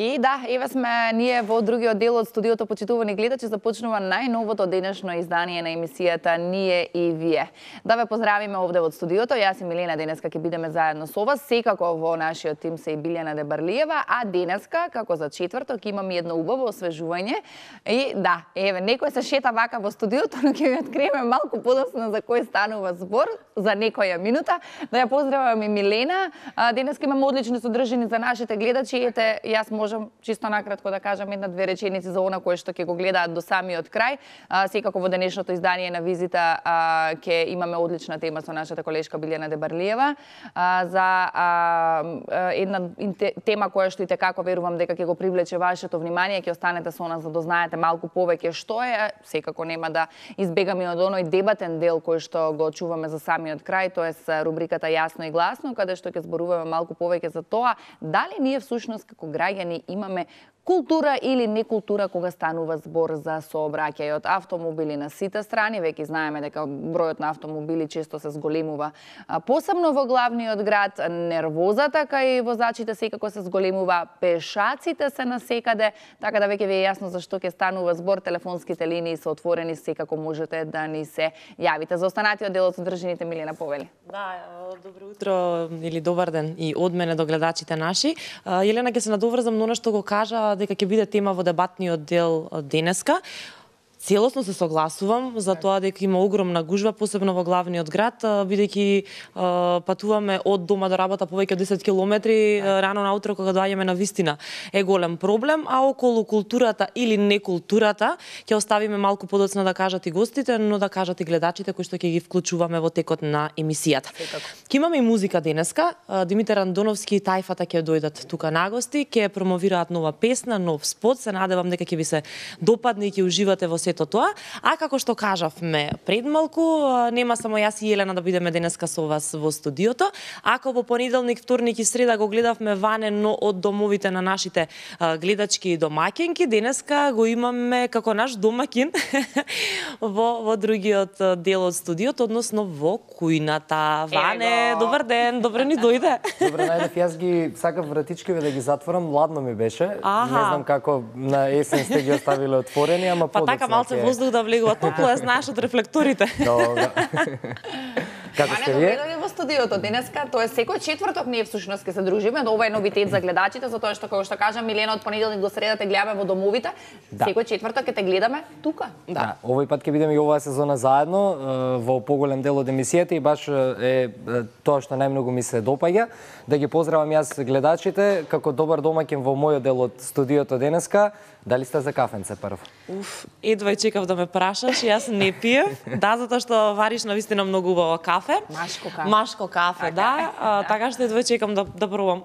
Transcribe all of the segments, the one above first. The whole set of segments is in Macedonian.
И да, еве сме ние во другиот дел од студиото почитувани гледачи, започнува најновото денешно издание на емисијата Ние и вие. Да ве поздравиме овде во студиото. Јас и Милена денеска ќе бидеме заедно со вас. Секако во нашиот тим се и Билјана Дебарлиева, а денеска како за четврток имаме едно убаво освежување. И да, еве некој се шета вака во студиото, но ќе ви откриеме малку подоцна за кој станува збор за некоја минута. Да ја поздравам и Милена. Денеска имаме одлични содржини за нашите гледачи. Ете, јас можам чисто накратко да кажам една-две реченици за она кое што ќе го гледаат до самиот крај. Секако во денешното издание на визита ќе имаме одлична тема со нашата колешка Билјана Дебарлиева за една тема која што и текако верувам дека ќе го привлече вашето внимание, ќе останете со нас за да знаете малку повеќе што е. Секако нема да избегаме од оној дебатен дел кој што го чуваме за самиот крај, тоест рубриката Јасно и гласно, каде што ќе зборуваме малку повеќе за тоа дали ние всушност како граѓани имаме култура или некултура кога станува збор за сообраќај од автомобили на сите страни. Веќе знаеме дека бројот на автомобили често се зголемува, посебно во главниот град. Нервозата кај возачите секако се зголемува, пешаците се насекаде, така да веќе ви е јасно за што ќе станува збор. Телефонските линии се отворени, секако можете да ни се јавите. За останатиот дел од содржините Милена повели. Да, добро утро или добар ден и од мене до гледачите наши. Елена, ќе се надоврзам на она што го кажа дека ќе биде тема во дебатниот дел денеска. Целосно се согласувам за тоа дека има огромна гужва, посебно во главниот град, бидејќи патуваме од дома до работа повеќе од 10 километри рано наутро кога доаѓаме на вистина е голем проблем, а околу културата или некултурата ќе оставиме малку подоцна да кажат и гостите, но да кажат и гледачите кои што ќе ги вклучуваме во текот на емисијата. Ќе имаме и музика денеска. Димитар Андоновски и Тајфата ќе дојдат тука на гости, ќе промовираат нова песна, нов спот. Се надевам дека ќе ви се допадне и ќе уживате во сето тоа. А како што кажавме пред малку, нема само јас и Елена да бидеме денеска со вас во студиото. Ако во понеделник, вторник и среда го гледавме ванено од домовите на нашите гледачки и домаќинки, денеска го имаме како наш домаќин во другиот дел од студиото, односно во кујната. Ване, добар ден, добре ни дојде. Добре најдев, јас ги сакав вратичкиве да ги затворам, ладно ми беше. Не знам како на есен сте ги оставиле отворени, ама подоцна. Малце воздух да влегува, топло е, знаеш, од рефлекторите. Добра. Како сте вие? Ване во студиото денеска, тоа е секој четврток ние всушност ќе се дружиме, ова е новитет за гледачите, затоа што како што кажа Милена од понеделник до среда те гледаме во домовите, секој четврток ќе те гледаме тука. Да, овој пат ќе бидеме и оваа сезона заедно во поголем дел од емисијата и баш е тоа што најмногу ми се допаѓа. Да ги поздравам јас гледачите како добар домаќин во мојот дел од студиото денеска. Дали сте за кафенце прв? Едва чекав да ме прашаш, јас не пиев. Да, затоа што вариш навистина многу убаво кафе. Машко кафе, да. Така што едва чекам да пробам.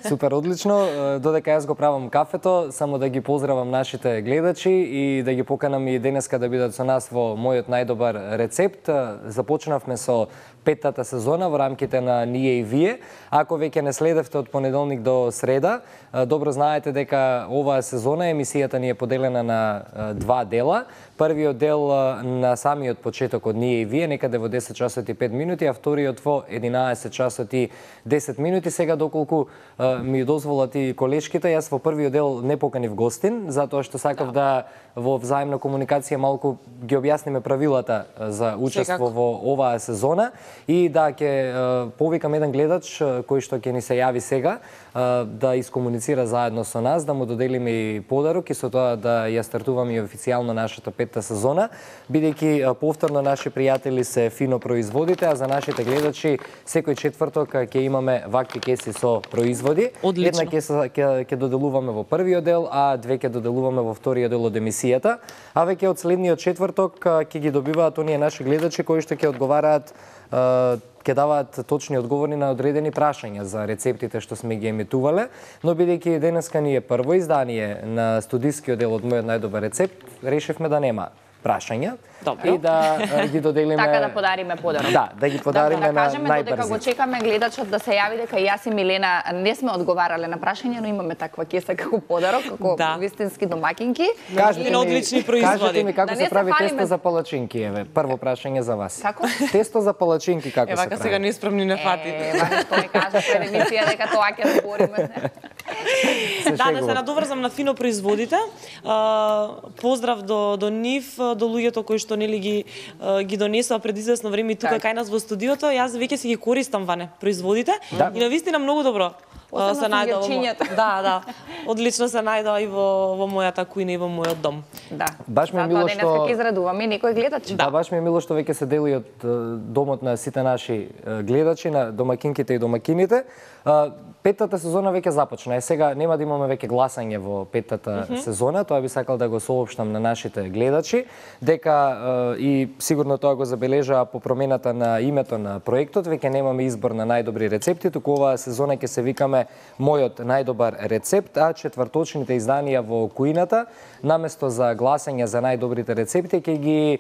Супер, одлично. Додека јас го правам кафето, само да ги поздравам нашите гледачи и да ги поканам и денеска да бидат со нас во мојот најдобар рецепт. Започнавме со петтата сезона во рамките на Ние и вие. Ако веќе не следевте од понеделник до среда, добро знаете дека оваа сезона емисијата ни е поделена на два дела. Првиот дел на самиот почеток од Ние и вие, некаде во 10 часот и 5 минути, а вториот во 11 часот и 10 минути. Сега доколку ми дозволат и колешките, јас во првиот дел не поканив гостин, затоа што сакав да во взаимна комуникација малку ги објасниме правилата за учество во оваа сезона. И да, ќе повикам еден гледач кој што ќе ни се јави сега да искомуницира заедно со нас, да му доделиме и подарок и со тоа да ја стартуваме и официјално нашата петта сезона, бидејќи повторно наши пријатели се фино производите, а за нашите гледачи секој четврток ќе имаме вакви кеси со производи. Одлично. Една кеса ќе доделуваме во првиот дел, а две ќе доделуваме во вториот дел од емисијата. А веќе од следниот четврток ќе ги добиваат оние наши гледачи кои што ќе одговараат, ќе даваат точни одговори на одредени прашања за рецептите што сме ги емитувале, но бидејќи денеска ни е прво издание на студискиот дел од мојот најдобар рецепт, решивме да нема прашања. Добро. И да ги доделиме... Така да подариме подарок. Да ги подариме да на кажеме, додека го чекаме гледачот да се јави дека јас и Милена не сме одговарале на прашања, но имаме таква кеса како подарок, како вистински домаќинки. Кажете ми одлични производи. Кажете ми како Да се не прави се тесто фалиме. за палачинки, еве. Прво прашање за вас. Како? Тесто за палачинки како се Вака прави? сега неспремни не фати. Вака што ми кажа пред емисија дека тоа ќе разбориме. Да се надоврзам на фино производите. Поздрав до нив, до луѓето кои што нели ги донесоа пред известно време тука кај нас во студиото. Јас веќе си ги користам ване производите и навистина многу добро. Се најдоа. Да. Одлично се најдоа и во мојата кујна и во мојот дом. Да. Баш ми е мило што ќе израдуваме некој гледач. Да, баш ми е мило што веќе се дели од домот на сите наши гледачи, на домакинките и домакините. Петтата сезона веќе започна. Сега нема да имаме веќе гласање во петтата сезона, тоа би сакал да го соопштам на нашите гледачи, дека и сигурно тоа го забележаа по промената на името на проектот, веќе немаме избор на најдобри рецепти, туку оваа сезона ќе се викаме Мојот најдобар рецепт, а четврточните изданија во кујната, наместо за гласање за најдобрите рецепти, ќе ги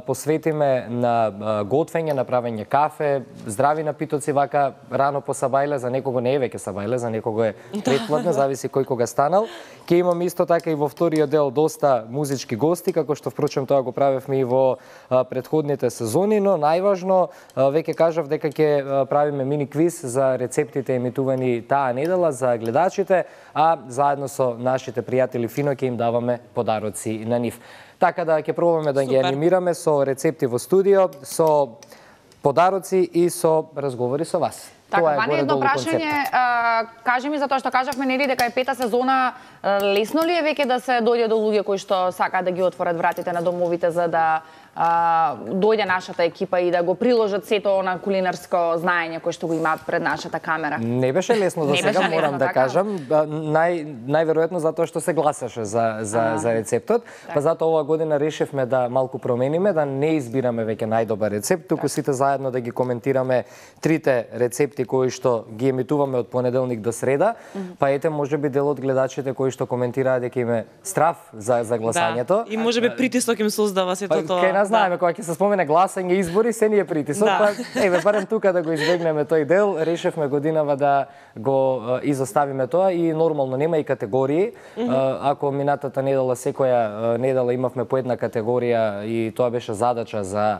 посветиме на готвење, на правење кафе, здрави напитоци вака рано по сабајле, за некого не е веќе сабајле, за некого е предпладне, зависи кој кога станал. Ќе имаме исто така и во вториот дел доста музички гости, како што впрочем тоа го правевме и во претходните сезони, но најважно веќе кажав дека ќе правиме мини квиз за рецептите емитувани таа недела за гледачите, а заедно со нашите пријатели фино ќе им даваме подароци на нив. Така да ќе пробаме да ги анимираме со рецепти во студио, со подароци и со разговори со вас. Така, Ваня, едно прашање, кажи ми за тоа што кажавме, нели дека е пета сезона, лесно ли е веќе да се дојде до луѓе кои што сакаат да ги отворат вратите на домовите за да дојде нашата екипа и да го приложат сето на кулинарско знаење кој што го имаат пред нашата камера? Не беше лесно до сега, морам да кажам. Најверојатно затоа што се гласаше за рецептот, па затоа оваа година решивме да малку промениме, да не избираме веќе најдобар рецепт, туку сите заедно да ги коментираме трите рецепти кои што ги емитуваме од понеделник до среда, па ете можеби дел од гледачите кои што коментираат дека им е страф за гласањето. И можеби притисок им создава сето тоа. Знаеме, кога ќе се спомене гласање, избори, се ни е притисок, па еве барем тука да го избегнеме тој дел, решивме годинава да го изоставиме тоа и нормално нема и категории. Ако минатата недела секоја недела имавме по една категорија и тоа беше задача за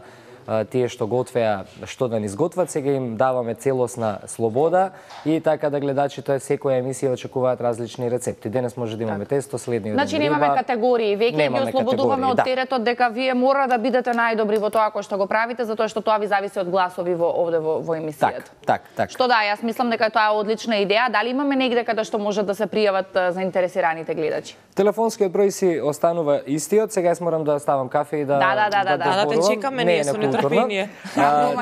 тие што готвеа што да ни изготват, сега им даваме целосна слобода и така да гледачите секоја емисија очекуваат различни рецепти. Денес може да имаме тесто, следниот значи немаме категории, веќе ги ослободуваме од теретот дека вие мора да бидете најдобри во тоа кој што го правите, затоа што тоа ви зависи од гласови овде во емисијата. Так. Што да, јас мислам дека тоа е одлична идеја. Дали имаме негде каде што можат да се пријават заинтересираните гледачи? Телефонскиот број си останува истиот. Сега јас морам да ставам кафе и да Да те чекаме, ние со нетрпение.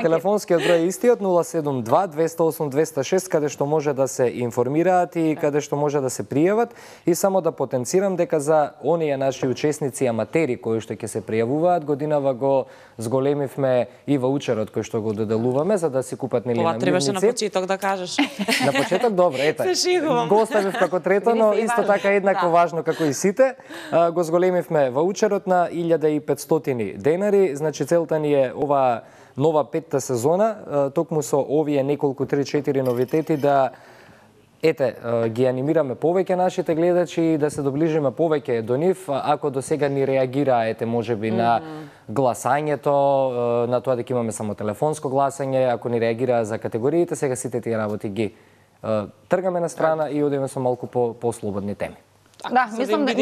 Телефонскиот број е истиот 072 208 206 каде што може да се информираат и каде што може да се пријават, и само да потенцирам дека за оние наши учесници аматери кои што ќе се пријавуваат, годинава го зголемивме и ваучерот кој што го доделуваме за да си купат нели намирници. Ова требаше на почеток да кажеш. На почеток добро, ета. Го оставив како трето, но исто така еднакво важно како и сите. Го зголемивме ваучерот на 1500 денари, значи целта ни е ова нова петта сезона, токму со овие неколку 3-4 новитети да ги анимираме повеќе нашите гледачи и да се доближиме повеќе до нив, ако до сега ни реагираа можеби на гласањето, на тоа дека имаме само телефонско гласање, ако ни реагираа за категориите, сега сите тие работи ги тргаме на страна и одиме со малку по-слободни теми. Да, мислам дека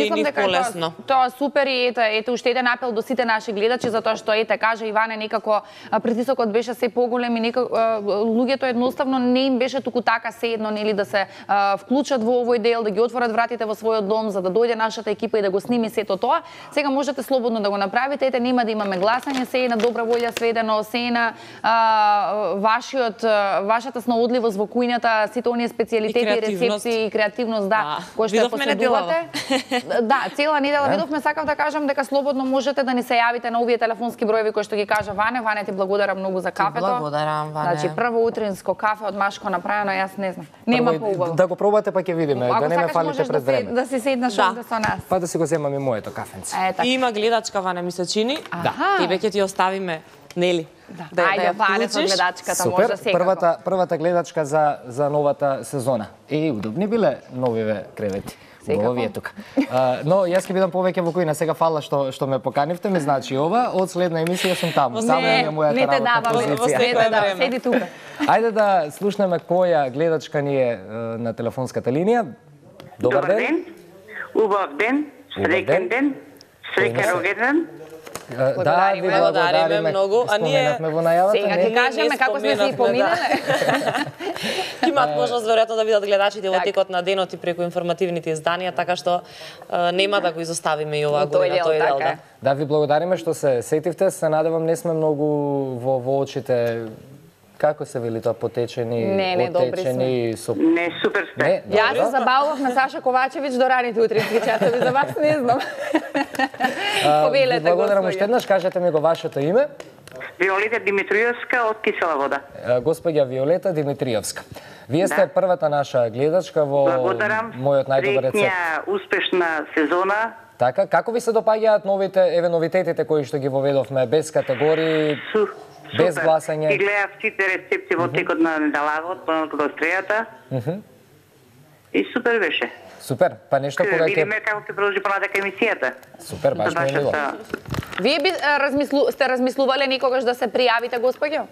тоа супер и ете уште еден апел до сите наши гледачи, затоа што кажа Иване, некако притисокот беше се поголем и луѓето едноставно не им беше туку така седно нели да се вклучат во овој дел, да ги отворат вратите во својот дом за да дојде нашата екипа и да го сними сето тоа. Сега можете слободно да го направите, нема да имаме гласање, се е на добра волја сведено, се е на вашата снаодливост во кујната, сите оние специјалитети, рецепти и креативност, кои што поседувате. Да, цела недела видовме, сакав да кажам дека слободно можете да ни се јавите на овие телефонски броеви кои што ги кажа Ване. Ване, ти благодарам многу за кафето. Благодарам, Ване. Значи прво утринско кафе од Машко направено, јас не знам. Нема поубаво. Да го пробате па ќе видиме, да не ме фалите пред време. Да си седнеш овде со нас. Па да си го земам и моето кафенце. Има гледачка, Ване, ми се чини. Тебе ќе ти оставиме, нели? Ајде, Ване со гледачката може секако. Првата гледачка за новата сезона. Удобни биле новиве кревети. Овие тука. Но јас ќе бидам повеќе во кујна. Сега фала што ме поканивте, ми значи ова, од следна емисија сум таму. Само е мојата работна позиција. Седи тука. Ајде да слушнеме која гледачка ни е на телефонската линија. Добар ден. Убав ден, среќен ден, среќен рожден. Да, ви благодариме многу. А ние споменавме во најавата. Сега ќе кажеме како сме се и поминале. имаат можност веројатно да видат гледачите во текот на денот и преку информативните изданија, така што нема да го изоставиме и оваа година тој дел. Да, ви благодариме што се сетивте. Се надевам не сме многу во очите. Како се вели тоа, потечени, отечени? Не, супер сте. Јас се забавував на Саша Ковачевиќ до раните утрински часови, за вас не знам. Повелете, благодарам уште еднаш, кажете ми го вашето име. Виолета Димитриевска од Кисела вода. Господја Виолета Димитриевска. Вие сте првата наша гледачка во мојот најдобар рецепт. Среќна, успешна сезона. Така, како ви се допаѓаат новитетите кои што ги воведовме, без категории, без гласање? Ги гледав сите рецепти во текот на неделавот, понатаму до стрејата. И супер беше. Супер, па нешто кога ќе... Видиме како ќе продолжи понатака емисијата. Супер, баш ми е мило. Вие сте размислувале никогаш да се пријавите, господјо?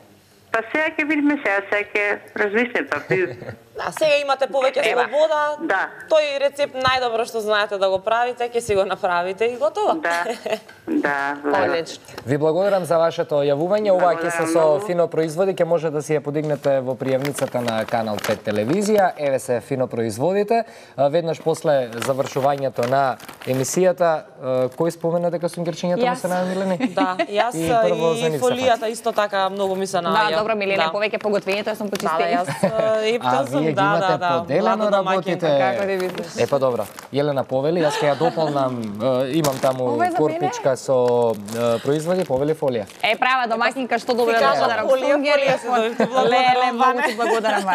Па сега ќе видиме, сега ќе размислим. Да, сега имате повеќе слобода. Да. Тој рецепт најдобро што знаете да го правите, ќе си го направите и готово. Да. Одлично. Ви благодарам за вашето јавување. Ова ќе се со фино производи, ќе може да си ја подигнете во пријавницата на Канал 5 телевизија. Еве се фино производите. Веднаш после завршувањето на емисијата, кој спомена дека сунгерчињата му се најомилени? Да, јас и фолијата исто така многу ми се наоѓа. Да, добро, Милена, повеќе поготвењето, јас сум почистена. А вие ги имате поделено работите. Епа добро. Елена повели, јас ќе ја дополнам, имам таму корпичка со производи, повели фолија. Права домаќинка, што добро да благодарам. Леле, многу ти благодарам.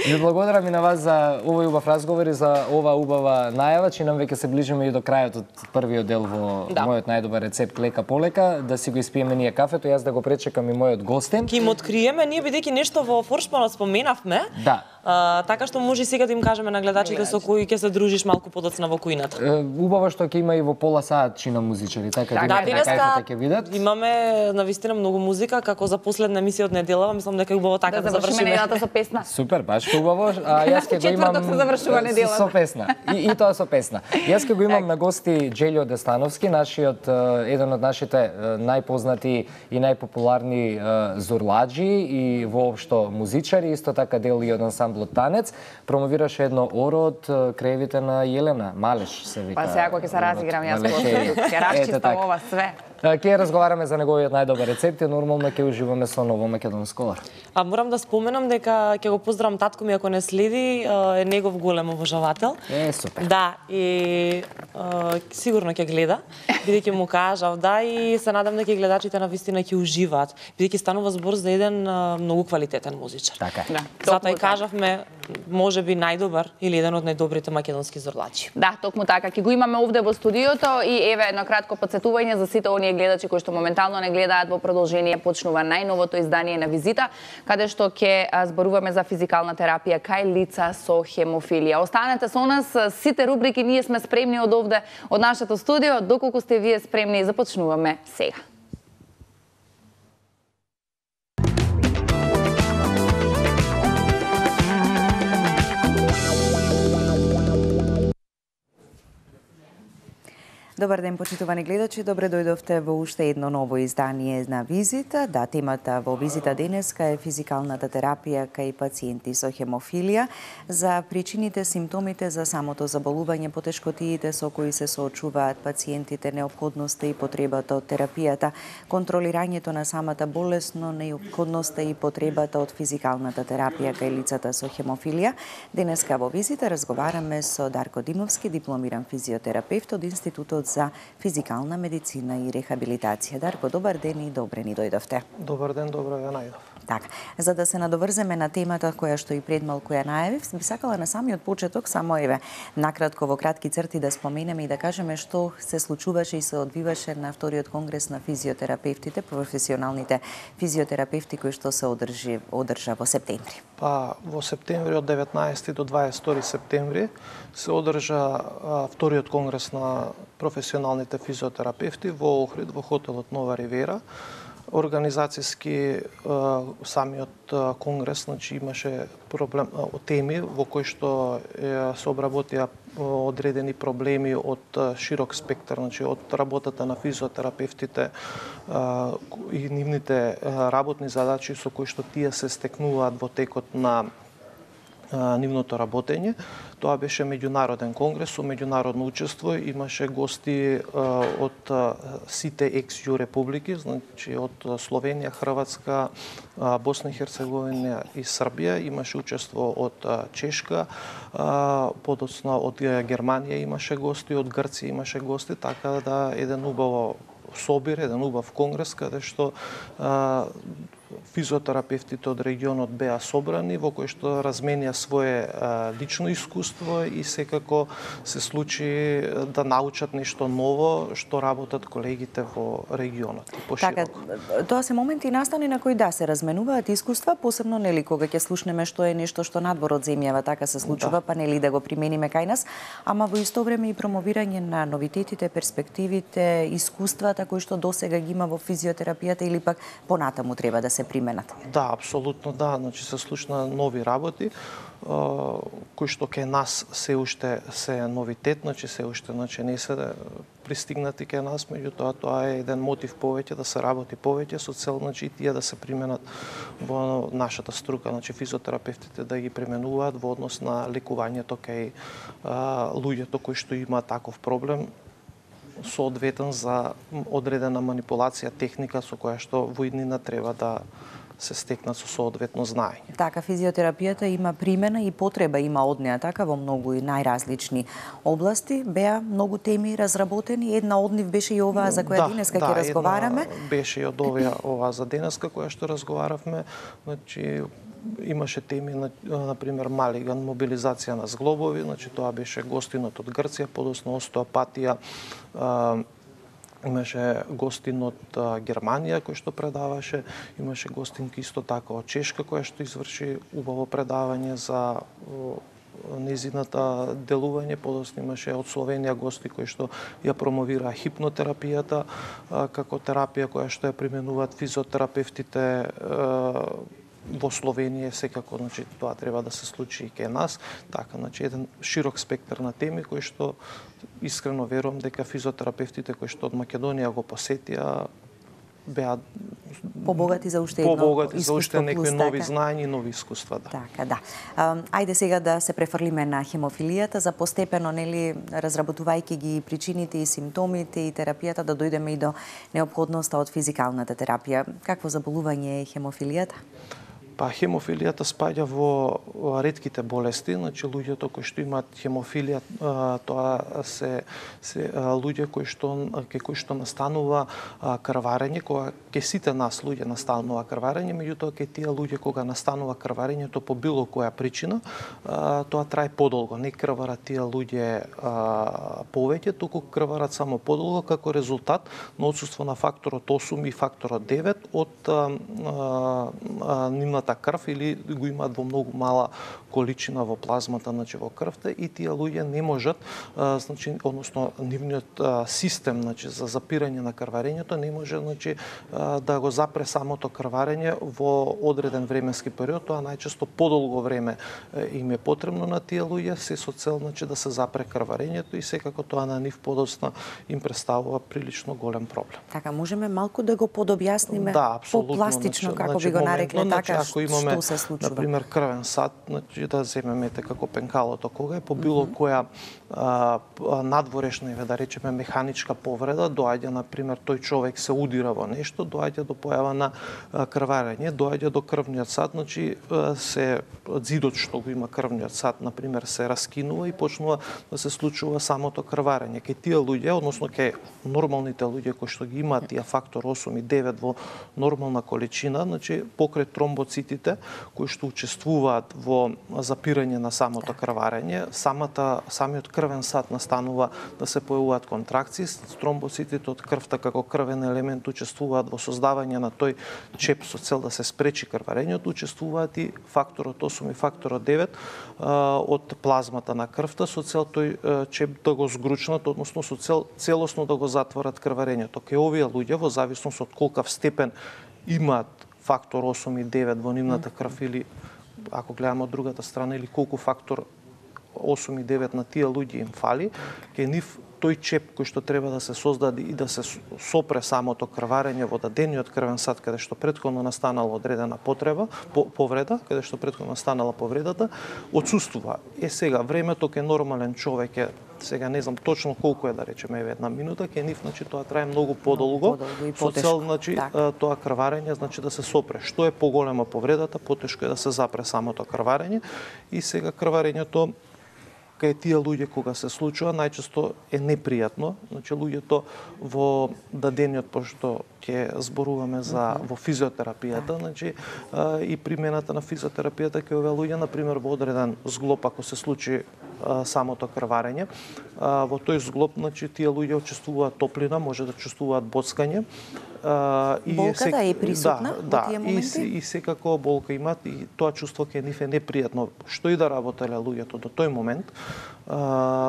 Ви благодарам и на вас за овој убав разговор и за ова убава најава, че нам веќе се ближиме и до крајот од првиот дел во мојот најдобар рецепт лека полека, да си го испиеме ние кафето, јас да го пречекам и мојот гостин. Ке им откриеме, ние бидејќи нешто во форшманот споменавме. Да. Така што може сега да им кажеме на гледачите со кои ќе се дружиш малку подоцна во кујната. Убаво што ќе има и во пола саат чина музичари, така да денеска ќе видат. Имаме навистина многу музика, како за последна емисија од неделава, мислам дека е убаво така да завршиме неделата со песна. Супер, баш убаво. А јас ќе го имам се завршува неделата со песна. И тоа со песна. Јас ќе го имам на гости Джелјо Дестановски, еден од нашите најпознати и најпопуларни зурладжи и воопшто музичари, исто така дел и од ансамблот Танец, промовираше едно оро од краевите на Јелена, Малеш се вика. Па сега кога ќе се разиграм јас ќе расчистам ова све. Ќе разговараме за неговиот најдобар рецепт и нормално ќе уживаме со ново македонско ор. А морам да споменам дека ќе го поздравам татко ми ако не следи, е негов голем обожавател. Супер. Да, и сигурно ќе гледа, бидејќи му кажав, да, и се надам дека гледачите на вистина ќе уживаат, бидејќи станува збор за еден многу квалитетен музичар. Така. Да. Затоа и кажавме, можеби најдобар или еден од најдобрите македонски зорлачи. Да, токму така. Ќе го имаме овде во студиото и еве едно кратко потсетување за сите оние гледачи кои што моментално не гледаат. Во продолжение почнува најновото издание на Визита, каде што ќе зборуваме за физикална терапија кај лица со хемофилија. Останете со нас, сите рубрики ние сме спремни од овде, од нашето студио. Доколку сте вие спремни, започнуваме сега. Добар ден, почитувани гледачи, добре дојдовте во уште едно ново издание на Визита. Да, темата во Визита денеска е физикалната терапија кај пациенти со хемофилија, за причините, симптомите за самото заболување, потешкотиите со кои се соочуваат пациентите, неопходноста и потребата од терапијата, контролирањето на самата болест, но неопходноста и потребата од физикалната терапија кај лицата со хемофилија. Денеска во Визита разговараме со Дарко Димовски, дипломиран физиотерапевт од Институтот за физикална медицина и рехабилитација. Дарко, добар ден и добре ни дојдовте. Добар ден, добро ја најдов. Така, за да се надоврземе на темата која што и пред малку ја најавив, би сакала на самиот почеток само накратко во кратки црти да споменеме и да кажеме што се случуваше и се одвиваше на вториот конгрес на физиотерапевтите, професионалните физиотерапевти кој што се одржа во септември. Па во септември од 19 до 22 септември се одржа вториот конгрес на професионалните физиотерапевти во Охрид, во хотелот Нова Ривера. Организацијски самиот конгрес, значи имаше проблем теми во кои што се обработија одредени проблеми од широк спектар, значи од работата на физиотерапевтите и нивните работни задачи со кои што тие се стекнуваат во текот на нивното работење. Тоа беше меѓународен конгрес со меѓународно учество, имаше гости од сите екс-ју републики, значи од Словенија, Хрватска, Босна и Херцеговина и Србија, имаше учество од Чешка, подоцна од Германија имаше гости, од Грција имаше гости, така да еден убаво собир, еден убав конгрес каде што физиотерапевтите од регионот беа собрани, во кој што разменија свое лично искуство и секако се случи да научат нешто ново што работат колегите во регионот и пошироко. Така, тоа се моменти настани на кои се разменуваат искуства, посебно нели кога ќе слушнеме што е нешто што надвор од земјава така се случува, па нели да го примениме кај нас, ама во исто време и промовирање на новитетите, перспективите, искуствата кои што досега ги има во физиотерапијата или пак понатаму треба да се применат. Да, апсолутно да, значи се слушна нови работи кои што кај нас се уште се новитет, значи се уште не се пристигнати кај нас, меѓутоа тоа е еден мотив повеќе да се работи повеќе со цел значи тие да се применат во нашата струка, значи физиотерапевтите да ги применуваат во однос на лекувањето кај луѓето кои што имаат таков проблем соодветен за одредена манипулација техника со која што во иднина треба да се стекнат со соодветно знаење. Така, физиотерапијата има примена и потреба има од неа, така во многу и најразлични области. Беа многу теми разработени, една од нив беше и оваа за која денеска ќе разговараме. Беше и од оваа за денеска која што разговаравме, значи имаше теми, например, малиган, мобилизација на зглобови, значи тоа беше гостинот од Грција, подоцна остеопатија, имаше гостин од Германија кој што предаваше, имаше гостинки исто така од Чешка која што изврши убаво предавање за незината делување, подоцна имаше од Словенија гости кои што ја промовираа хипнотерапијата како терапија која што ја применуваат физиотерапевтите во Словенија, секако, значи тоа треба да се случи и кај нас, така, значи еден широк спектар на теми кои што искрено верувам дека физиотерапевтите кои што од Македонија го посетија беа побогати за уште некои нови знаења и нови искуства, да. Така, да. Ајде сега да се префрлиме на хемофилијата, за постепено нели разработувајќи ги причините и симптомите и терапијата да дојдеме и до неопходноста од физикалната терапија. Какво заболување е хемофилијата? Па хемофилијата спаѓа во ретките болести, значи луѓето кои што имаат хемофилија, тоа се луѓе кои што настанува крварење, кога ке сите нас луѓе настанува крварење, меѓутоа ке тие луѓе кога настанува крварењето по било која причина, тоа трае подолго, не крварат тие луѓе повеќе, туку крварат само подолго како резултат на отсуство на факторот 8 и факторот 9 од нивната крв или го имаат во многу мала количина во плазмата, значи во крвта, и тие луѓе не можат, значи односно нивниот систем, значи за запирање на крварењето не може, значи да го запре самото крварење во одреден временски период, тоа најчесто подолго време им е потребно на тие луѓе, се со цел значи да се запре крварењето и секако тоа на нив подоцна им представува прилично голем проблем. Така, можеме малку да го подобјасниме по-пластично, како би го нарекле, така, ако имаме, што се случува? Например, крвен сад, значи да земеме како пенкалото, кога е по било која надворешна, да речеме, механичка повреда, доаѓа, например, тој човек се удира во нешто, доаѓа до појава на крварење, доаѓа до крвниот сад, значи се зидот што го има крвниот сад, например, се раскинува и почнува да се случува самото крварење. Кај тие луѓе, односно кај нормалните луѓе кои што ги имаат тие фактор 8 и 9 во нормална количина, значи покрај тромбоцити тромбоцитите кои што учествуваат во запирање на самото крварење. Самиот крвен сад настанува да се појавуваат контракции. Тромбоцитите од крвта како крвен елемент учествуваат во создавање на тој чеп со цел да се спречи крварењето. Учествуваат и факторот 8 и факторот 9 од плазмата на крвта со цел тој чеп да го згручнат, односно со цел целосно да го затворат крварењето. Кај овие луѓе, во зависност од колкав степен имаат фактор 8 и 9 во нивната крв, или ако гледаме од другата страна, или колку фактор 8 и 9 на тие луѓе им фали, кај нив тој чеп кој што треба да се создаде и да се сопре самото крварење во дадениот крвен сад, каде што претходно настанала одредена повреда, каде што претходно настанала повредата, отсуствува. Сега времето кај нормален човек е, сега не знам точно колку е, да речеме, една минута, кај нив тоа трае многу подолго, со цел тоа крварење да се сопре. Што е поголема повредата, потешко е да се запре самото крварење, и сега крварењето кај тие луѓе кога се случува најчесто е непријатно. Луѓето во дадениот, пошто ќе зборуваме во физиотерапијата, и примената на физиотерапијата кај овие луѓе, например, во одреден зглоб, ако се случи самото крварење, во тој зглоб тие луѓе чувствуваат топлина, може да чувствуваат боцкање. Болката е присутна во тие моменти? И секако болка имат, и тоа чувство кај нив е непријатно. Што и да работеле луѓето до тој момент,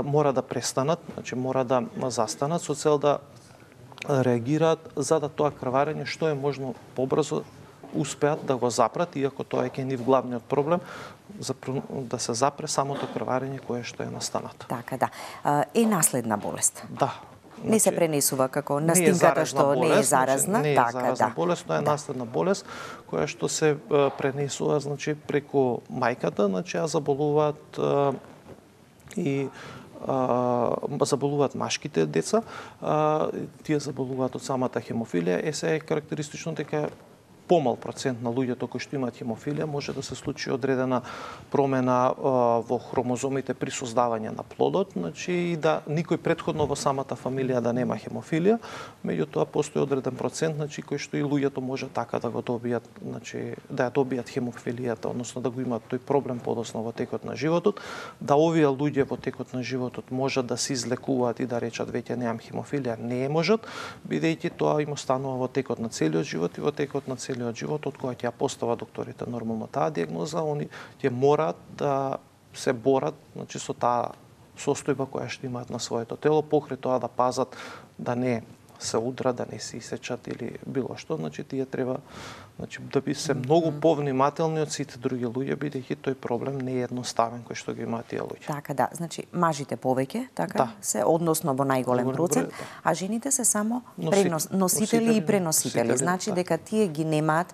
мора да престанат, мора да застанат со цел да реагираат за да тоа крварење што е можно побрзо успеат да го запрат, иако тоа е кај нив главниот проблем, да се запре самото крварење кое што е настанато. Така, да. Е наследна болест? Да. Не се пренесува како настинката што не е заразна? Не е заразна болест, тоа е наследна болест која што се пренесува преку мајката, а заболуваат и заболуваат машките деца, тие заболуваат од самата хемофилија. Сега е карактеристично дека помал процент на луѓето кои што имаат хемофилија може да се случи одредена промена во хромозомите при создавање на плодот, и да никој претходно во самата фамилија да нема хемофилија, меѓутоа постои одреден процент кој што и луѓето може така да го добијат, да ја добијат хемофилијата, односно да го имаат тој проблем подоцна во текот на животот, да овие луѓе во текот на животот можат да се излекуваат и да речат веќе немам хемофилија, не можат, бидејќи тоа им останува во текот на целиот живот, и во текот на целиот живот, од која ќе ја постават докторите нормално таа диагноза, они ќе мораат да се борат со таа состојба која што имаат на своето тело, покрај тоа да пазат да не се удрат, да не се исечат или било што, тие треба да би се многу повнимателни од сите други луѓе, бидејќи тој проблем не е едноставен кој што ги имаат тие луѓе. Така, да, мажите повеќе, така се, односно во најголем процент, а жените се само носители и преносители. Значи дека тие ги немаат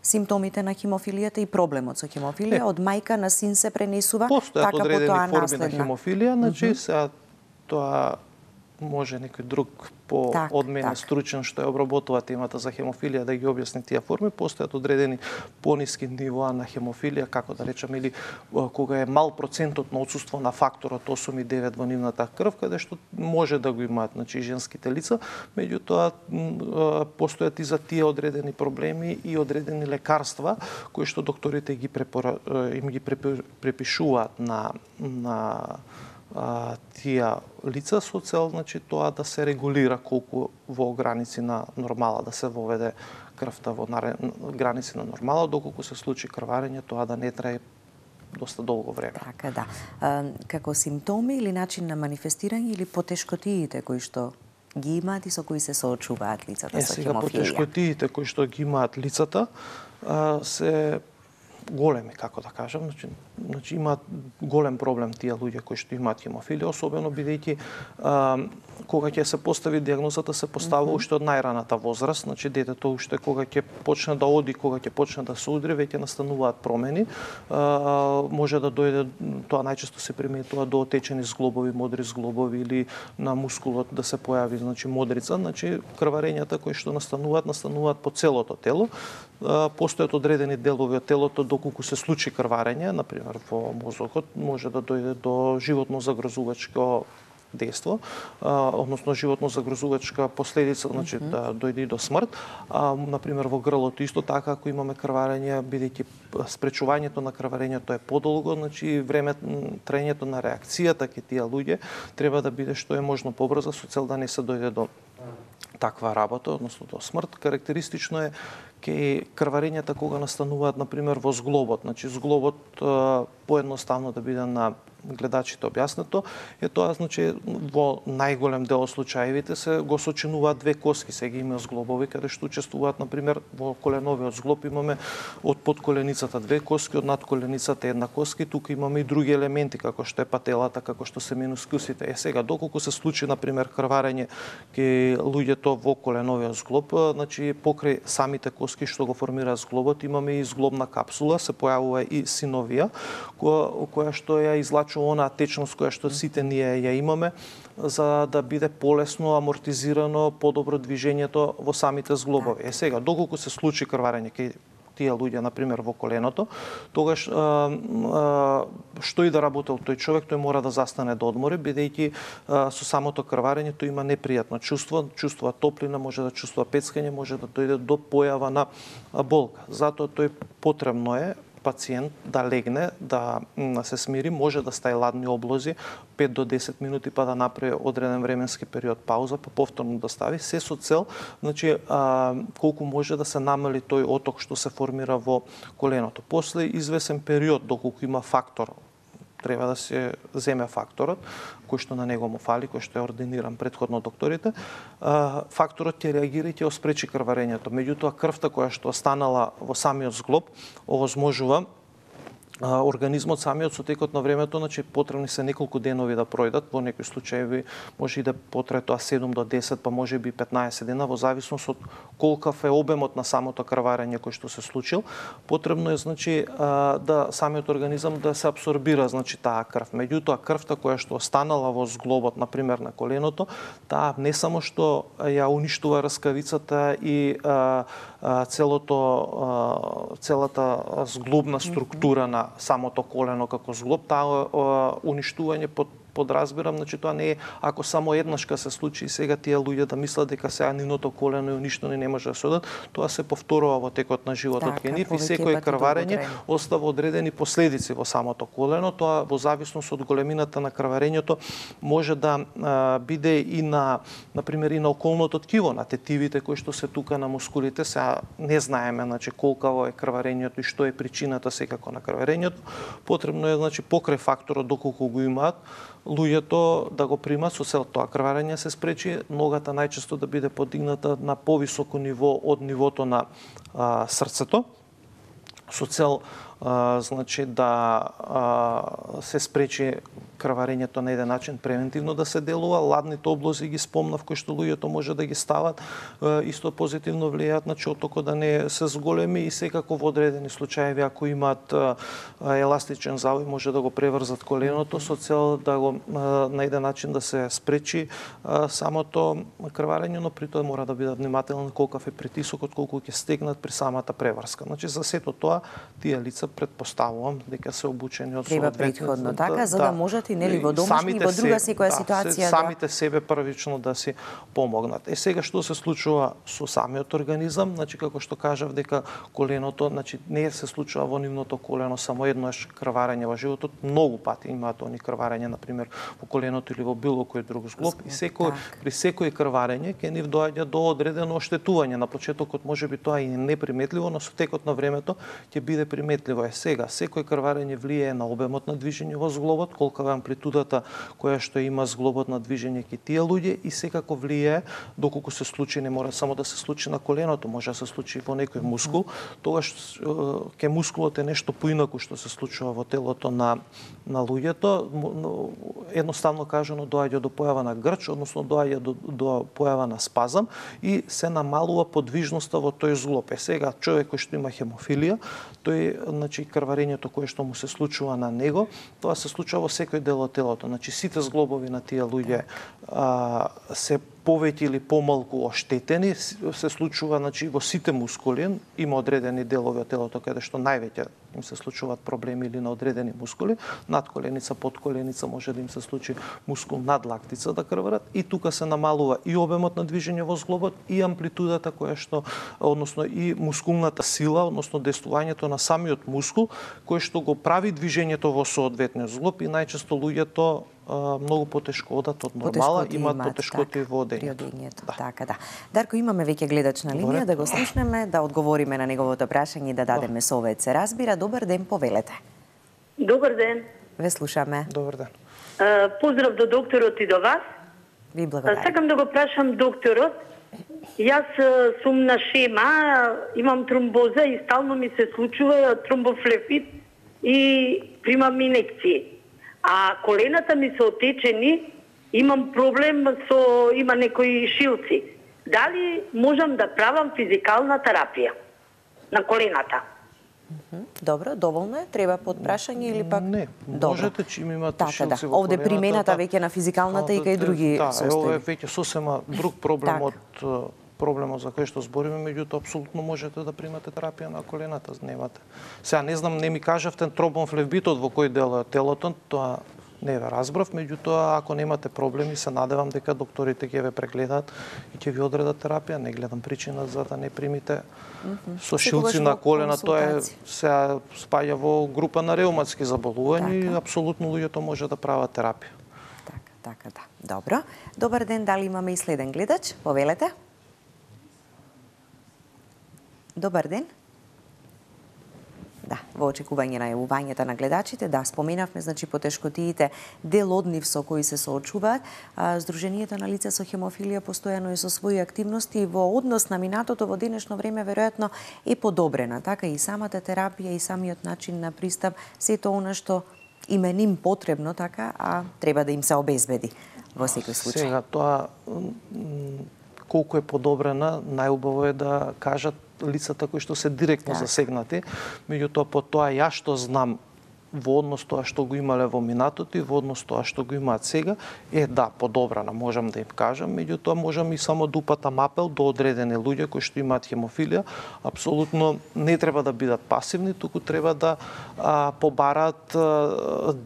симптомите на хемофилијата и проблемот со хемофилија, од мајка на син се пренесува, така по тоа наследна. Постојат одредени форми на хемофилија, сега тоа може некој друг од мене стручен што ја обработува темата за хемофилија да ги објасни тие форми. Постојат одредени пониски нивоа на хемофилија, како да речеме, или кога е мал процентот на отсуство на факторот 8 и 9 во нивната крв, каде што може да го имаат женските лица, меѓутоа постојат и за тие одредени проблеми и одредени лекарства кои што докторите им ги препишуваат на тие лица со цел тоа да се регулира колку во граници на нормала, да се воведе крвта во граници на нормала, доколку се случи крварење, тоа да не трае доста долго време. Така, да. Како симптоми или начин на манифестирање или потешкотиите кои што ги имаат и со кои се соочуваат лицата со хемофилија? Потешкотиите кои што ги имаат лицата се големи, како да кажам, имаат голем проблем тие луѓе кои што имаат хемофилија, особено бидејќи кога ќе се постави диагнозата се поставува уште од најраната возраст, детето уште кога ќе почне да оди, кога ќе почне да се удри, веќе настануваат промени. Може да дојде, тоа најчесто се приметува до отечени зглобови, модри зглобови или на мускулот да се појави модрица, крварењата кои што настануваат по целото тело. Постојат одредени делови од телото доколку се случи крварење, например во мозокот, може да дојде до животно загрозувачко дејство, односно животно загрозувачка последица, значи да дојде до смрт. Например, во грлото исто така, ако имаме крварење, бидејќи спречувањето на крварењето е подолго, значи траењето на реакцијата кај тие луѓе треба да биде што е можно побрзо со цел да не се дојде до таква работа, односно до смрт. Карактеристично е кај крварењата кога настануваат, например, во зглобот. Значи, зглобот поедноставно да биде на гледачите објаснето, е тоа, значи, во најголем дел од случаевите се го сочинуваат две коски, сега има зглобови каде што учествуваат, например, во коленовиот зглоб имаме од подколеницата две коски, од надколеницата една коска, и тука имаме и други елементи, како што е пателата, како што се менускусите. Сега, доколку се случи, например, крварење кај луѓето во коленовиот зглоб, значи, покрај самите коски што го формираат зглобот, имаме и зглобна капсула, се појавува и синовија, која што ја излачува онаа течност која што сите ние ја имаме, за да биде полесно амортизирано, подобро движењето во самите зглобови. Сега, доколку се случи крварење кај тие луѓе, например, во коленото, тогаш што и да работел тој човек, тој мора да застане да одмори, бидејќи со самото крварење тој има непријатно чувство, чувствува топлина, може да чувствува пецкање, може да дојде до појава на болка. Затоа тој потребно е пациент да легне, да се смири, може да стаи ладни облози 5 до 10 минути, па да направи одреден временски период пауза, па повторно да стави, се со цел, значи, колку може да се намали тој оток што се формира во коленото. После извесен период, доколку има фактор, треба да се земе факторот, кој што на него му фали, кој што е ординиран предходно докторите, факторот ќе реагира и ќе спречи крварењето. Меѓутоа, крвта која што останала во самиот зглоб, овозможува организмот самиот со текот на времето, значи потребни се неколку денови да пројдат, во некои случаи може и да потрае тоа 7 до 10, па може би 15 дена, во зависност од колкав е обемот на самото крварење кој што се случил. Потребно е, значи, да самиот организам да се абсорбира, значи, таа крв. Меѓутоа, крвта која што останала во зглобот, например на коленото, таа не само што ја уништува раскавицата и целата зглобна структура на самото колено како зглоб, таа уништување подразбирам, значи тоа не е ако само еднаш ка се случи и сега тие луѓе да мислат дека сега нивното колено е уништено и не може да се одат, тоа се повторува во текот на животот кај нив и секој крварење остава одредени последици во самото колено. Тоа во зависност од големината на крварењето може да биде и на пример и на околното ткиво, на тетивите кои што се тука на мускулите. Сега не знаеме, значи, колкаво е крварењето и што е причината секако на крварењето. Потребно е, значи, покрај факторот доколку го имаат луѓето да го примат со цел тоа крварење се спречи, ногата најчесто да биде подигната на повисоко ниво од нивото на срцето, со цел значи да се спречи крварењето на еден начин превентивно да се делува. Ладните облози ги спомнав, кои што луѓето може да ги стават, исто позитивно влијаат на отокот да не се зголеми и секако во одредени случаи, ако имаат еластичен завој, може да го преврзат коленото со цел да го на еден начин да се спречи самото крварење, но при тоа мора да бидат внимателни колкав е притисокот, колку ќе стегнат при самата преврска. Значи за сето тоа тие лица предпоставувам дека се обучени од треба предходно така, за да можат и нели во домашни и во друга секоја ситуација самите себе првично да си помогнат. Сега што се случува со самиот организам, значи како што кажав дека коленото, значи не се случува во нивното колено само еднаш крварење во животот, многу пати имаат они крварење на пример во коленото или во било кој друг зглоб и при секој крварење ќе нив доаѓа до одредено оштетување. На почетокот можеби тоа и неприметливо, но со текот на времето ќе биде приметливо. Сега секој крварење влијае на обемот на движење во зглобот, колка е амплитудата која што има зглобот на движење кај тие луѓе и секако влијае доколку се случи, не мора само да се случи на коленото, може да се случи во некој мускул, тогаш ке мускулот е нешто поинаку што се случува во телото на луѓето. Едноставно кажано доаѓа до појава на грч, односно доаѓа до појава на спазам и се намалува подвижноста во тој зглоб. Сега човек кој што има хемофилија, тој, значи, крварењето кое што му се случува на него, тоа се случува во секој дел од телото. Значи сите зглобови на тие луѓе се повеќе или помалку оштетени, се случува значи во сите мускули, има одредени делови од телото каде што највеќе им се случуваат проблеми или на одредени мускули, надколеница, подколеница, може да им се случи мускул над лактица да крварат и тука се намалува и обемот на движење во зглобот и амплитудата која што, односно и мускулната сила, односно действувањето на самиот мускул кој што го прави движењето во соодветниот зглоб и најчесто луѓето многу потешко одат од нормала, имаат потешкоти во одењето. Така, да. Дарко, имаме веќе гледач на линија, да го слушнеме, да одговориме на неговото прашање и да дадеме совет. Се разбира, добар ден, повелете. Добар ден. Ве слушаме. Добар ден. Поздрав до докторот и до вас. Ви благодарам. Сакам да го прашам докторот. Јас сум на шема, имам тромбоза и стално ми се случува тромбофлебит и примам инекции. А колената ми се отечени, имам проблем има некои шилци. Дали можам да правам физикална терапија на колената? Добро, доволно е? Треба подпрашање или пак? Не, можете, чим имате шилци во овде колената. примената веќе на физикалната и кај други состојби. Ова е веќе сосема друг проблем од проблемот за кој што збориме, меѓутоа апсолутно можете да примате терапија на колената, немате. Сега не знам, не ми кажавте тромбофлебитот во кој дел е телото, тоа не ве разбрав, меѓутоа ако немате проблеми, се надевам дека докторите ќе ве прегледаат и ќе ви одредат терапија. Не гледам причина за да не примите со шилци на колена, тоа е сега спаѓа во група на реуматски заболувања и апсолутно луѓето може да прават терапија. Така, да. Добро. Добар ден, дали имаме и следен гледач? Повелете. Добар ден. Да, во очекување на јавувањето на гледачите, да, споменавме, значи, потешкотиите, дел од нив со кои се соочуваат. Сдруженијето на лица со хемофилија постојано е со своји активности во однос на минатото во денешно време веројатно е подобрена. Така и самата терапија и самиот начин на пристап, сето она што им е ним потребно, така, а треба да им се обезбеди во секој случај. Сега, тоа колку е подобрена, најубаво е да кажат лицата кои што се директно засегнати, меѓутоа по тоа ја што знам во однос тоа што го имале во минатото и во однос тоа што го имаат сега, да, подобрана, можам да им кажам, меѓутоа можам и само да упатам апел до одредени луѓе кои што имаат хемофилија, апсолутно не треба да бидат пасивни, туку треба да побараат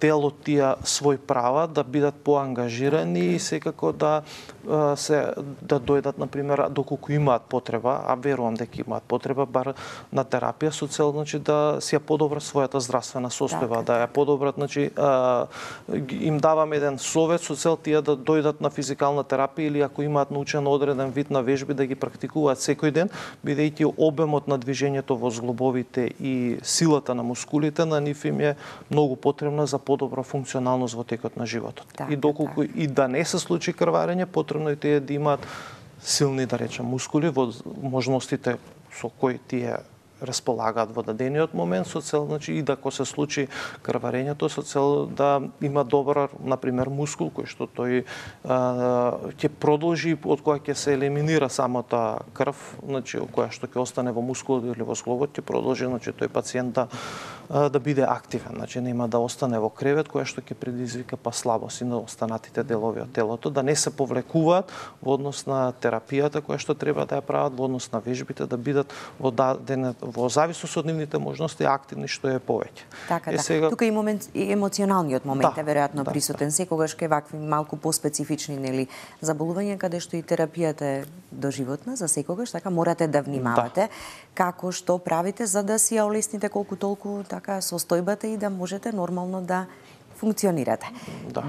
дел од тие свој права, да бидат поангажирани и секако да дојдат, например, доколку имаат потреба, а верувам дека имаат потреба, бар на терапија со цел, значи, да си ја подобрат својата здравствена состојба, да ја подобрат, значи, им давам еден совет со цел тие да дојдат на физикална терапија или ако имаат научен одреден вид на вежби да ги практикуваат секој ден, бидејќи обемот на движењето во зглобовите и силата на мускулите на нив им е многу потребна за подобра функционалност во текот на животот. И доколку и да не се случи крварење, потребно е тие да имаат силни, да речем, мускули во можностите со кои тие располагаат во дадениот момент со цел, значи, и да ако се случи крварењето со цел да има добар, например, мускул кој што тој ќе продолжи од која ќе се елиминира самата крв, значи која што ќе остане во мускулот или во зглобот, ќе продолжи, значи, тој пациент да биде активен, значи нема да остане во кревет, која што ќе предизвика слабост и на останатите делови од телото, да не се повлекуваат во однос на терапијата која што треба да ја прават, во однос на вежбите, да бидат во зависност од нивните можности активни што е повеќе. Така, да. Сега... Тука и емоционалниот момент е веројатно присутен, секогаш кај вакви малку поспецифични, нели, заболувања каде што и терапијата е доживотна за секогаш, така морате да внимавате како што правите за да си ја олесните колку толку така состојбата и да можете нормално да функционирате.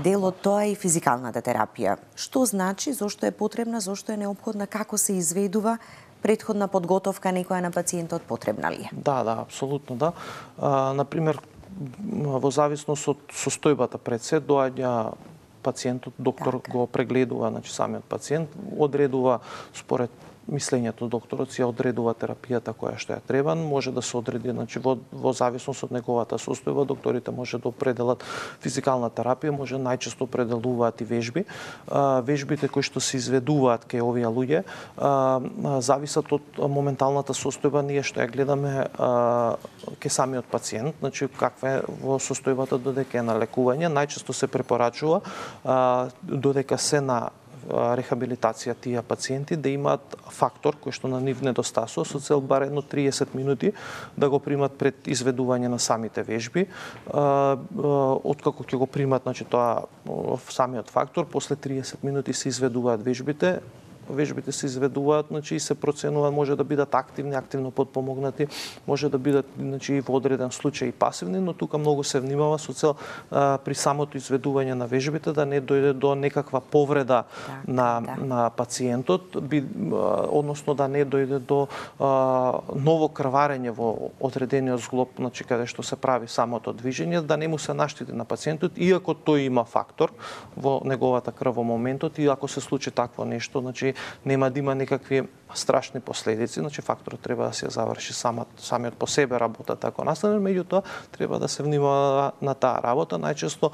Дел од тоа е и физикалната терапија. Што значи, зошто е потребна, зошто е неопходна, како се изведува, претходна подготовка некоја на пациентот потребна ли е? Да, апсолутно да. Например, во зависност од состојбата пред се доаѓа пациентот, доктор го прегледува, значи самиот пациент одредува според мислењето докторот си одредува терапијата која што ја треба, може да се одреди, значи во зависност од неговата состојба, докторите може да определат физикална терапија, може најчесто определуваат и вежби. Вежбите кои што се изведуваат кај овие луѓе зависат од моменталната состојба, ние што ја гледаме кај самиот пациент, значи каква е во состојбата додека е на лекување, најчесто се препорачува додека се на рехабилитација тие пациенти да имаат фактор кој што на нив недостасува со цел бар едно 30 минути да го примат пред изведување на самите вежби. Откако ќе го примат, значи тоа самиот фактор, после 30 минути се изведуваат вежбите. Вежбите се изведуваат, значи и се проценува, може да бидат активни, активно подпомогнати, може да бидат, значи, во одреден случај и пасивни, но тука многу се внимава со цел при самото изведување на вежбите да не дојде до некаква повреда на пациентот, односно да не дојде до ново крварење во одредениот зглоб, значи каде што се прави самото движење, да не му се наштети на пациентот, иако тој има фактор во неговата крв во моментот, и ако се случи такво нешто, значи нема да има некакви страшни последици, значи факторот треба да се заврши самиот по себе работата ако настане, меѓутоа треба да се внимава на таа работа. Најчесто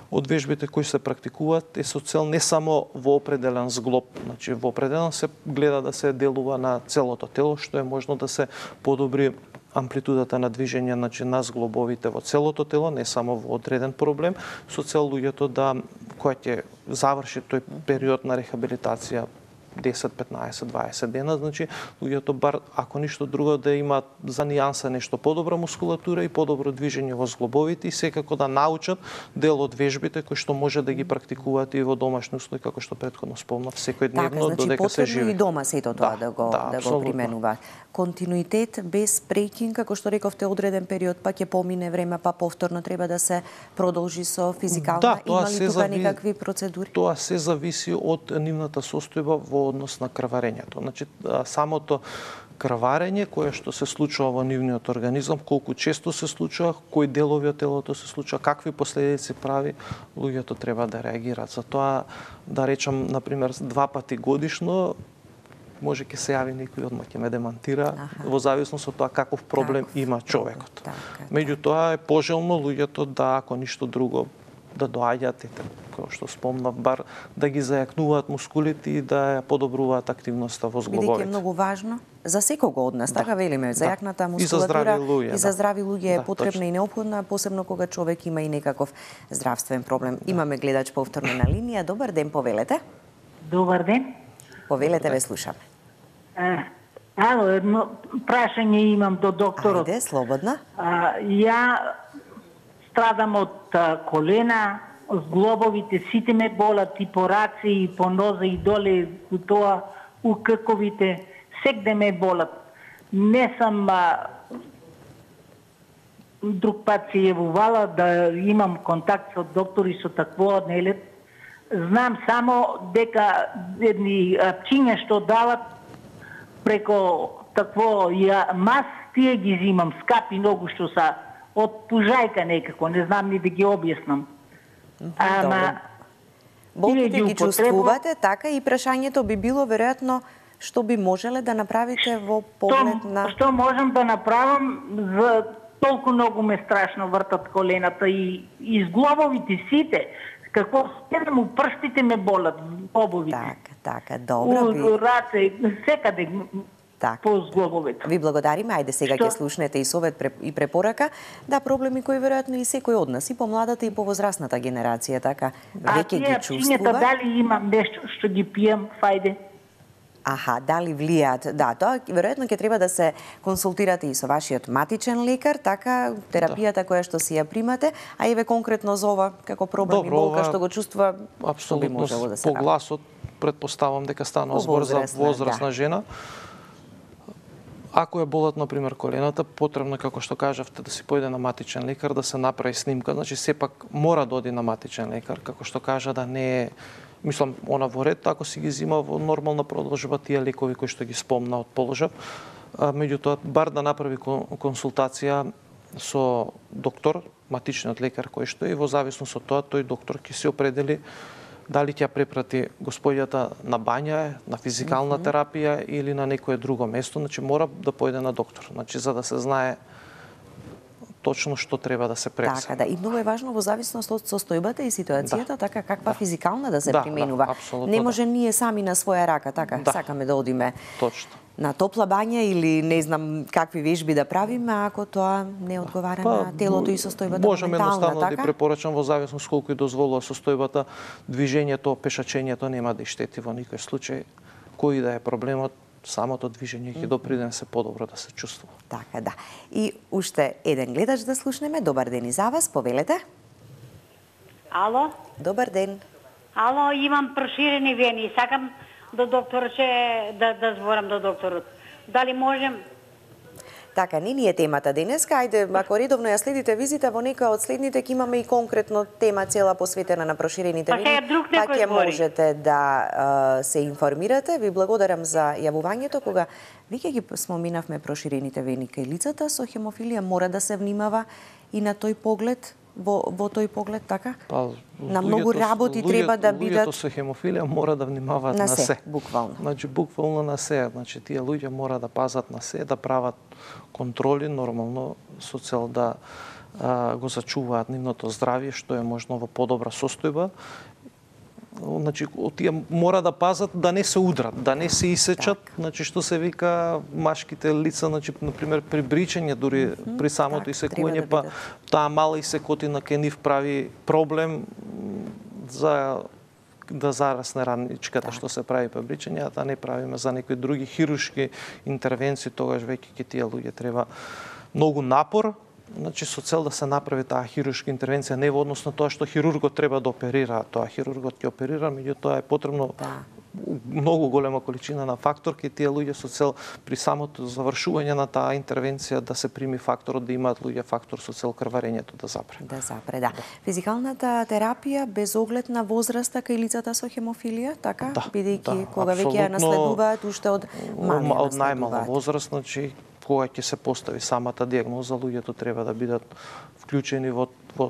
од вежбите кои се практикуваат е со цел не само во определен зглоб, значи во определен се гледа да се делува на целото тело, што е можно да се подобри амплитудата на движење, значи на зглобовите во целото тело, не само во одреден проблем, со цел луѓето да кој ќе заврши тој период на рехабилитација 10, 15, 20 дена, значи луѓето бар ако ништо друго да имаат за нијанса нешто подобра мускулатура и подобро движење во зглобовите и секако да научат дел од вежбите кои што може да ги практикуваат и во домашни услови, како што претходно спомнав, секојдневно додека се живе. Така, значи и дома сето тоа да го применува. Континуитет без прекин, како што рековте, одреден период, па ќе помине време, па повторно треба да се продолжи со физикална. Има ли тука некакви процедури? Тоа се зависи од нивната состојба во однос на крварењето. Значи, самото крварење кое што се случува во нивниот организам, колку често се случува, кои делови од телото се случува, какви последици прави, луѓето треба да реагираат. За тоа, да речам, например, 2 пати годишно, може ќе се јави некој одма ќе ме демантира, во зависност од тоа каков проблем има човекот. Меѓутоа е пожелно луѓето да, ако ништо друго, да доаѓаат и како што спомнав, бар да ги зајакнуваат мускулите и да ја подобруваат активноста во зглобовите. Бидејќи е многу важно за секого од нас, така велиме, зајакната мускулатура и за здрави луѓе е потребна и неопходна, посебно кога човек има и некаков здравствен проблем. Имаме гледач повторно на линија. Добар ден, повелете. Добар ден. Повелете, ве слушаме. Ало, едно прашање имам до докторот. Ајде, слободна. Ја страдам од колена, зглобовите сите ме болат и по раце, и по ноза, и доле, у тоа, у крковите, секде ме болат. Не сам друг пат се јавувала да имам контакт со доктори со такво нелет. Знам само дека едни пчиња што дават преко такво мас, тие ги зимам, скапи многу што са од пужајка некако, не знам ни да ги објаснам. Болките ги чувствувате, така и прашањето би било веројатно што би можеле да направите во поглед на... Што можам да направам, за толку многу ме страшно вртат колената и зглобовите сите, како седам у прстите ме болат, зглобовите. Така, добро. Раце, секаде по зглобовите. Ви благодариме, ајде сега ќе слушнете и совет и препорака, да проблеми кои веројатно и секој од нас, и помладата и повозрасната генерација, така, веќе ги чувствува. Дали имам нешто што ги пијам, фајде? Дали влијаат? Да, тоа веројатно ќе треба да се консултирате и со вашиот матичен лекар, така терапијата која што си ја примате, а еве конкретно за ова како проблем и болка што го чувствува, што би можело да се направи? По гласот претпоставам дека станува збор за возрастна жена. Ако е болат, например, колената, потребно, како што кажавте, да си појде на матичен лекар, да се направи снимка. Значи, сепак мора да оди на матичен лекар, како што кажа, да не е, мислам, она во ред, ако си ги зима во нормална продолжба тие лекови кои што ги спомна од положав. Меѓутоа, бар да направи консултација со доктор, матичниот лекар кој што е, и во зависност од тоа, тој доктор ќе се определи дали ќе препрати господјата на бања, на физикална терапија или на некое друго место, значи мора да појде на доктор, значи за да се знае точно што треба да се прекса. Така, да, и многу е важно во зависност од состојбата и ситуацијата, така каква физикална да се применува. Не може ние сами на своја рака, така, сакаме да одиме. Точно. на топла бања или не знам какви вежби да правиме ако тоа не одговара на телото и состојбата можеме едноставно така? да препорачам во зависност колку и дозволува состојбата, движењето, пешачењето нема да штети во никој случај. Кој да е проблемот, самото движење ќе допринесе се подобро да се чувствува. Така, да. И уште еден гледач да слушнеме. Добар ден и за вас, повелете. Ало? Добар ден. Ало, имам проширени вени. Сакам до докторче да зборам до докторот. Дали можем? Така, не ни е темата денеска. Ајде, ако редовно ја следите визита, во некоја од следните ќе имаме и конкретно тема цела посветена на проширените вени. Пак ќе можете да се информирате. Ви благодарам за јавувањето. Кога веќе ги споминавме проширените вени кај лицата со хемофилија, мора да се внимава и на тој поглед, во тој поглед, така? На многу работи треба да бидат... Луѓето со хемофилија мора да внимаваат на се. Буквално. Значи, буквално на се. Значи, тие луѓе мора да пазат на се, да прават контроли, нормално, со цел да го зачуваат нивното здравје, што е можно во подобра состојба. Значи, тие мора да пазат да не се удрат, да не се исечат, значи што се вика машките лица, значи например при бричење, дури при самото исекување, па таа мала исекотина ке нив прави проблем за да зарасне раничката што се прави при бричење, а да не правиме за некои други хируршки интервенции, тогаш веќе ке тие луѓе треба многу напор. Значи, со цел да се направи таа хируршка интервенција, не во однос на тоа што хирургот треба да оперира, тоа хирургот ќе оперира, меѓутоа е потребно многу голема количина на фактор кај тие луѓе со цел при самото завршување на таа интервенција да се прими факторот, да имаат луѓе фактор со цел крварењето да запре. Да запре, да. Физикалната терапија без оглед на возраста кај лицата со хемофилија, така? Бидејќи кога веќе ја наследуваат уште од малија од најмала возраст, значи кога ќе се постави самата дијагноза, луѓето треба да бидат вклучени во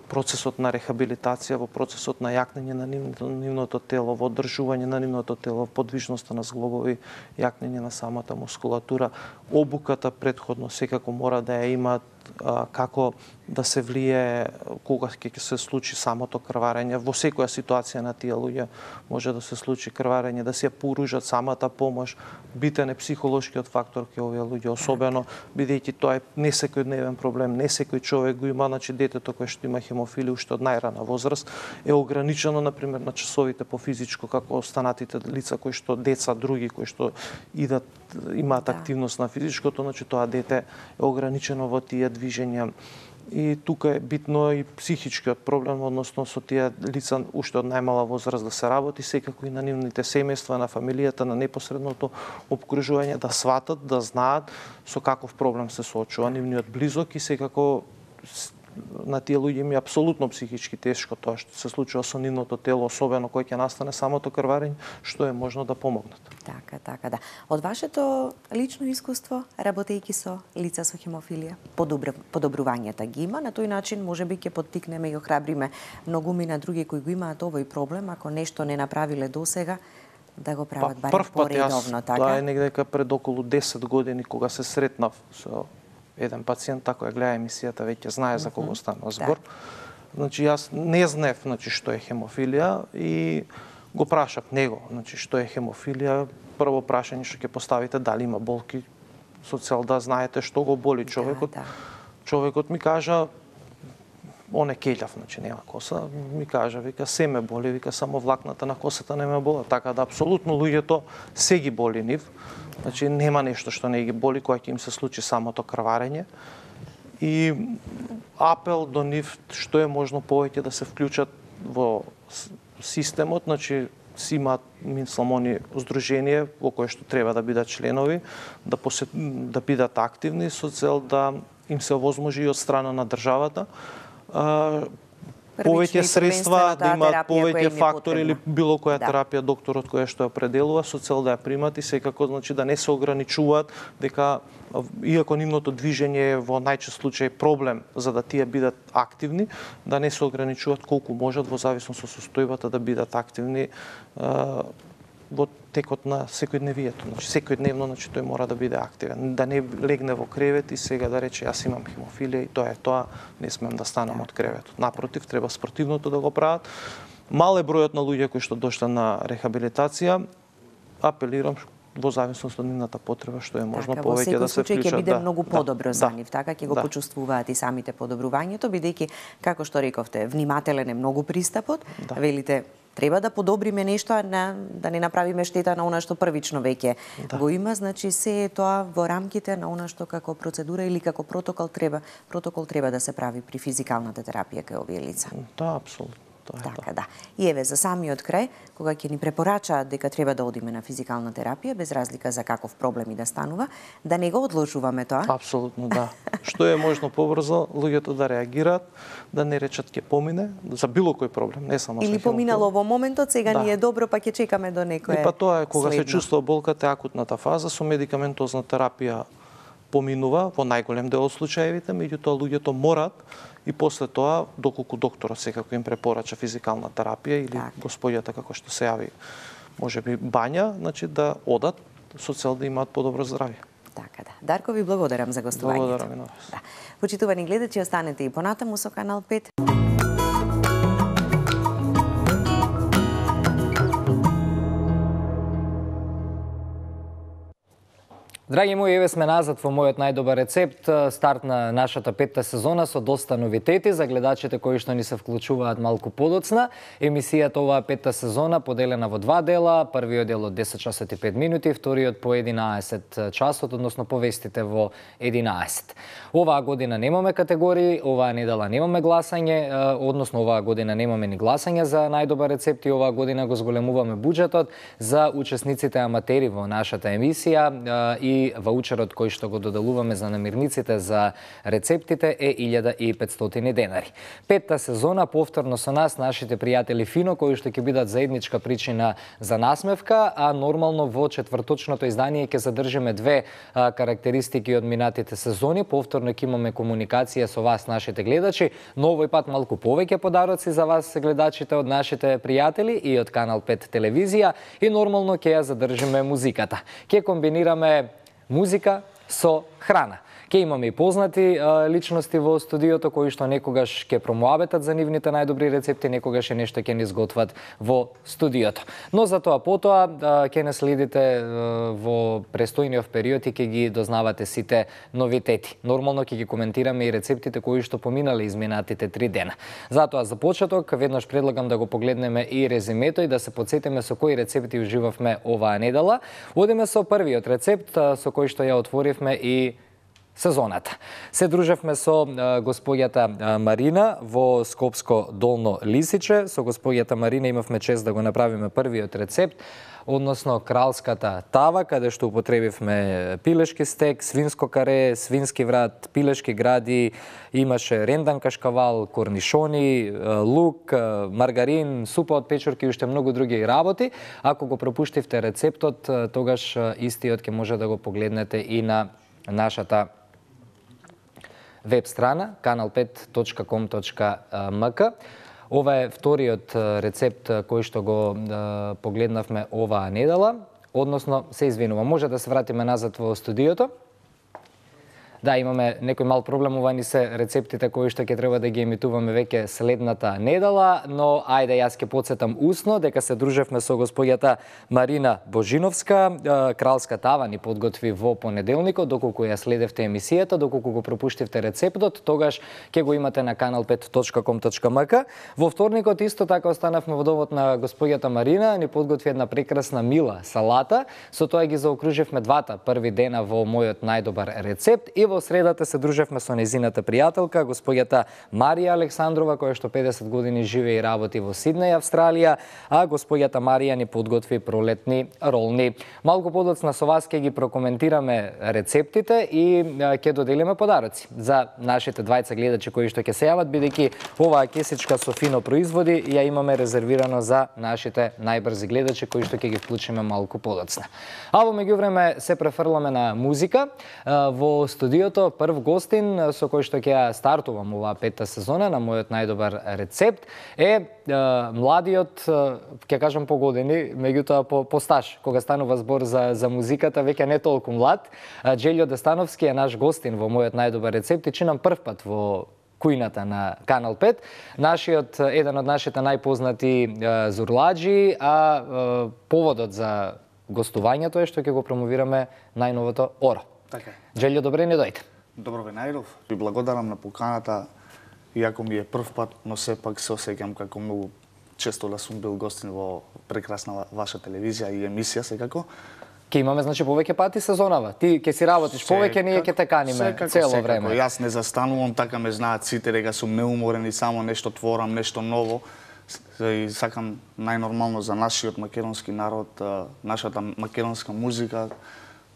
процесот на рехабилитација, во процесот на јакнење на нивното тело, во одржување на нивното тело, подвижноста на зглобови, јакнење на самата мускулатура. Обуката претходно секако мора да ја имаат како да се влие кога ќе се случи самото крварење. Во секоја ситуација на тие луѓе може да се случи крварење, да се поружат самата помош. Битен е психолошкиот фактор кај овие луѓе, особено бидејќи тоа е не секојдневен проблем, не секој човек го има, значи детето кое што има хемофилија уште од најрана возраст е ограничено например на часовите по физичко како останатите лица кои што деца други кои што имаат активност на физичкото, значи тоа дете е ограничено во тие движења. И тука е битно и психичкиот проблем, односно со тие лица уште од најмала возраст да се работи, секако и на нивните семејства, на фамилијата, на непосредното опкружување, да сватат, да знаат со каков проблем се соочува нивниот близок и секако на тие луѓе им е апсолутно психички тешко тоа што се случува со нивното тело, особено кога ќе настане самото крварење, што е можно да помогнат. Така, да. Од вашето лично искуство, работејќи со лица со хемофилија, подобрувањата ги има, на тој начин можеби ќе поттикнеме и охрабриме многуми на други кои го имаат овој проблем, ако нешто не направиле досега, да го прават барем поредовно, така? Тоа е негдека пред околу 10 години кога се сретнав со еден пациент, тако ја гледа емисијата, веќе знае за кого станува збор. Значи, јас не знаев што е хемофилија и го прашав него, што е хемофилија. Прво прашање што ќе поставите, дали има болки, со цел да знаете што го боли човекот. Човекот ми кажа, он е кељав, нема коса, ми кажа, вика, се ме боли, вика, само влакната на косата не ме боли. Така да, апсолутно луѓето се ги боли нив. Значи, нема нешто што не ги боли кога ќе им се случи самото крварење. И апел до нив што е можно повеќе да се вклучат во системот, значи, си имаат, мислам, они здружение во кое што треба да бидат членови, да бидат активни со цел да им се овозможи и од страна на државата повеќе средства, да имаат повеќе фактори или било која терапија докторот која што ја определува со цел да ја примат и секако, значи, да не се ограничуваат, дека иако нивното движење е во најчест случај проблем за да тие бидат активни, да не се ограничуваат колку можат во зависност од состојбата да бидат активни во текот на секојдневието. Значи, секојдневно, значи, тој мора да биде активен. Да не легне во кревет и сега да рече јас имам хемофилија и тоа е тоа, не смем да станам од креветот. Напротив, треба спортивното да го прават. Мал е бројот на луѓе кои што дошле на рехабилитација. Апелирам во зависност од нивната потреба што е можно така, повеќе да се вклучат. Во секој случај ќе биде многу подобро за нив, така ќе го почувствуваат и самите подобрувањето, бидејќи како што рековте, внимателен е многу пристапот, велите треба да подобриме нешто, а да не направиме штета на она што првично веќе го има, значи се е тоа во рамките на она што како процедура или како протокол треба да се прави при физикалната терапија кај овие лица. Да, апсолутно. Така, да. И еве, за самиот крај, кога ќе ни препорачаат дека треба да одиме на физикална терапија, без разлика за каков проблем и да станува, да не го одложуваме тоа. Апсолутно, да. Што е можно побрзо, луѓето да реагираат, да не речат ќе помине, за било кој проблем, не само или поминало во моментот, сега ни е добро, па ќе чекаме до некое. И па тоа е кога се чувствува болката, акутната фаза, со медикаментозна терапија поминува во најголем дел од случаевите, меѓутоа луѓето морат и после тоа, доколку докторот секако им препорача физикална терапија или господјата како што се јави, можеби бања, значи да одат со цел да имаат подобро здравје. Така да. Дарко, ви благодарам за гостувањето. Благодарам и на вас. Да. Почитувани гледачи, останете и понатаму со Канал 5. Драги мои, еве сме назад во мојот најдобар рецепт, старт на нашата 5-та сезона со доста новитети за гледачите кои што ни се вклучуваат малку подоцна. Емисијата оваа 5-та сезона поделена во два дела, првиот дел од 10 часот и 5 минути, вториот по 11 часот, односно повестите во 11. Оваа година немаме категории, оваа недела немаме гласање, односно оваа година немаме ни гласање за најдобар рецепт и оваа година го зголемуваме буџетот за учесниците аматери во нашата емисија и ваучерот кој што го доделуваме за намирниците за рецептите е 1500 денари. 5-та сезона повторно со нас нашите пријатели Фино кои што ќе бидат заедничка причина за насмевка, а нормално во четврточното издание ќе задржиме две карактеристики од минатите сезони. Повторно ќе имаме комуникација со вас, нашите гледачи, но овој пат малку повеќе подароци за вас, гледачите од нашите пријатели и од Канал 5 телевизија и нормално ќе ја задржиме музиката. Ќе комбинираме музика со храна. Ке имаме и познати личности во студиото кои што некогаш ќе промоабетат за нивните најдобри рецепти, некогаш е нешто ќе ни изготват во студиото. Но за тоа потоа ќе не следите во престојниот период и ќе ги дознавате сите новитети. Нормално ќе ги коментираме и рецептите кои што поминале изминатите 3 дена. Затоа за почеток веднаш предлагам да го погледнеме и резимето и да се потсетиме со кои рецепти уживавме оваа недела. Одиме со првиот рецепт со кој што ја отворивме и сезоната. Се дружевме со господјата Марина во Скопско Долно Лисиче. Со господјата Марина имавме чест да го направиме првиот рецепт, односно кралската тава, каде што употребивме пилешки стек, свинско каре, свински врат, пилешки гради, имаше рендан кашкавал, корнишони, лук, маргарин, супа од печурки и уште многу други работи. Ако го пропуштивте рецептот, тогаш истиот ќе може да го погледнете и на нашата веб страна kanal5.com.mk. Ова е вториот рецепт кој што го погледнавме оваа недела, односно се извинувам, може да се вратиме назад во студиото. Да, имаме некој мал проблем, ова ни се рецептите кои што ќе треба да ги емитуваме веќе следната недела, но ајде јас ќе потсетам усно дека се дружевме со господјата Марина Божиновска, кралска тава ни подготви во понеделникот, доколку ја следевте емисијата, доколку го пропуштивте рецептот, тогаш ќе го имате на kanal5.com.mk. Во вторникот исто така останавме во домот на господјата Марина, ни подготви една прекрасна мила салата, со тоа ги заокруживме двата први дена во мојот најдобар рецепт и во средата се дружевме со незината пријателка, господјата Марија Александрова, која што 50 години живее и работи во Сиднеј, Австралија, а господјата Марија ни подготви пролетни ролни. Малку подоцна со вас ќе ги прокоментираме рецептите и ќе доделиме подароци за нашите двајца гледачи кои што ќе се јават, бидејќи оваа кесичка со Фино производи ја имаме резервирано за нашите најбрзи гледачи кои што ќе ги вклучиме малку подоцна. А во меѓувреме се префрламе на музика. Во студиото прв гостин со кој што ќе ја стартувам оваа 5-та сезона на мојот најдобар рецепт е младиот, ќе кажам по години, меѓутоа по стаж, кога станува збор за музиката, веќе не толку млад. Џелјо Дестановски е наш гостин во мојот најдобар рецепт и чинам прв пат во кујната на Канал 5. Еден од нашите најпознати зурладжи, а поводот за гостувањето е што ќе го промовираме најновото Оро. Така. Джелјо, добре ни дојде. Добро ве најдов. Ви благодарам на поканата. Иако ми е прв пат, но сепак се осеќам како многу често да сум бил гостин во прекрасна ваша телевизија и емисија секако. Ке имаме значи повеќе пати сезонава. Ти ќе си работиш повеќе, ние ќе те каниме цело време. Јас не застанувам, така ме знаат сите дека сум неуморен и само нешто творам, нешто ново. И сакам најнормално за нашиот македонски народ, нашата македонска музика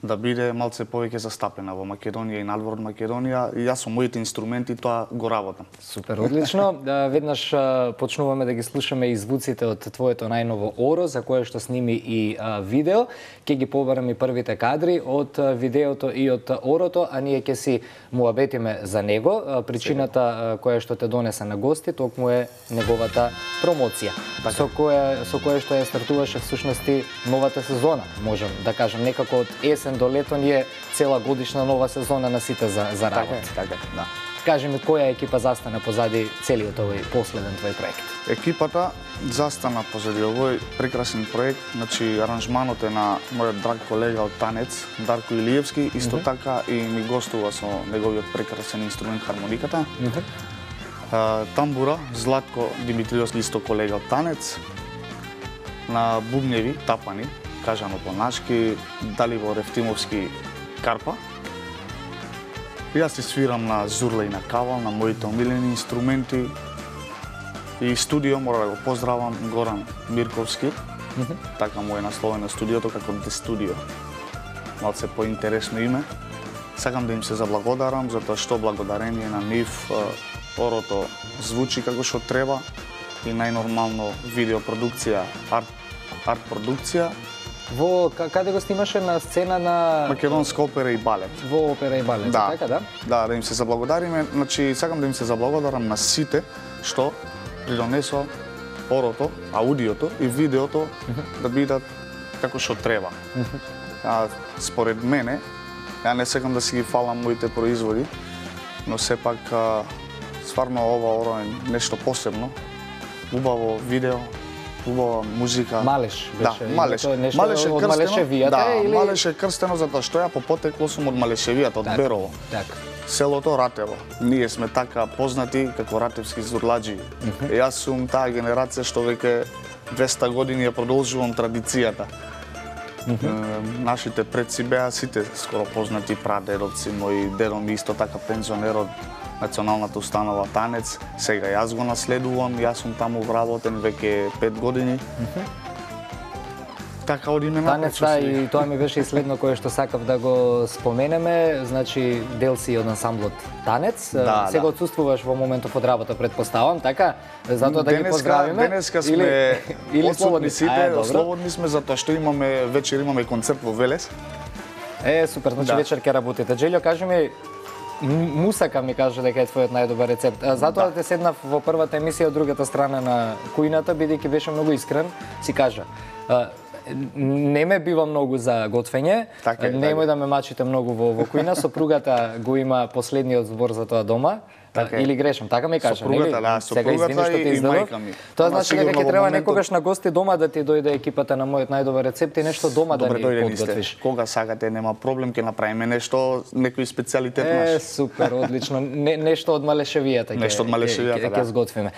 да биде малце повеќе застапена во Македонија и надвор од Македонија, и јас со моите инструменти тоа го работам. Супер, одлично. Веднаш почнуваме да ги слушаме и звуците од твоето најново Оро, за кое што сними и видео. Ќе ги побараме и првите кадри од видеото и од Орото, а ние ќе си муабетиме за него. Причината која што те донесе на гости токму е неговата промоција. Со кое што ја стартуваше всушност и новата сезона, можам да кажам, некако од есен до лето ни е цела годишна нова сезона на сите за работа. Така, да. Кажи ми, која екипа застана позади целиот овој последен твој проект? Екипата застана позади овој прекрасен проект, значи аранжманот е на мојот драг колега од танец, Дарко Илиевски, исто така и ми гостува со неговиот прекрасен инструмент хармониката. Тамбура, Златко Димитриовски, исто колега од танец. На бубневи, тапани, кажано по нашки, Далибор Евтимовски, карпа. Јас си свирам на зурла и на кавал, на моите омилени инструменти. И студио, мора да го поздравам, Горан Мирковски. Така му е насловено студиото како The Studio. Малце поинтересно име. Сакам да им се заблагодарам, затоа што благодарение на нив Орото звучи како што треба и најнормално видеопродукција, арт продукција. Каде го снимаше, на сцена на Македонска опера и балет. Во опера и балет, да, така да? Да им се заблагодариме, значи сакам да им се заблагодарам на сите што придонесоа Орото, аудиото и видеото да бидат како што треба. Според мене, ја не сакам да си ги фалам моите производи, но сепак стварно ова Оро е нешто посебно. Убаво видео, убава музика. Малеш беше. Да, Малеш. Малеш од Малешевијата, да, или Малеш е крстено затоа што ја по потекло сум од Малешевијата, од Берово. Така. Селото Ратево. Ние сме така познати како ратевски зурладжи. Јас сум таа генерација што веќе 200 години ја продолжувам традицијата. Нашите предци беа сите скоро познати, прадедовци мои, дедо ми исто така пензионер од Националната установа танец. Сега јас го наследувам, јас сум таму вработен веќе 5 години. Така одиме напред. Танец, и тоа ми беше и следно кое што сакав да го споменеме, значи дел си од ансамблот Танец. Сега отсуствуваш во моментов од работа, предпоставам, така? Затоа да ги поздравиме. Денеска сме отсутни сите, слободни сме затоа што имаме вечер имаме концерт во Велес. Супер, значи вечер ќе работите. Джелјо, кажи ми, мусака ми каже дека е твојот најдобар рецепт. Затоа да те седнав во првата емисија од другата страна на кујната, бидејќи беше многу искрен, си кажа. Не ме бива многу за готвење, немој да ме мачите многу во кујна, сопругата го има последниот збор за тоа дома. Или грешам, така ми кажа, нели? Сопругата и мајка ми. Тоа значи дека ќе треба некогаш на гости дома да ти дојде екипата на мојот најдобар рецепт и нешто дома да ни подготвиш. Кога сакате, нема проблем, ќе направиме нешто, некој специјалитет наш. Супер, одлично. Нешто од Малешевијата ќе сготвиме.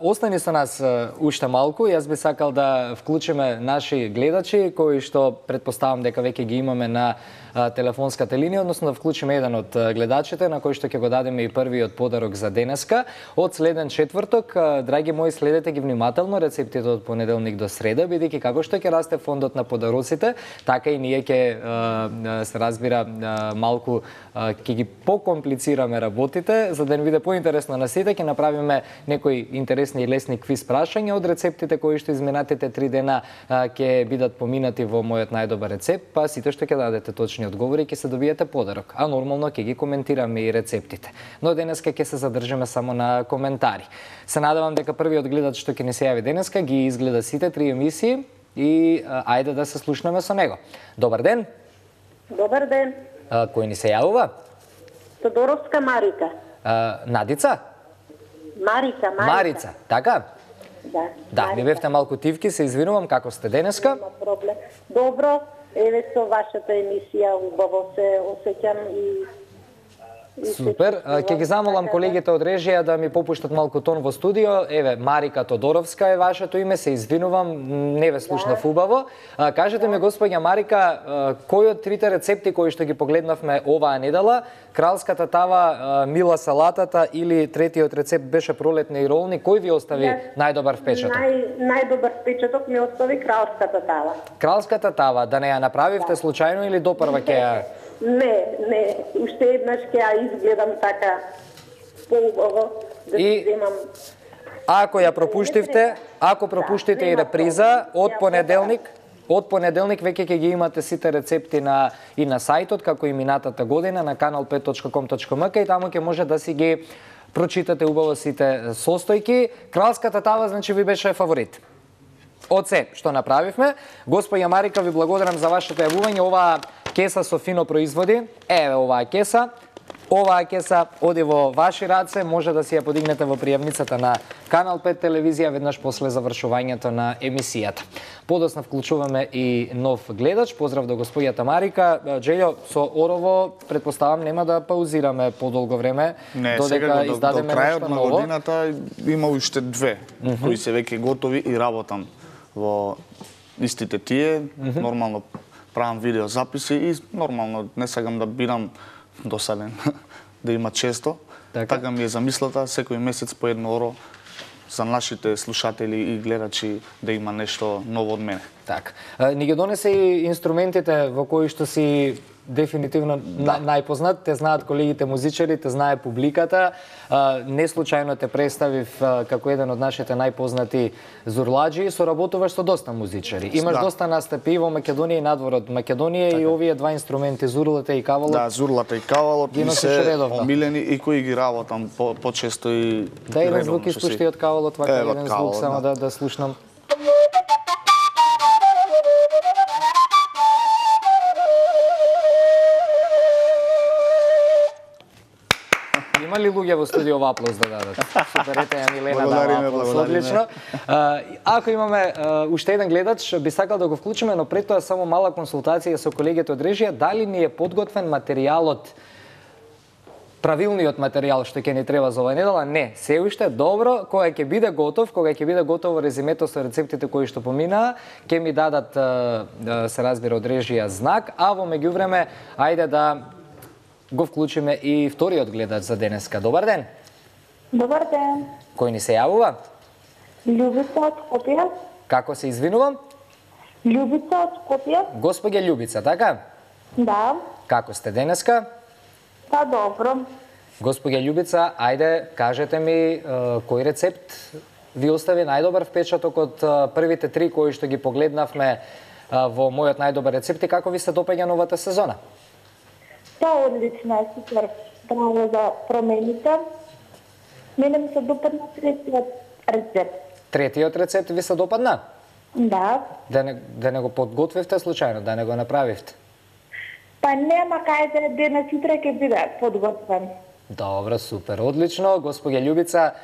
Остани со нас уште малку, јас би сакал да вклучиме наши гледачи кои што предпоставам дека веќе ги имаме на телефонската линија, односно да вклучиме еден од гледачите на кој што ќе го дадеме и првиот подарок за денеска. Од следен четврток, драги мои, следете ги внимателно рецептите од понеделник до среда, бидејќи како што ќе расте фондот на подароците, така и ние ќе се разбира малку ќе ги покомплицираме работите, за да не биде поинтересно на сите, ќе направиме некои интересни и лесни квиз прашања од рецептите кои што изминатите 3 дена ќе бидат поминати во мојот најдобар рецепт, па сите што ќе дадете точни одговори ќе се добиете подарок, а нормално ќе ги коментираме и рецептите. Но денеска ќе се задржиме само на коментари. Се надевам дека првиот гледач што ќе ни се јави денеска ги изгледа сите 3 емисии и ајде да се слушнеме со него. Добар ден. Добар ден. Кој ни се јавува? Тодоровска Марика. Надица? Марица. Марица, така? Да, ми бевте малку тивки, се извинувам, како сте денеска? Нема проблем. Добро, еве со вашата емисија убаво се осеќам и Супер. Ќе ги замолам колегите од режија да ми попуштат малку тон во студио. Еве, Марика Тодоровска е вашето име, се извинувам, не ве слушнав убаво. Кажете ми, господја Марика, кој од трите рецепти кои што ги погледнавме оваа недела, кралската тава, мила салатата или третиот рецепт беше пролетни ролни, кој ви остави најдобар впечаток? Најдобар впечаток ми остави кралската тава. Кралската тава, да не ја направивте случајно или допрва ќе ја... Не, уште еднаш ќе ја изгледам така поубаво да И земам. ако ја пропуштивте, ако пропуштите и реприза од понеделник веќе ќе ги имате сите рецепти и на сајтот, како и минатата година на kanal5.com.mk и таму ќе може да си ги прочитате убаво сите состојки. Кралската тава, значи, ви беше фаворит. Од се што направивме, господја Марика, ви благодарам за вашето јавување. Оваа кеса со фино производи, еве оваа кеса. Оваа кеса оди во ваши раце, може да си ја подигнете во пријавницата на Канал 5 телевизија веднаш после завршувањето на емисијата. Подоцна вклучуваме и нов гледач. Поздрав до господјата Марика. Джелјо, со Орово предпоставам нема да паузираме подолго време, додека издадеме до крајот нешто на ново. годината има уште две кои се веќе готови и работам во истите тие. Нормално правам видеозаписи и нормално не сакам да бидам досаден да има често. Така ми е замислата, секој месец по едно оро за нашите слушатели и гледачи да има нешто ново од мене. Така. Ни ги донесе и инструментите во кои што си дефинитивно најпознат, те знаат колегите музичари, те знае публиката. Не случајно те представив како еден од нашите најпознати зурладжи, соработуваш со доста музичари. Имаш доста настапи во Македонија и надвор од Македонија и овие два инструменти, зурлата и кавалот. Да, зурлата и кавалот ми се омилени и кои ги работам почесто и да, еден звук испушти од кавалот, вака еден звук само да слушнам. Има ли луѓе во студио во аплауз да дадат? Супер, ете ја Милена дава аплауз, одлично. Ако имаме уште еден гледач, би сакал да го вклучиме, но пред тоа само мала консултација со колегите од режија, дали ни е подготвен материјалот, правилниот материјал што ќе ни треба за оваа недела? Не, се уште добро, кога ќе биде готов, кога ќе биде готово резимето со рецептите кои што поминаа, ќе ми дадат, се разбира, од режија знак, а во меѓувреме, ајде да го вклучиме и вториот гледач за денеска. Добар ден. Добар ден. Кој ни се јавува? Љубица од Скопје. Како се извинувам? Љубица од Скопје. Господја Љубица, така? Да. Како сте денеска? Па добро. Господја Љубица, ајде, кажете ми кој рецепт ви остави најдобар впечаток од првите три кои што ги погледнавме во мојот најдобар рецепт и како ви се допаѓа новата сезона? Та одлична е, супер. Браво за промените. Мене ми се допадна третиот рецепт. Третиот рецепт ви се допадна? Да. Да не го подготвивте случајно, да не го направивте? Па нема кај да денес утре ќе биде подготвен. Добро, супер, одлично. Господја Љубица,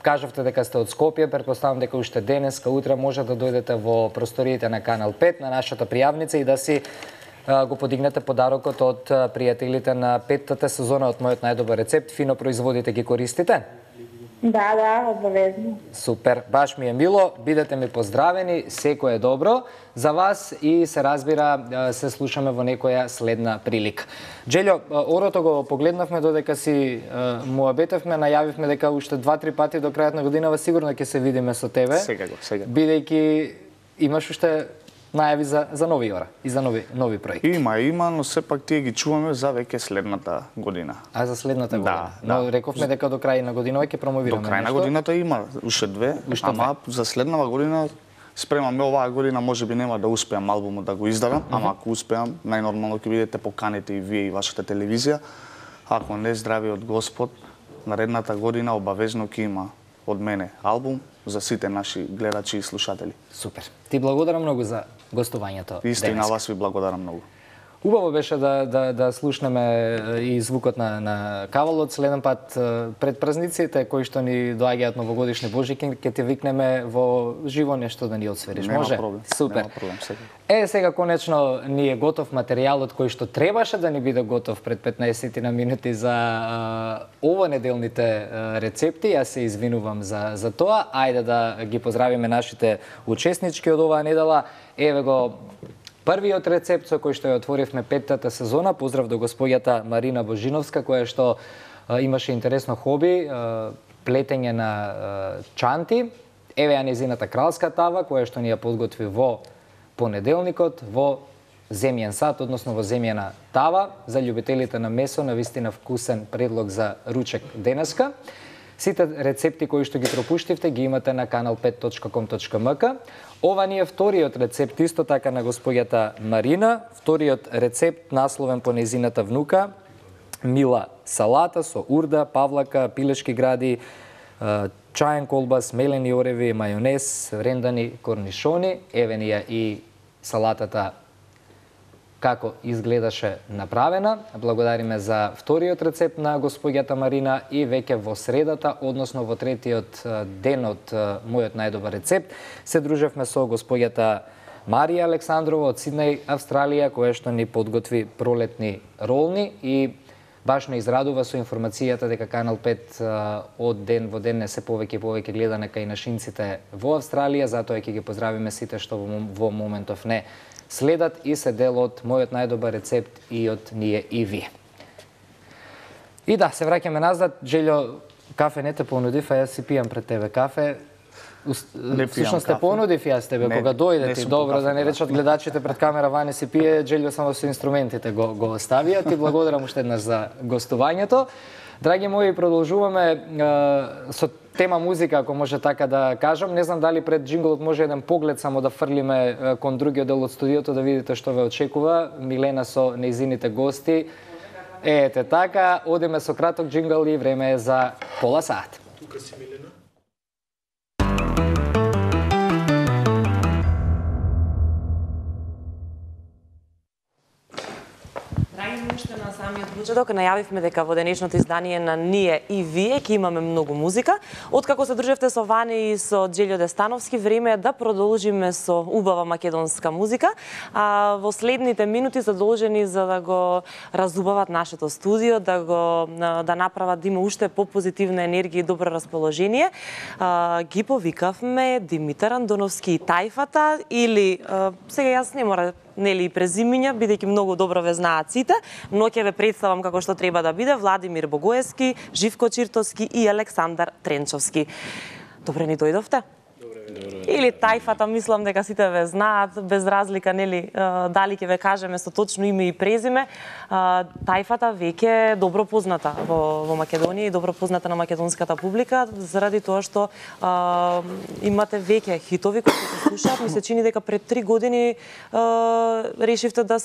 кажавте дека сте од Скопје, претпоставам дека уште денеска, утре може да дојдете во просториите на Канал 5, на нашата пријавница и да си го подигнете подарокот од пријателите на петтата сезона од мојот најдобар рецепт. Фино производите ги користите? Да, обавезно. Супер, баш ми е мило, бидете ми поздравени, секој е добро за вас и се разбира, се слушаме во некоја следна прилика. Джелјо, орото го погледнавме додека си муабетевме, најавивме дека уште 2-3 пати до крајот на годинава сигурно ќе се видиме со тебе. Секако. Бидејќи имаш уште најави за нови ора и за нови проекти. Има, но сепак тие ги чуваме за веќе следната година. А за следната година? Но рековме дека до крај на годинава ќе промовираме нешто. До крај на годината има уште две, ама за следнава година спремаме оваа година, можеби нема да успеам албумот да го издадам, ама ако успеам, најнормално ќе бидете поканите и вие и вашата телевизија. Ако не, здравиот Господ, наредната година обавезно ќе има од мене албум за сите наши гледачи и слушатели. Супер. Ти благодарам многу за гостувањето. Исто и на вас ви благодарам многу. Убаво беше да слушнеме и звукот на кавалот. Следен пат пред празниците кои што ни доаѓаат новогодишни божики, ќе те викнеме во живо нешто да ни отсвериш. Може? Нема проблем. Супер. Нема проблем сега. Сега конечно ни е готов материјалот кој што требаше да ни биде готов пред 15 на минути за овонеделните рецепти. Јас се извинувам за тоа. Ајде да ги поздравиме нашите учеснички од оваа недела. Еве го првиот рецепт со кој што ја отворивме 5-тата сезона. Поздрав до господјата Марина Божиновска, која што имаше интересно хоби, плетење на чанти. Еве ја незината кралска тава, која што ни ја подготви во понеделникот во земјен сад, односно во земјена тава. За љубителите на месо, навистина вкусен предлог за ручек денеска. Сите рецепти кои што ги пропуштивте ги имате на kanal5.com.mk. Ова ни е вториот рецепт, исто така на господјата Марина. Вториот рецепт насловен по незината внука. Мила салата со урда, павлака, пилешки гради, чаен колбас, мелени ореви, мајонез, рендани корнишони. Еве ни ја и салатата како изгледаше направена. Благодариме за вториот рецепт на господјата Марина и веќе во средата, односно во третиот ден од мојот најдобар рецепт, се дружевме со господјата Марија Александрова од Сиднеј, Австралија, која што ни подготви пролетни ролни и баш ме израдува со информацијата дека Канал 5 од ден во ден не се повеќе и повеќе гледане кај нашинците во Австралија, затоа ќе ги поздравиме сите што во моментов не следат и се дел од мојот најдобар рецепт и од ние и вие. И да, се враќаме назад. Желјо, кафе не те понудив, а јас си пијам пред тебе кафе. Всушност те понудив јас тебе кога дојде ти. Добро, да не речат гледачите пред камера Ване си пие, Желјо само со инструментите го оставија. Ти благодарам уште еднаш за гостувањето. Драги мои, продолжуваме со тема музика, ако може така да кажам. Не знам дали пред джинглот може еден поглед само да фрлиме кон другиот дел од студиото, да видите што ве очекува. Милена со нејзините гости. Ете така, одиме со краток джингл и време е за пола сат. Тука си, Милена. Уште на самиот почеток најавивме дека во денешното издание на Ние и Вие ќе имаме многу музика. Откако се дружевте со Ване и со Желјо Дестановски, време е да продолжиме со убава македонска музика. А во следните минути задолжени за да го разубават нашето студио, да направат да има уште попозитивна енергија и добро расположение, ги повикавме Димитар Андоновски и Тајфата, или сега јас не мора нели и презимиња, бидејќи многу добро ве знаат сите, но ќе ве представам како што треба да биде: Владимир Богоевски, Живко Чиртовски и Александар Тренчовски. Добре ни дојдовте? Или Тајфата, мислам дека сите ве знаат, без разлика, нели, дали ќе ве кажеме со точно име и презиме. Тајфата веќе е добро позната во Македонија и добро позната на македонската публика, заради тоа што имате веќе хитови кои се слушаат. Ми се чини дека пред 3 години решивте да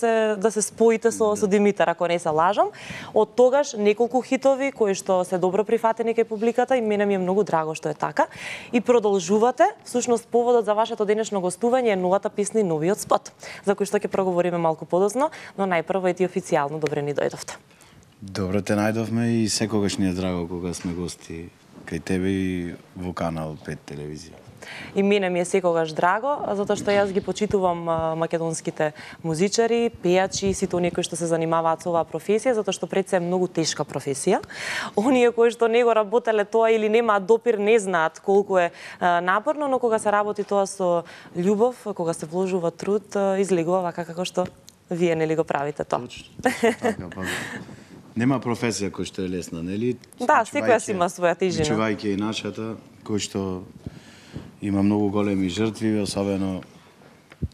се споите со Димитар, ако не се лажам. Од тогаш неколку хитови кои што се добро прифатени кај публиката и мене ми е многу драго што е така. И продолжувате. Всушност, поводот за вашето денешно гостување е новата песна и новиот спот, за кој што ќе проговориме малку подоцна, но најпрво е ти официјално добре ни дојдовте. Добро те најдовме и секогаш ни е драго кога сме гости кај тебе и во Канал 5 телевизија. И мене ми е секогаш драго, затоа што јас ги почитувам македонските музичари, пејачи и сите оние кои што се занимаваат со оваа професија, затоа што пред се е многу тешка професија. Оние кои што не го работеле тоа или немаат допир, не знаат колку е напорно, но кога се работи тоа со љубов, кога се вложува труд, излегува вака како што вие нели го правите тоа. Така, па. Нема професија која што е лесна, нели? Да, секоја си има своја тежина. Чувајќи и нашата, кој што има многу големи жртви, особено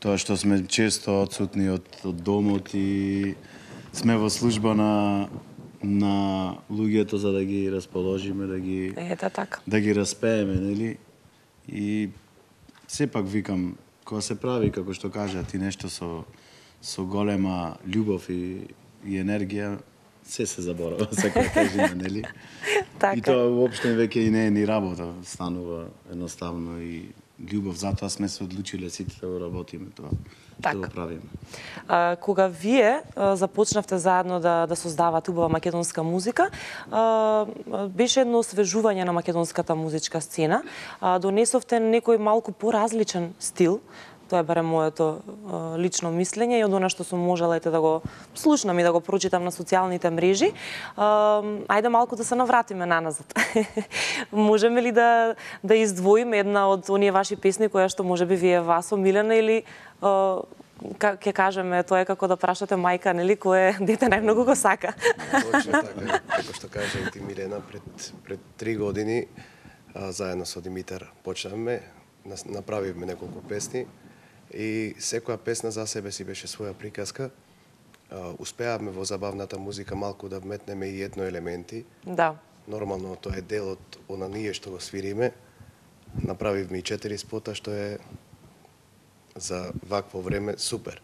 тоа што сме често отсутни од домот и сме во служба на луѓето за да ги расположиме, да ги распееме, нели? И сепак викам, кога се прави, како што кажат, и нешто со голема љубов и енергија, се заборава, секоја тежина, нели? И тоа уопште веќе и не е ни работа, станува едноставно и љубов, затоа сме се одлучиле сите да го работиме тоа. Да го правиме. Кога вие започнавте заедно да создавате убава македонска музика, беше едно освежување на македонската музичка сцена. Донесовте некој малку поразличен стил. Тоа е барем моето лично мислење и од она што сум можела да го слушнам и да го прочитам на социјалните мрежи. Ајде малку да се навратиме наназад. Можеме ли да издвоиме една од оние ваши песни која што можеби ви е вас омилена или ќе кажеме тоа е како да прашате мајка, нели, кое дете најмногу го сака? Точно така, како што кажа и ти Милена, пред 3 години заедно со Димитар почнавме, направивме неколку песни и секоја песна за себе си беше своја приказка. Успеавме во забавната музика малку да вметнеме и етно елементи. Да. Нормално тоа е дел од оние што го свириме. Направивме и 4 спота, што е за вакво време супер.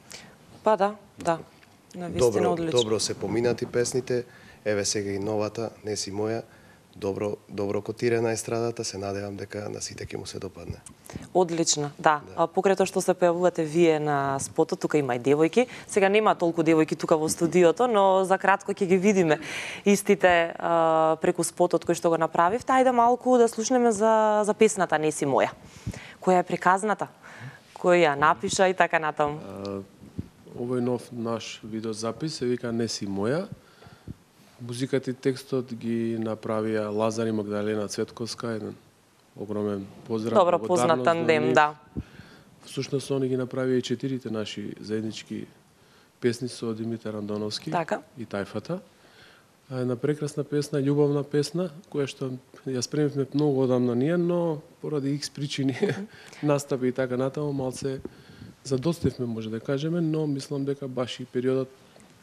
Па да. Навистина одлично. Добро се поминати песните, еве сега и новата, Не си моја, добро котирана естрадата, се надевам дека на сите ќе му се допадне. Одлично, да. Покрај тоа што се појавувате вие на спотот, тука има и девојки. Сега нема толку девојки тука во студиото, но за кратко ќе ги видиме истите преку спотот кој што го направивте. Ајде малку да слушнеме за песната Не си моја. Која е приказната? Кој ја напиша и така натаму? Овој нов наш видеозапис се вика Не си моја. Музиката и текстот ги направија Лазар и Магдалена Цветковска, еден огромен поздрав. Добро познат тандем, да. Всушност, они ги направија и 4 наши заеднички песни со Димитар Андоновски и Тајфата. Една прекрасна песна, љубовна песна, која што ја спремивме многу одамна ние, но поради X причини, настапи и така натаму, малце задостивме, може да кажеме, но мислам дека баш и периодот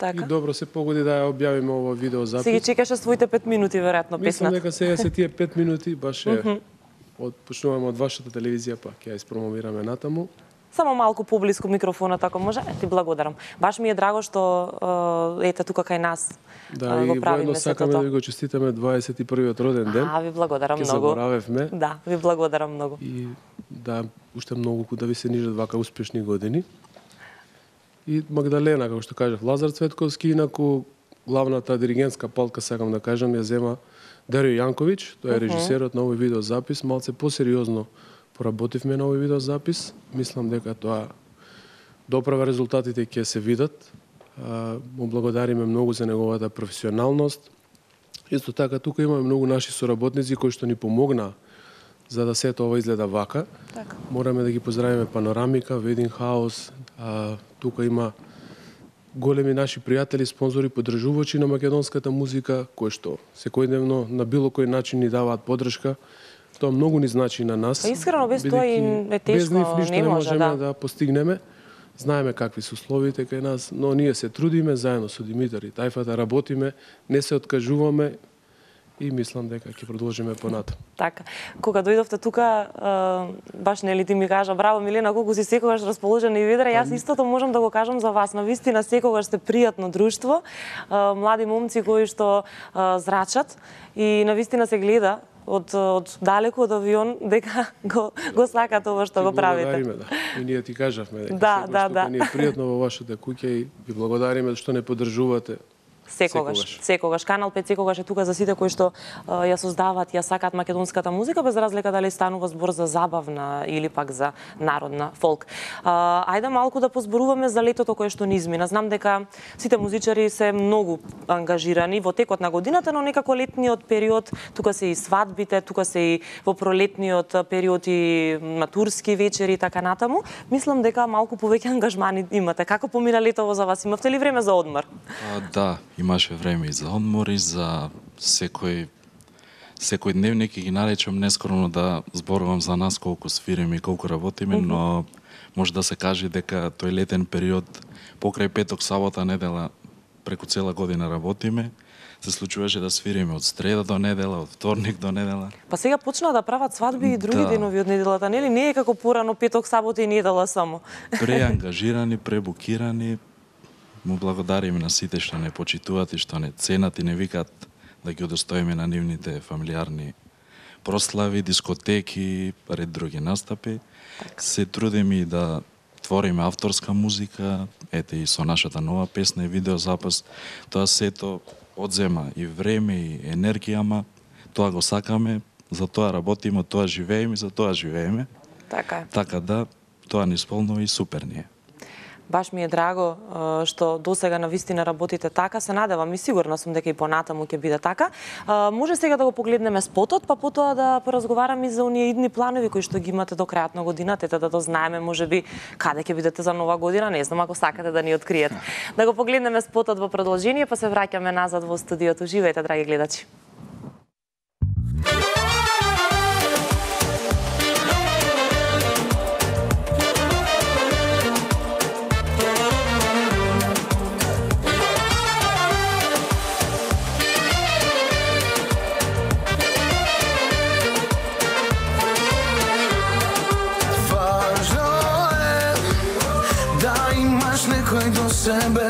и добро се погоди да ја објавиме ова видеозапис. Си ги чекаше своите 5 минути, веројатно, песната. Мислам дека сега се тие 5 минути, баш почнуваме од вашата телевизија, па ќе ја испромовираме натаму. Само малку поблиску микрофонот, ако може. Ти благодарам. Баш ми е драго што ете тука кај нас го правиме сето тоа. Да, и воедно сакаме да ви го честитаме 21-тиот роден ден. Ви благодарам многу. Ке заборавевме. Да, ви благодарам многу. И да, уште многу да ви се нижат вака успешни години. И Магдалена, како што кажав, Лазар Цветковски, инаку главната диригентска палтка, сакам да кажам, ја зема Дарио Јанковиќ, тој е режисерот на овој видеозапис, малце посериозно поработивме на овој видеозапис. Мислам дека тоа доправа резултатите ќе се видат. Му благодариме многу за неговата професионалност. Исто така, тука имаме многу наши соработници кои што ни помогнаа за да сето ова изгледа вака. Мораме да ги поздравиме Панорамика, Wedding House, тука има големи наши пријатели, спонзори, поддржувачи на македонската музика, кои што секојдневно на било кој начин ни даваат поддршка. Тоа многу ни значи на нас. Искрено, без тоа и е тешко, без нив ништо не не може можеме да постигнеме. Знаеме какви се условите кај нас, но ние се трудиме заедно со Димитар и Тајфата, работиме, не се откажуваме и мислам дека ќе продолжиме понатаму. Така. Кога дојдовте тука, баш нели ти ми кажа, браво Милена, колку си секогаш расположена и ведра, јас истото можам да го кажам за вас. Навистина секогаш сте пријатно друштво, млади момци кои што зрачат и навистина се гледа од далеку од авион дека го сакат ова што го правите. Да. И ние ти кажавме дека да. Ни е пријатно во вашата куќа и ви благодариме што не поддржувате. Секогаш. Канал 5 секогаш е тука за сите кои што ја создаваат, ја сакаат македонската музика, без разлика дали станува збор за забавна или пак за народна фолк. Ајде малку да позборуваме за летото кое што ни измина. Знам дека сите музичари се многу ангажирани во текот на годината, но некако летниот период, тука се и свадбите, тука се и во пролетниот период и матурски вечери и така натаму. Мислам дека малку повеќе ангажмани имате. Како помина летово за вас? Имавте ли време за одмор? Да, имаше време и за одмор и за секој дневник и ги наречам нескромно да зборувам за нас колку свириме и колку работиме, но може да се каже дека тој летен период покрај петок, сабота, недела преку цела година работиме. Се случуваше да свириме од среда до недела, од вторник до недела. Па сега почнаа да прават свадби и други денови од неделата, нели? Не е како порано петок, сабота и недела само. Преангажирани, пребукирани. Му благодариме на сите што не почитуваат и што не ценат и не викаат да ги удостоиме на нивните фамилиарни прослави, дискотеки, ред други настапи. Се трудиме и да твориме авторска музика, ете и со нашата нова песна и видеозапис. Тоа сето одзема и време и енергија, ама тоа го сакаме, за тоа работиме, тоа живееме, за тоа живееме. Така е. Така да, тоа ни исполнува и супер ние. Баш ми е драго што досега навистина работите така, се надевам и сигурна сум дека и понатаму ќе биде така. Може сега да го погледнеме спотот, па потоа да поразговараме и за оние идни планови кои што ги имате до крајот на годината, да дознаеме можеби каде ќе бидете за нова година, не знам ако сакате да ни откриете. Да го погледнеме спотот во продолжение, па се враќаме назад во студиото. Живеете, драги гледачи. Себе,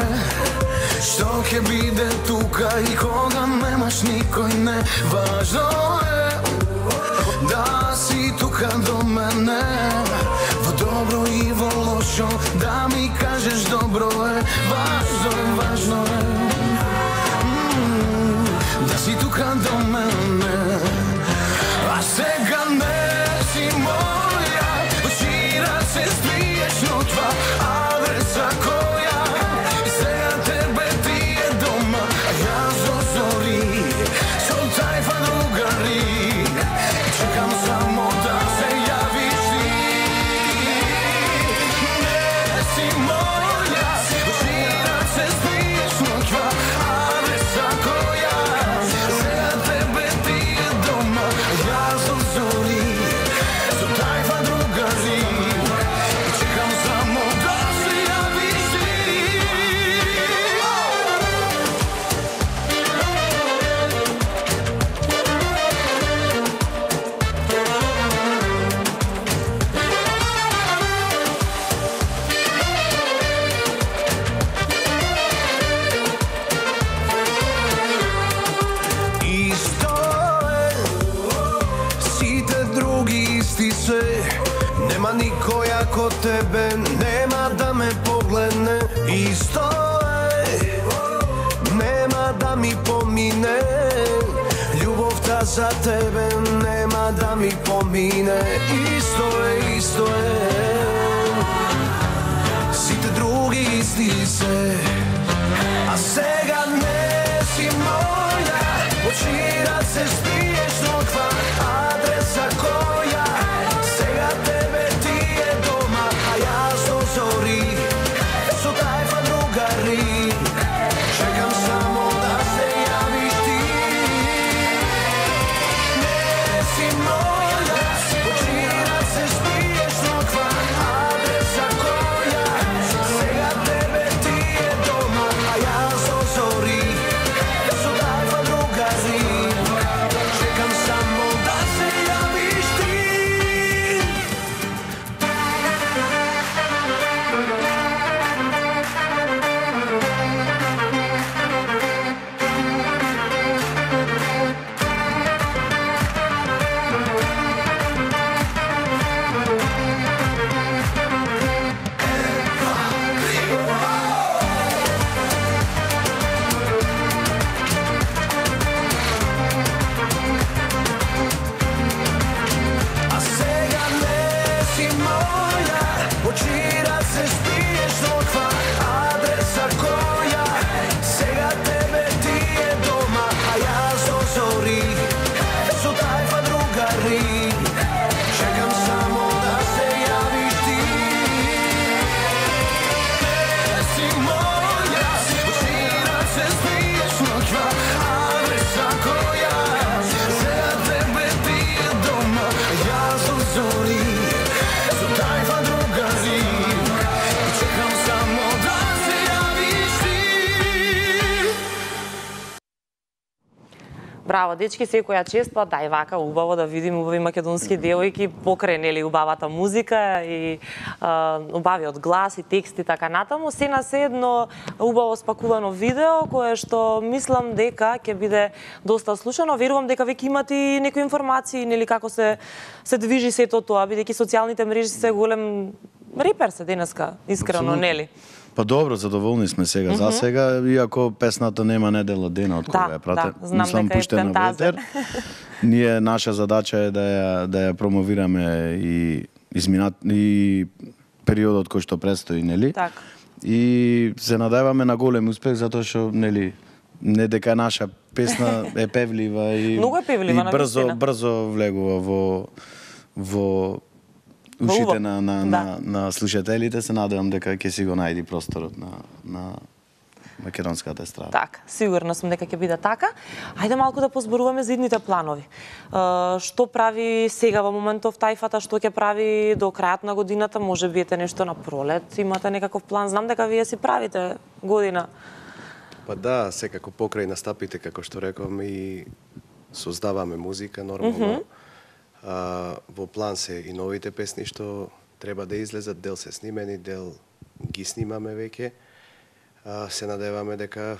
што ќе биде тука и кога немаш никој, не важно е да си тука до мене, во добро и во лошо, да ми кажеш добро е, важно е да си тука до мене, а сега не си моја, вчера се спиеш, но това адреса која. Нема никој ако тебе, нема да ме погледне, исто е, нема да ми помине, љубовта за тебе нема да ми помине, исто е, сите други исти се, а сега не си моја, вчера се спиеш, но ква адреса која, сега тебе ти е дома, а јас до зори, со тајфа другари, чекам само да се јавиш ти. Не си моја, вчера се спиеш, но ква адреса која, сега тебе ти е дома, а јас до зори. Браво, дечки, секоја чест, па дај вака убаво да видим убави македонски девојки покрај нели убавата музика и убавиот глас и текст и така натаму. Се на се едно убаво спакувано видео кое што мислам дека ќе биде доста слушано. Верувам дека веќе имате и некои информации нели како се движи сето тоа, бидејќи социјалните мрежи се голем репер се денеска, искрено, нели? Па добро, задоволни сме сега за сега, иако песната нема недела дена од кога ја прате. Да, знам дека е пуштена во етер. Ние наша задача е да ја промовираме и периодот кој што предстои, нели? Така. И се надеваме на голем успех затоа што нели не дека наша песна е певлива и многу е певлива, и брзо влегува во ушите на слушателите, се надевам дека ќе си го најди просторот на македонската естрада. Така, сигурна сум дека ќе биде така. Ајде малку да позборуваме за идните планови. Што прави сега во моментов тајфата, што ќе прави до крајот на годината, може би ете нешто на пролет, имате некаков план, знам дека вие си правите година. Па да, секако покрај настапите, како што реков, и создаваме музика нормално. Во план се и новите песни што треба да излезат, дел се снимени, дел ги снимаме веќе. Се надеваме дека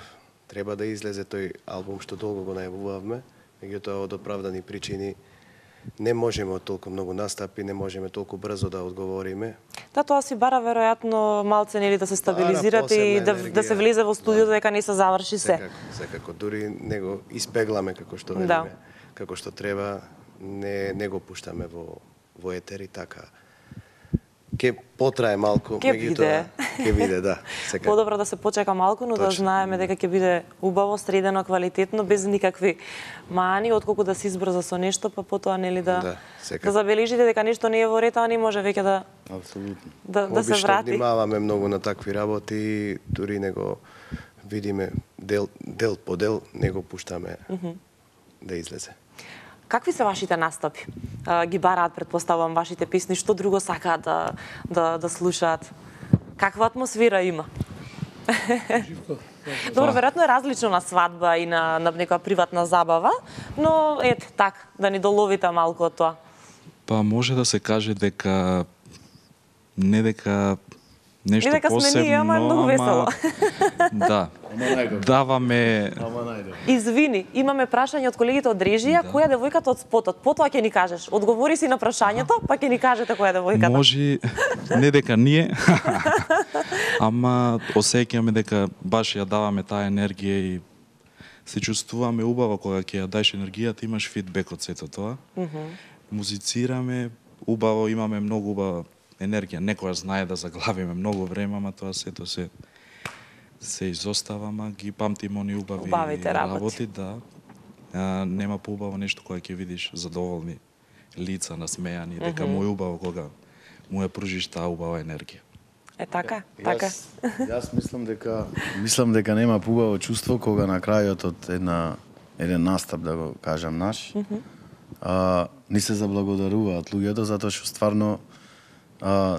треба да излезе тој албум што долго го најавувавме, меѓутоа од оправдани причини не можеме од толку многу настапи, не можеме толку брзо да одговориме. Да, тоа си бара веројатно малце нели да се стабилизирате и да се влезе во студиото дека не се заврши се. Секако, дури не го испегламе како што велиме, како што треба, не го пуштаме во етер и така. Ке потрае малку, меѓутоа ќе биде, да. Подобро да се почека малку, но да знаеме дека ќе биде убаво, средено, квалитетно, без никакви мани, отколку да се избрза со нешто, па потоа нели да забележите дека нешто не е во ред, а не може веќе да се врати. Обично внимаваме многу на такви работи, дури не го видиме дел по дел, не го пуштаме да излезе. Какви се вашите настапи? Ги бараат, предпоставувам, вашите песни, што друго сакаат да слушаат? Каква атмосфера има? Добро, веројатно е различно на свадба и на некоја приватна забава, но ете, така, да ни доловите малку од тоа. Па може да се каже дека не дека нешто не дека посебно, сме ние, ама многу весело. Да. Даваме... Извини, имаме прашање од колегите од режија, која е девојката од спотот? Потоа ќе ни кажеш. Одговори си на прашањето, па ќе ни кажете која е девојката. Може, не дека ние, ама осеќаме дека баш ја даваме таа енергија и се чувствуваме убаво кога ќе ја даеш енергијата, имаш фидбек од сето тоа. Музицираме, убаво, имаме многу убава енергија. Некоја знае да заглавиме многу време, ама тоа сето се изостава, ама ги памтиме они убави работи, да. Нема поубаво нешто кога ќе видиш задоволни лица, насмејани, дека му е убаво кога му ја пружиш таа убава енергија. Е така, така. Јас мислам дека нема поубаво чувство кога на крајот од еден настап, да го кажам наш, ни се заблагодаруваат луѓето затоа што стварно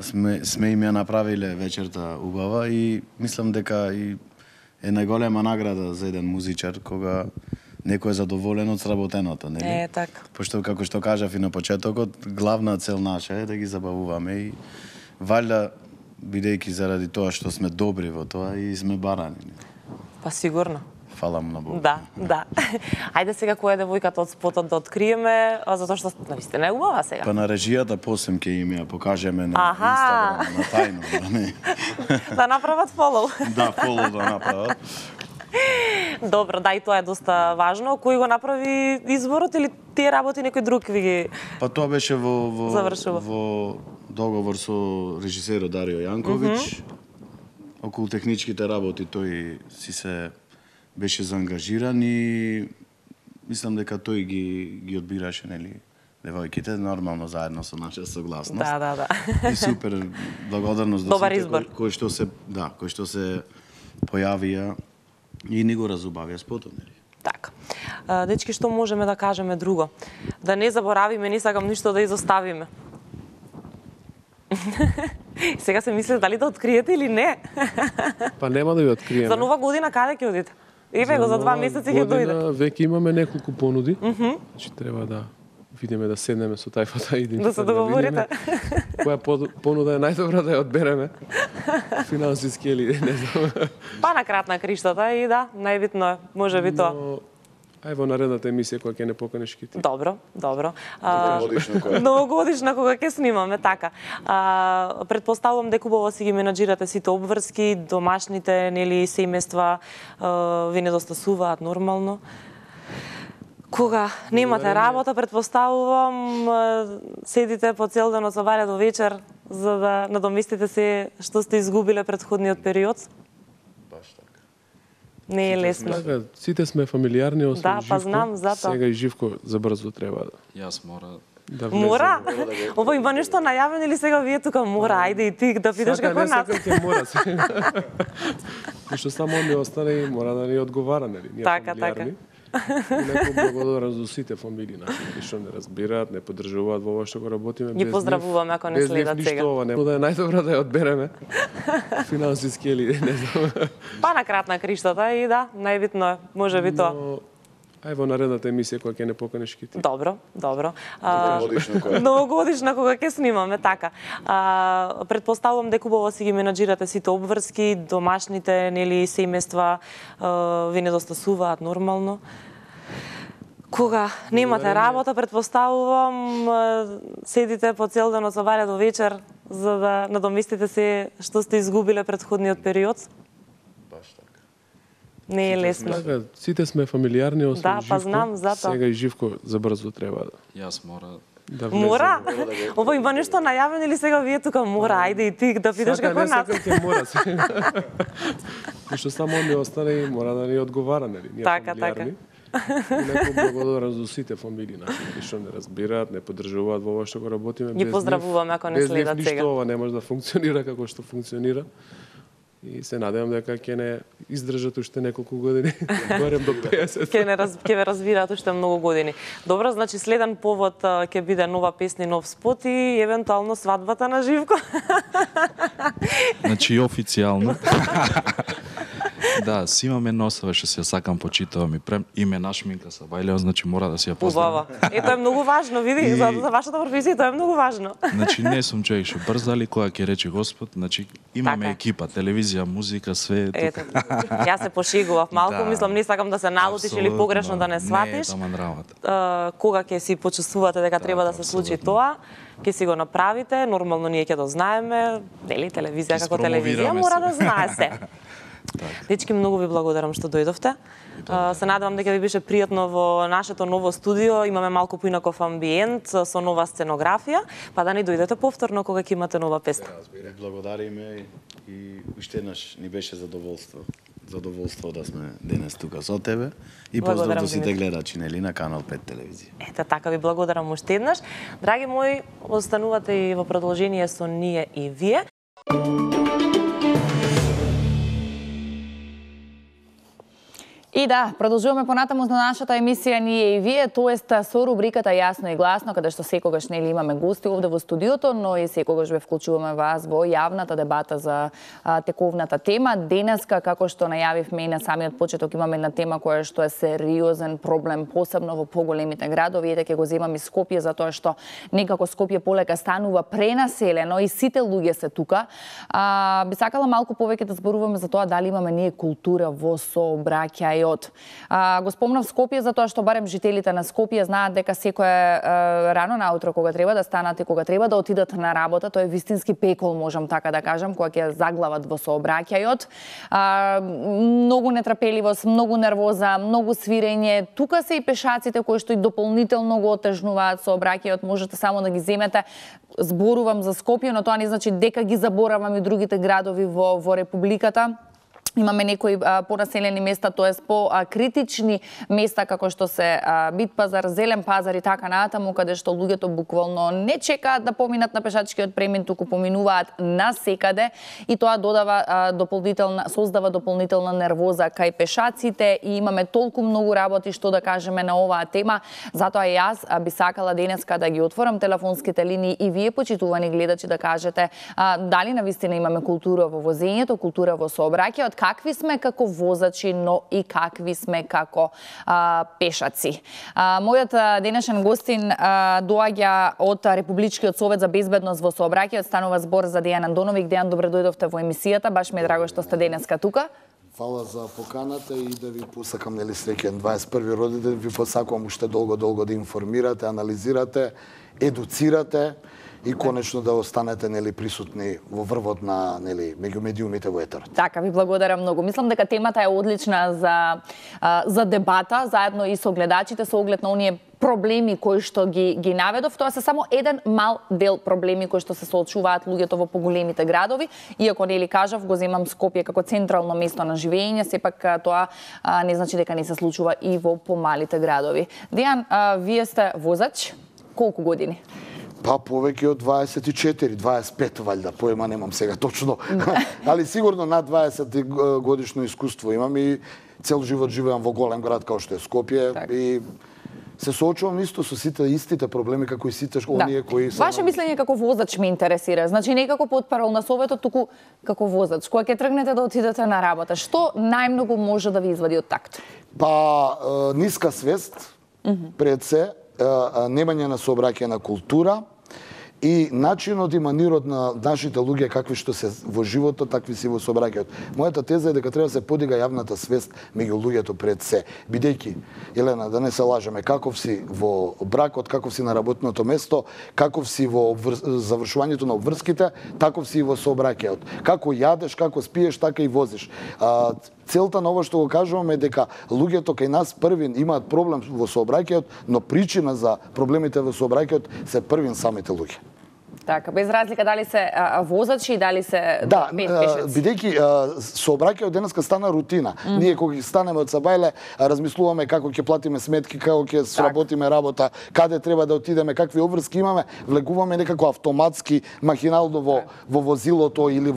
сме им ја направиле вечерта убава и мислам дека и е најголема награда за еден музичар кога некој е задоволен од сработеното, нели? Така. Пошто како што кажав и на почетокот, главна цел наша е да ги забавуваме и валјда бидејќи заради тоа што сме добри во тоа и сме барани. Па сигурно. Фала на Бог. Да. Ајде сега која е девојката од спотот да откриеме, затоа што навистина е убава сега. Па на режијата посем ќе им ја покажеме на Инстаграм, на тајно, да не. Да направат фолоу. Да, фолоу да направат. Добро, да, и тоа е доста важно. Кој го направи изборот или тие работи некој друг ви ги Па тоа беше завршува во договор со режисерот Дарио Јанковиќ. Околу техничките работи тој си се беше заангажиран и мислам дека тој ги одбираше, нели, девојките, нормално заедно со наша согласност. Да. И супер, благодарност до сите кои што се појавија и ни го разубавија спотот, нели. Така. Дечки, што можеме да кажеме друго? Да не заборавиме, не сакам ништо да изоставиме. Сега се мислите дали да откриете или не. Па нема да ви откриеме. За нова година каде ќе одите? Еве го за 2 месеци ќе дојде. Веќе имаме неколку понуди. Значи треба да видиме да седнеме со тајфата и да се договорите. Која понуда е најдобра да ја одбереме? Финансиски или не знам. Па на крат на криштата и да, најбитно е, може би тоа. Ај во наредната емисија која ќе не поканеш ки ти. Добро. Новогодишна Новогодишна кога ќе снимаме, така. Предпоставувам дека убаво си ги менаџирате сите обврски, домашните, нели, семејства, ви недостасуваат нормално. Кога немате работа, предпоставувам, седите по цел ден од собаре до вечер за да надоместите се што сте изгубиле претходниот период? Не е лесно. Сите сме фамилиарни, освен да, Живко. Па знам, затоа. Сега и Живко забрзо треба да... Јас мора... Мора? Ова има нешто најавено или сега вие тука мора? Ајде и ти да питаш како нас. Сака, не сакам ќе мора. Што само ми остане и мора да ни одговара, нели? Ние фамилиарни. И некој благодарам за сите фамилии наши, што не разбираат, не поддржуваат во ова што го работиме. Ги поздравуваме ако не следат сега. Без ништо ова, да е најдобра да ја одбереме. Финансиски или не знам. Па на крат на криштата и да, најбитно е, може би тоа. Ај во наредната емисија која ќе не поканеш ки ти. Добро. Новогодишна кога ќе снимаме, така. Предпоставувам дека убаво си ги менаџирате сите обврски, домашните, нели, семејства, ви недостасуваат нормално. Кога немате работа, предпоставувам, седите по цел ден од собаре до вечер за да надоместите се што сте изгубиле претходниот период? Не е лесно. Сите сме фамилиарни, освен да, Живко. Па знам, затоа. Сега и Живко забрзо треба да... Јас мора... Мора? Ова има нешто најавено или сега вие тука мора? Ајде и ти да питаш како нас. Сака, не сакам ќе мора. Што само ми остане и мора да ни одговара, нели? Ние фамилиарни. И некој благодарам за сите фамилии наши, што не разбираат, не поддржуваат во ова што го работиме. Ги поздравуваме ако не следат сега. Без ништо ова не може да функционира како што функционира. И се надевам дека ќе не издржат уште неколку години, барем до 50. Ќе ве разбираат уште многу години. Добро, значи следен повод ќе биде нова песна и нов спот и евентуално свадбата на Живко. Значи официјално. Да, си имаме носове што се сакам почитувам и прем име на шминка са бајлео, значи мора да си ја поставам. Убаво. Тоа е многу важно, види, за вашата професија тоа е многу важно. Значи не сум човек што брза, али кога ќе рече Господ, значи имаме екипа, телевизија, музика, све е тука. Јас се пошегував малку, да. Мислам не сакам да се налутиш или погрешно да не сватиш. Не, таман работа. Кога ќе си почувствувате дека треба да се случи тоа, ќе си го направите, нормално ние ќе дознаеме, нели, телевизија како телевизија мора да знае се. Дечки, многу ви благодарам што дојдовте. Се надевам дека ви беше пријатно во нашето ново студио. Имаме малку поинаков амбиент со нова сценографија, па да ни дојдете повторно кога ќе имате нова песна. Благодариме и уште еднаш ни беше задоволство да сме денес тука со тебе и поздрав до сите гледачи, нели, на Канал 5 телевизија. Ете, така ви благодарам уште еднаш. Драги мои, останувате и во продолжение со ние и вие. И да, продолжуваме понатаму на нашата емисија ние и вие, тоест со рубриката Јасно и гласно, каде што секогаш нели имаме гости овде во студиото, но и секогаш ве вклучуваме вас во јавната дебата за тековната тема. Денеска, како што најавивме и на самиот почеток, имаме една тема која што е сериозен проблем, посебно во поголемите градови. Ете ќе го земам и Скопје, затоа што некако Скопје полека станува пренаселено и сите луѓе се тука. Би сакала малку повеќе да зборуваме за тоа дали имаме ние култура во сообраќај. Го спомнав Скопје затоа што барем жителите на Скопје знаат дека секое рано наутро кога треба да станат и кога треба да отидат на работа, тоа е вистински пекол, можам така да кажам, кога ќе заглават во сообраќајот. Многу нетрпеливост, многу нервоза, многу свирење. Тука се и пешаците кои што и дополнително го отежнуваат сообраќајот, можете само да ги земете. Зборувам за Скопје, но тоа не значи дека ги заборавам и другите градови во републиката. Имаме некои понаселени места, тоест по-критични места, како што се Бит пазар, Зелен пазар и така натаму, каде што луѓето буквално не чекаат да поминат на пешачкиот премин, туку поминуваат насекаде и тоа создава дополнителна нервоза кај пешаците и имаме толку многу работи што да кажеме на оваа тема. Затоа јас би сакала денеска да ги отворам телефонските линии и вие, почитувани гледачи, да кажете дали навистина имаме култура во возењето, култура во сообраќајот, какви сме како возачи, но и какви сме како пешаци. Мојот денешен гостин доаѓа од Републичкиот совет за безбедност во сообраќајот, станува збор за Дејан Андоновиќ. Дејан, добре дојдовте во емисијата, баш ми е драго што сте денеска тука. Фала за поканата и да ви посакам среќен 21 родиден, ви посакувам уште долго да информирате, анализирате, едуцирате и конечно да останете присутни во врвот на меѓу медиумите во етерот. Така, ви благодарам многу. Мислам дека темата е одлична за дебата, заедно и со гледачите, со оглед на оние проблеми кои што ги наведов. Тоа се само еден мал дел проблеми кои што се соочуваат луѓето во поголемите градови. Иако кажав, го земам Скопје како централно место на живење, сепак тоа не значи дека не се случува и во помалите градови. Дејан, вие сте возач, колку години? Па повеќе од 24, 25 валјда, поема немам сега точно. Али сигурно над 20 годишно искуство имам и цел живот живеам во голем град као што е Скопје и се соочувам исто со сите истите проблеми како и сите оние кои се. Ваше мислење како возач ме интересира. Значи не како потпарол на советот, туку како возач. Кога ќе тргнете да отидете на работа, што најмногу може да ви извади од такт? Па ниска свест пред се, немање на сообраќајна култура и начинот и манирот на нашите луѓе какви што се во животот, такви си во сообраќајот. Мојата теза е дека треба да се подига јавната свест меѓу луѓето пред се, бидејќи, Елена, да не се лажеме, каков си во бракот, каков си на работното место, каков си во завршувањето на обврските, таков си и во сообраќајот. Како јадеш, како спиеш, така и возиш. Целта на ова што го кажуваме е дека луѓето кај нас првин имаат проблем во сообраќајот, но причина за проблемите во сообраќајот се првин самите луѓе. Така, без разлика дали се возачи, дали се пешаци. Бидејќи сообраќајот денеска стана рутина. Ние кога ги станеме од Сабајле, размислуваме како ќе платиме сметки, како ќе сработиме работа, каде треба да отидеме, какви обврски имаме, влегуваме некако автоматски, махинално во возилото или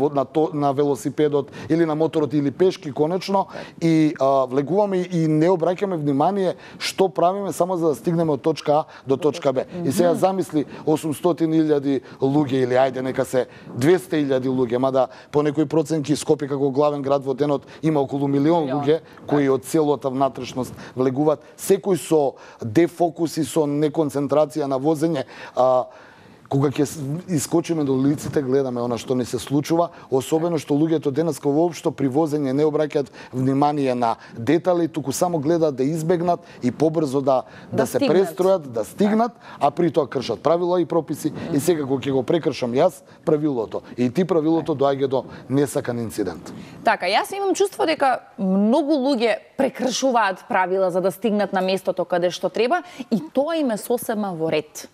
на велосипедот или на моторот или пешки конечно и влегуваме и не обраќаме внимание што правиме само за да стигнеме од точка А до точка Б. И сега замисли 800.000 луѓе или ајде нека се 200.000 луѓе, мада по некои проценки Скопје како главен град во денот има околу милион луѓе кои од целата внатрешност влегуваат, секој со дефокус и со неконцентрација на возење. Кога ќе искочиме до улиците, гледаме она што не се случува, особено што луѓето денеска воопшто при возење не обраќаат внимание на детали, туку само гледаат да избегнат и побрзо да се престројат, да стигнат, а при тоа кршат правила и прописи и сега кога ќе го прекршам јас правилото и ти правилото доаѓа до несакан инцидент. Така, јас имам чувство дека многу луѓе прекршуваат правила за да стигнат на местото каде што треба и тоа им е сосема во ред.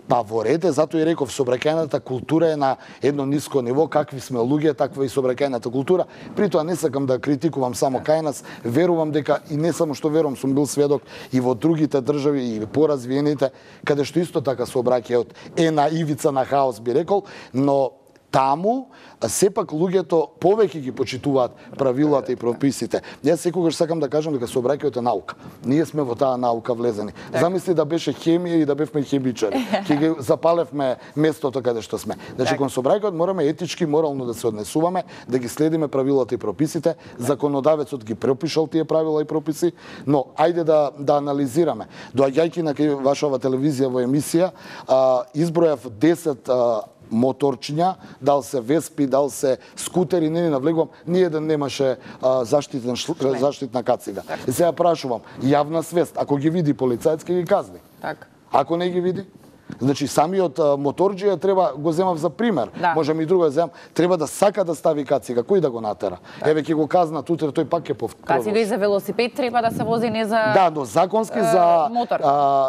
Па во ред е, затоа и реков, сообраќајната култура е на едно ниско ниво, какви сме луѓе, таква и сообраќајната култура. При тоа не сакам да критикувам само кај нас, верувам дека и не само што верувам, сум бил сведок и во другите држави и поразвиените, каде што исто така сообраќајот е на ивица на хаос, би рекол, но таму сепак луѓето повеќе ги почитуваат правилата и прописите. Јас секогаш сакам да кажам дека сообраќајот е наука. Ние сме во таа наука влезени. Замисли да беше хемија и да бевме хемичари. Ќе ги запалевме местото каде што сме. Значи кон сообраќајот мораме етички, морално да се однесуваме, да ги следиме правилата и прописите. Законодавецот ги пропишал тие правила и прописи, но ајде да анализираме. Доаѓајќи на кај вашава телевизија во емисија, избројав 10 моторчиња, дал се веспи, дал се скутери, не навлегувам, ниеден немаше заштитна кацига. И сега прашувам, јавна свест, ако ги види полицајец, ќе ги казни. Ако не ги види? Значи, самиот моторџија треба, го земав за пример, можем и друго да земам, треба да сака да стави кацига, кој да го натера? Еве ќе го казна утре, тој пак ќе продолжи. Кацига и за велосипед треба да се вози, не за Да, но законски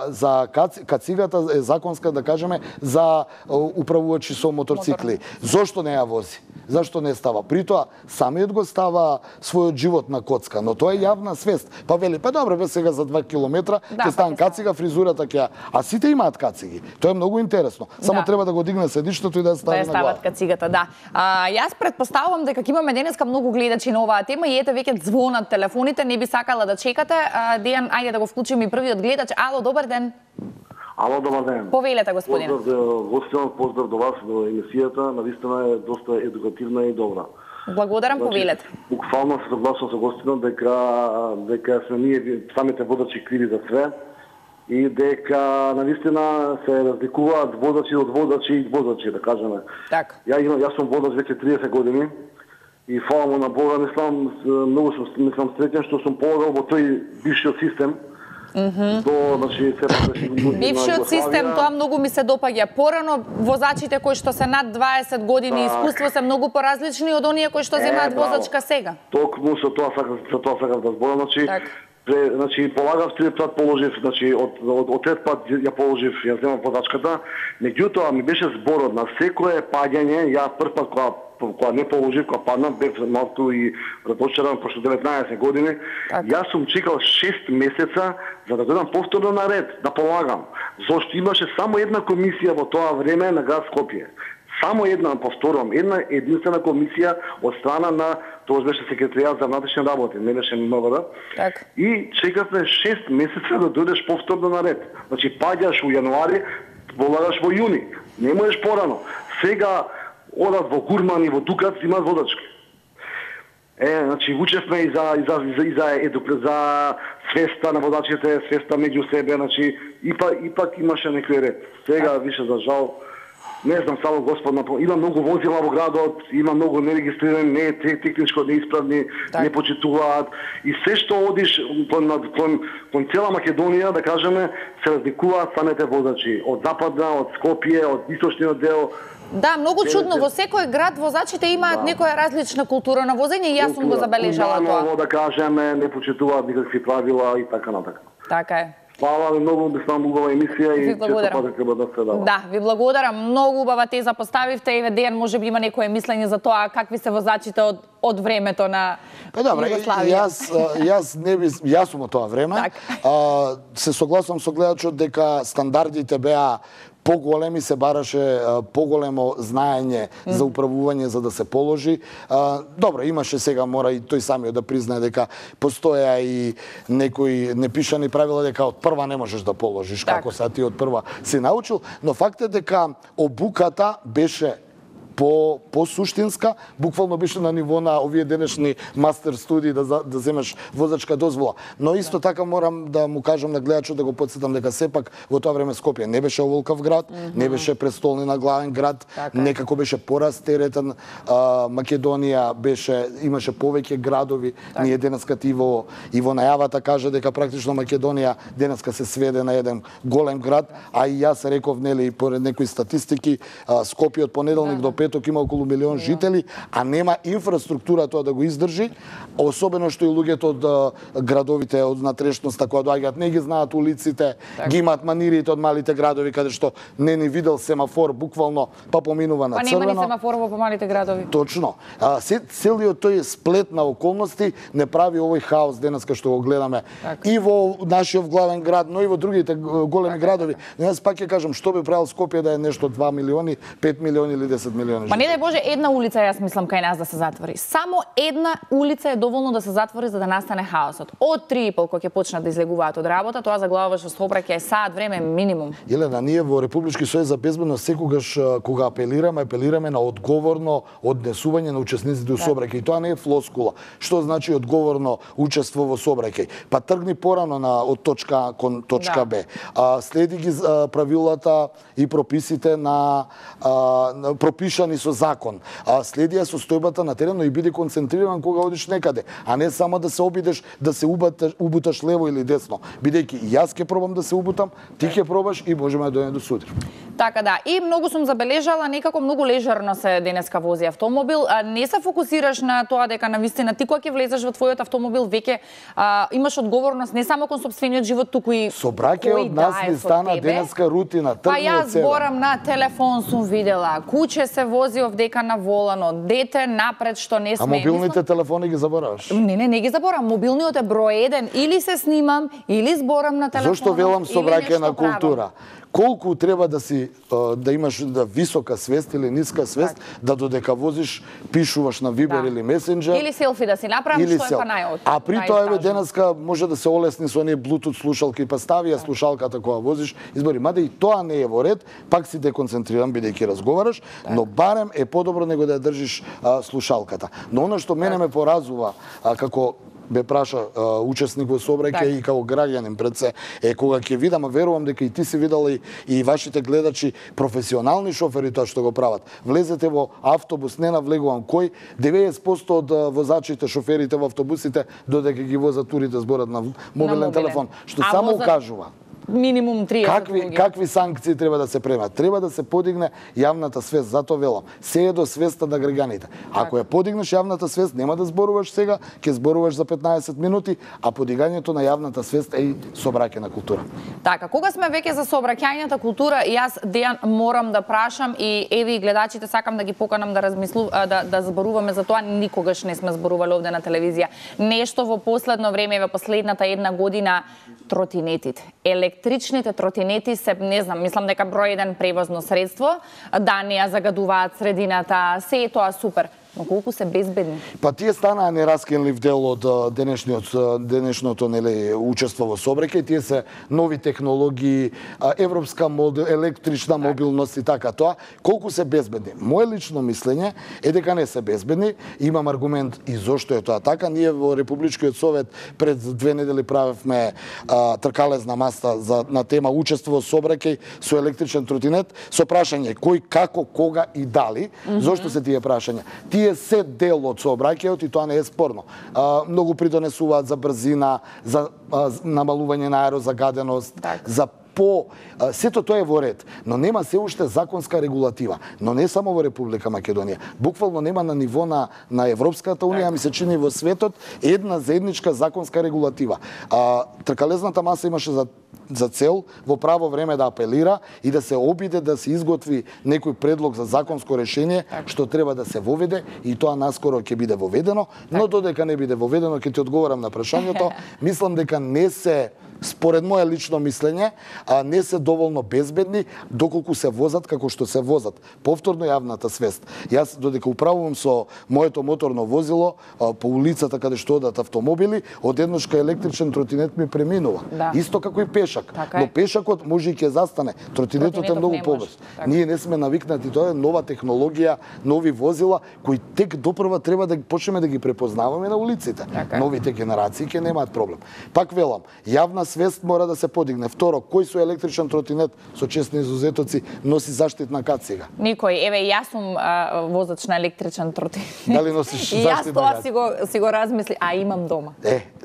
за кацигата е законска, да кажеме, за управувачи со моторцикли. Зошто не ја вози? Зашто не става? При тоа, самиот го става својот живот на коцка, но тоа е јавна свест. Па вели, па добре, бе сега за 2 километра, ќе ставам кацига, фризурата ќе... А сите имаат кациги. Тоа е многу интересно. Само треба да го дигне седиштето и да ја стави на глава. Да ја стават кацигата, да. Јас претпоставувам дека имаме денеска многу гледачи на оваа тема и ете веќе звонат телефоните, не би сакала да чекате. Дејан, ајде да го вклучиме и првиот гледач. Ало, добар ден. Ало, добар ден. Повелете, господине. Поздрав до гостинот, поздрав до вас, до емисијата. Навистина е доста едукативна и добра. Благодарам, повелете. Буквално се согласувам со гостинот дека сме ние самите водачи криви за све и дека навистина се разликуваат водачи од водачи и водачи, да кажеме. Така. Јас сум водач веќе 30 години и фала на Бога, многу сум среќен што сум полагал во тој бившиот систем. Значи, бившиот систем, тоа многу ми се допаѓа. Порано возачите кои што се над 20 години искуство се многу поразлични од оние кои што земаат возачка сега. Токму со тоа сакав да зборам, значи полагав трет пат положив, значи од трет пат ја положив, ја земав возачката, меѓутоа ми беше зборот на секое паѓање, ја прв пат кога не положив, кога паднав, бев малку и разочаран, пошто 19 години, јас сум чекал 6 месеца за да дојдам повторно на ред, да полагам. Зошто имаше само една комисија во тоа време на град Скопје. Само една, повторувам, една единствена комисија од страна на, тоа беше секретаријат за внатрешни работи, не беше МВР. И чекавме 6 месеца да дојдеш повторно на ред. Значи, паѓаш во јануари, полагаш во јуни. Не можеш порано. Сега одат во Гурман и во Дукат, имаат водачки. Значи, учевме и за свеста на водачите, свеста меѓу себе, значи, ипак имаше некој ред. Сега, више, за жал, не знам, само Господ, има многу возила во градот, има многу нерегистрирани, не техничко неисправни, не почитуваат. И се што одиш кон цела Македонија, да кажеме, се разликуваат самите возачи. Од западна, од Скопје, од источниот дел. Да, многу чудно. Во секој град возачите имаат некоја различна култура на возење и јас сум го забележала тоа. Да кажеме, не почитуваат никакви правила и така натака. Така е. Фала ви многу, била убава емисија и често пати треба да се дава. Да, ви благодарам. Многу убава теза поставивте. Еве Дејан може би има некое мислење за тоа какви се возачите од времето на Југославија. Јас сум од тоа време. Се согласувам со гледачот дека стандардите беа поголеми, се бараше поголемо знаење за управување за да се положи. Добро, имаше сега, мора и тој самиот да признае дека постоја и некои непишани правила дека од прва не можеш да положиш, како са ти од прва си научил, но факт е дека обуката беше по-суштинска, буквално беше на ниво на овие денешни мастер студии да земеш возачка дозвола. Но исто така морам да му кажам на гледачот, да го подсетам дека сепак во тоа време Скопје не беше оволкав град, не беше престолнина главен град, некако беше порастеретен. Македонија имаше повеќе градови. Ние денеска и во најавата кажа дека практично Македонија денеска се сведе на еден голем град, а и јас реков, нели, поред некои статистики, Скопје од понеделник до петок има околу 1 милион жители, а нема инфраструктура тоа да го издржи, особено што и луѓето од градовите, од натрешноста која доаѓаат, не ги знаат улиците, ги имаат манирите од малите градови каде што не ни видел семафор, буквално па поминува на црвено. Па нема ни семафор во помалите градови. Точно. Целиот тој сплет на околности не прави овој хаос денеска што го гледаме и во нашиот главен град, но и во другите големи градови. Јас пак ќе кажам, што би правил Скопје да е нешто 2 милиони, 5 милиони или 10 милиони. Па не дај Боже, една улица јас мислам кај нас да се затвори. Само една улица е доволно да се затвори за да настане хаосот. Од 3:30 кога ќе почнат да излегуваат од работа, тоа заглавуваше сообраќај саат време минимум. Елена, ние во Републички сојуз за безбедност секогаш кога апелираме на одговорно однесување на учесниците во сообраќај. Тоа не е флоскула. Што значи одговорно учество во сообраќај? Па тргни порано од точка кон точка Б. Следи ги правилата и прописите пропишани со закон. Следи ја состојбата на терен, но и биде концентриран кога одиш некаде, а не само да се обидеш да се убуташ лево или десно. Бидејќи јас ќе пробам да се убутам, ти ќе пробаш и можеме да дојдеме до сутре. Така да, и многу сум забележала некако многу лежерно се денеска вози автомобил. Не се фокусираш на тоа дека навистина ти кога ќе влезеш во твојот автомобил веќе имаш одговорност не само кон сопствениот живот, туку и собраќај од нас ни стана денеска рутина, тргни од себе. Па јас зборам на телефон сум видела, куче се вози овдека на воланот, дете напред што не сме. А мобилните телефони ги забораваш? Не ги заборавам. Мобилниот е број 1, или се снимам, или зборам на телефонот. Зошто велам собраќај на култура? колку треба да имаш висока свест или ниска свест, да додека возиш, пишуваш на Viber или Messenger. Или селфи да си направиш, што е па најот. А при тоа денеска може да се олесни со оние Bluetooth слушалки, па стави ја слушалката кога возиш, избори. Мада и тоа не е во ред, пак си деконцентриран бидејќи разговараш, но барем е подобро него да ја држиш слушалката. Но она што мене ме поразува, како ме праша учесник во сообраќај и како граѓанин пред се, кога ќе видам, а верувам дека и ти си видела и вашите гледачи, професионални шофери тоа што го прават. Влезете во автобус, не навлегувам кој, 90% од возачите, шоферите во автобусите, додека ги возат турите, зборат на мобилен телефон, што само укажува минимум 30 какви санкции треба да се премат. Треба да се подигне јавната свест, затоа велам. Се е до свеста на граѓаните. Ако ја подигнеш јавната свест, нема да зборуваш сега, ќе зборуваш за 15 минути, а подигањето на јавната свест е и сообраќајна култура. Така, кога сме веќе за сообраќајната култура, јас Дејан морам да прашам и еви и гледачите сакам да ги поканам да зборуваме за тоа, никогаш не сме зборувале овде на телевизија. Нешто во последно време, во последната една година, тротинетите. Електричните тротинети се, не знам, мислам дека број 1 превозно средство, да не ја загадуваат средината, се е тоа супер. Но колку се безбедни? Па тие станаа нераскинлив дел од денешното учество во сообраќај. Тие се нови технологии, европска електрична мобилност и така тоа. Колку се безбедни? Моje лично мислење е дека не се безбедни. Имам аргумент и зошто е тоа така. Ние во Републичкиот совет пред 2 недели правевме тркалезна маста на тема учество во сообраќај со електричен тротинет со прашање кој, како, кога и дали. Зошто се тие прашања? Тие се дел од сообраќајот и тоа не е спорно. Многу придонесуваат за брзина, за намалување на аерозагаденост, за сето тоа е во ред, но нема се уште законска регулатива. Но не само во Република Македонија. Буквално нема на ниво на Европската унија, ми се чини во светот една заедничка законска регулатива. Тркалезната маса имаше за цел во право време да апелира и да се обиде да се изготви некој предлог за законско решение што треба да се воведе и тоа наскоро ќе биде воведено, но додека не биде воведено, ќе ти одговорам на прашањето, мислам дека не се, според моје лично мислење, не се доволно безбедни доколку се возат како што се возат. Повторно јавната свест. Јас додека управувам со моето моторно возило по улицата каде што одат автомобили, одеднашка електричен тротинет ми преминува. Исто како и пешак. Но пешакот може и ќе застане. Тротинетот е многу побрз. Ние не сме навикнати, тоа е нова технологија, нови возила кои тек допрва треба да почнеме да ги препознаваме на улиците. Новите генерации ќе немаат проблем. Пак велам, јавна свест мора да се подигне. Второ, кој со електричен тротинет со честни изузетоци носи заштитна кацига? Никој. Еве, јас сум возач на електричен тротинет. Дали носиш заштитна кацига? И јас тоа си го размисли, а имам дома.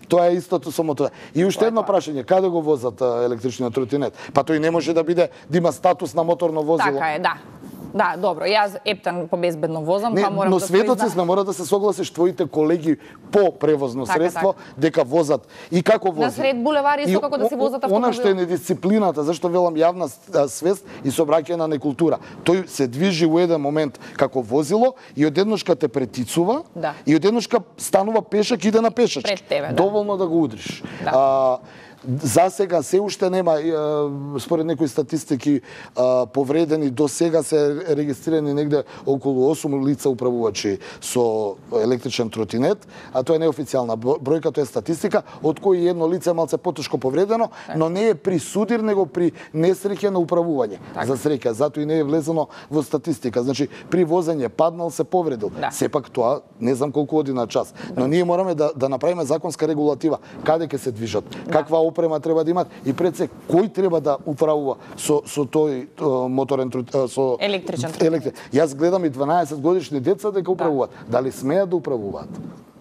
Тоа е истото со мотор. И уште едно прашање, каде го возат електричниот тротинет? Па тој не може да има статус на моторно возило. Така е, да. Да, добро, јас ептан по безбедно возам, па морам но да светоци сме, мора да се согласиш твоите колеги по превозно средство дека возат и како возат. На сред булевари исто како да си возат автомобил. Она што е недисциплината, зашто велам јавна свест и сообраќајна некултура. Тој се движи во еден момент како возило и одедношка те претицува и одедношка станува пешак и иде на пешачки. Пред тебе, доволно да го удриш. За сега се уште нема, според некои статистики, повредени до сега се регистрирани негде околу 8 лица управувачи со електричен тротинет, а тоа е неофицијална бројка, тоа е статистика, од кои едно лице малце потешко повредено, но не е при судир, него при несреќа на управување. За среќа, затоа и не е влезено во статистика. Значи, при возење паднал, се повредил. Сепак тоа, не знам колку оди на час. Но ние мораме да направиме законска регулатива. Каде ќе се движат? Каква опрема треба да имат и пред се кој треба да управува со тој моторен со електричен тротинет. Јас гледам и 12 годишни деца дека управуваат. Дали смеат да управуваат?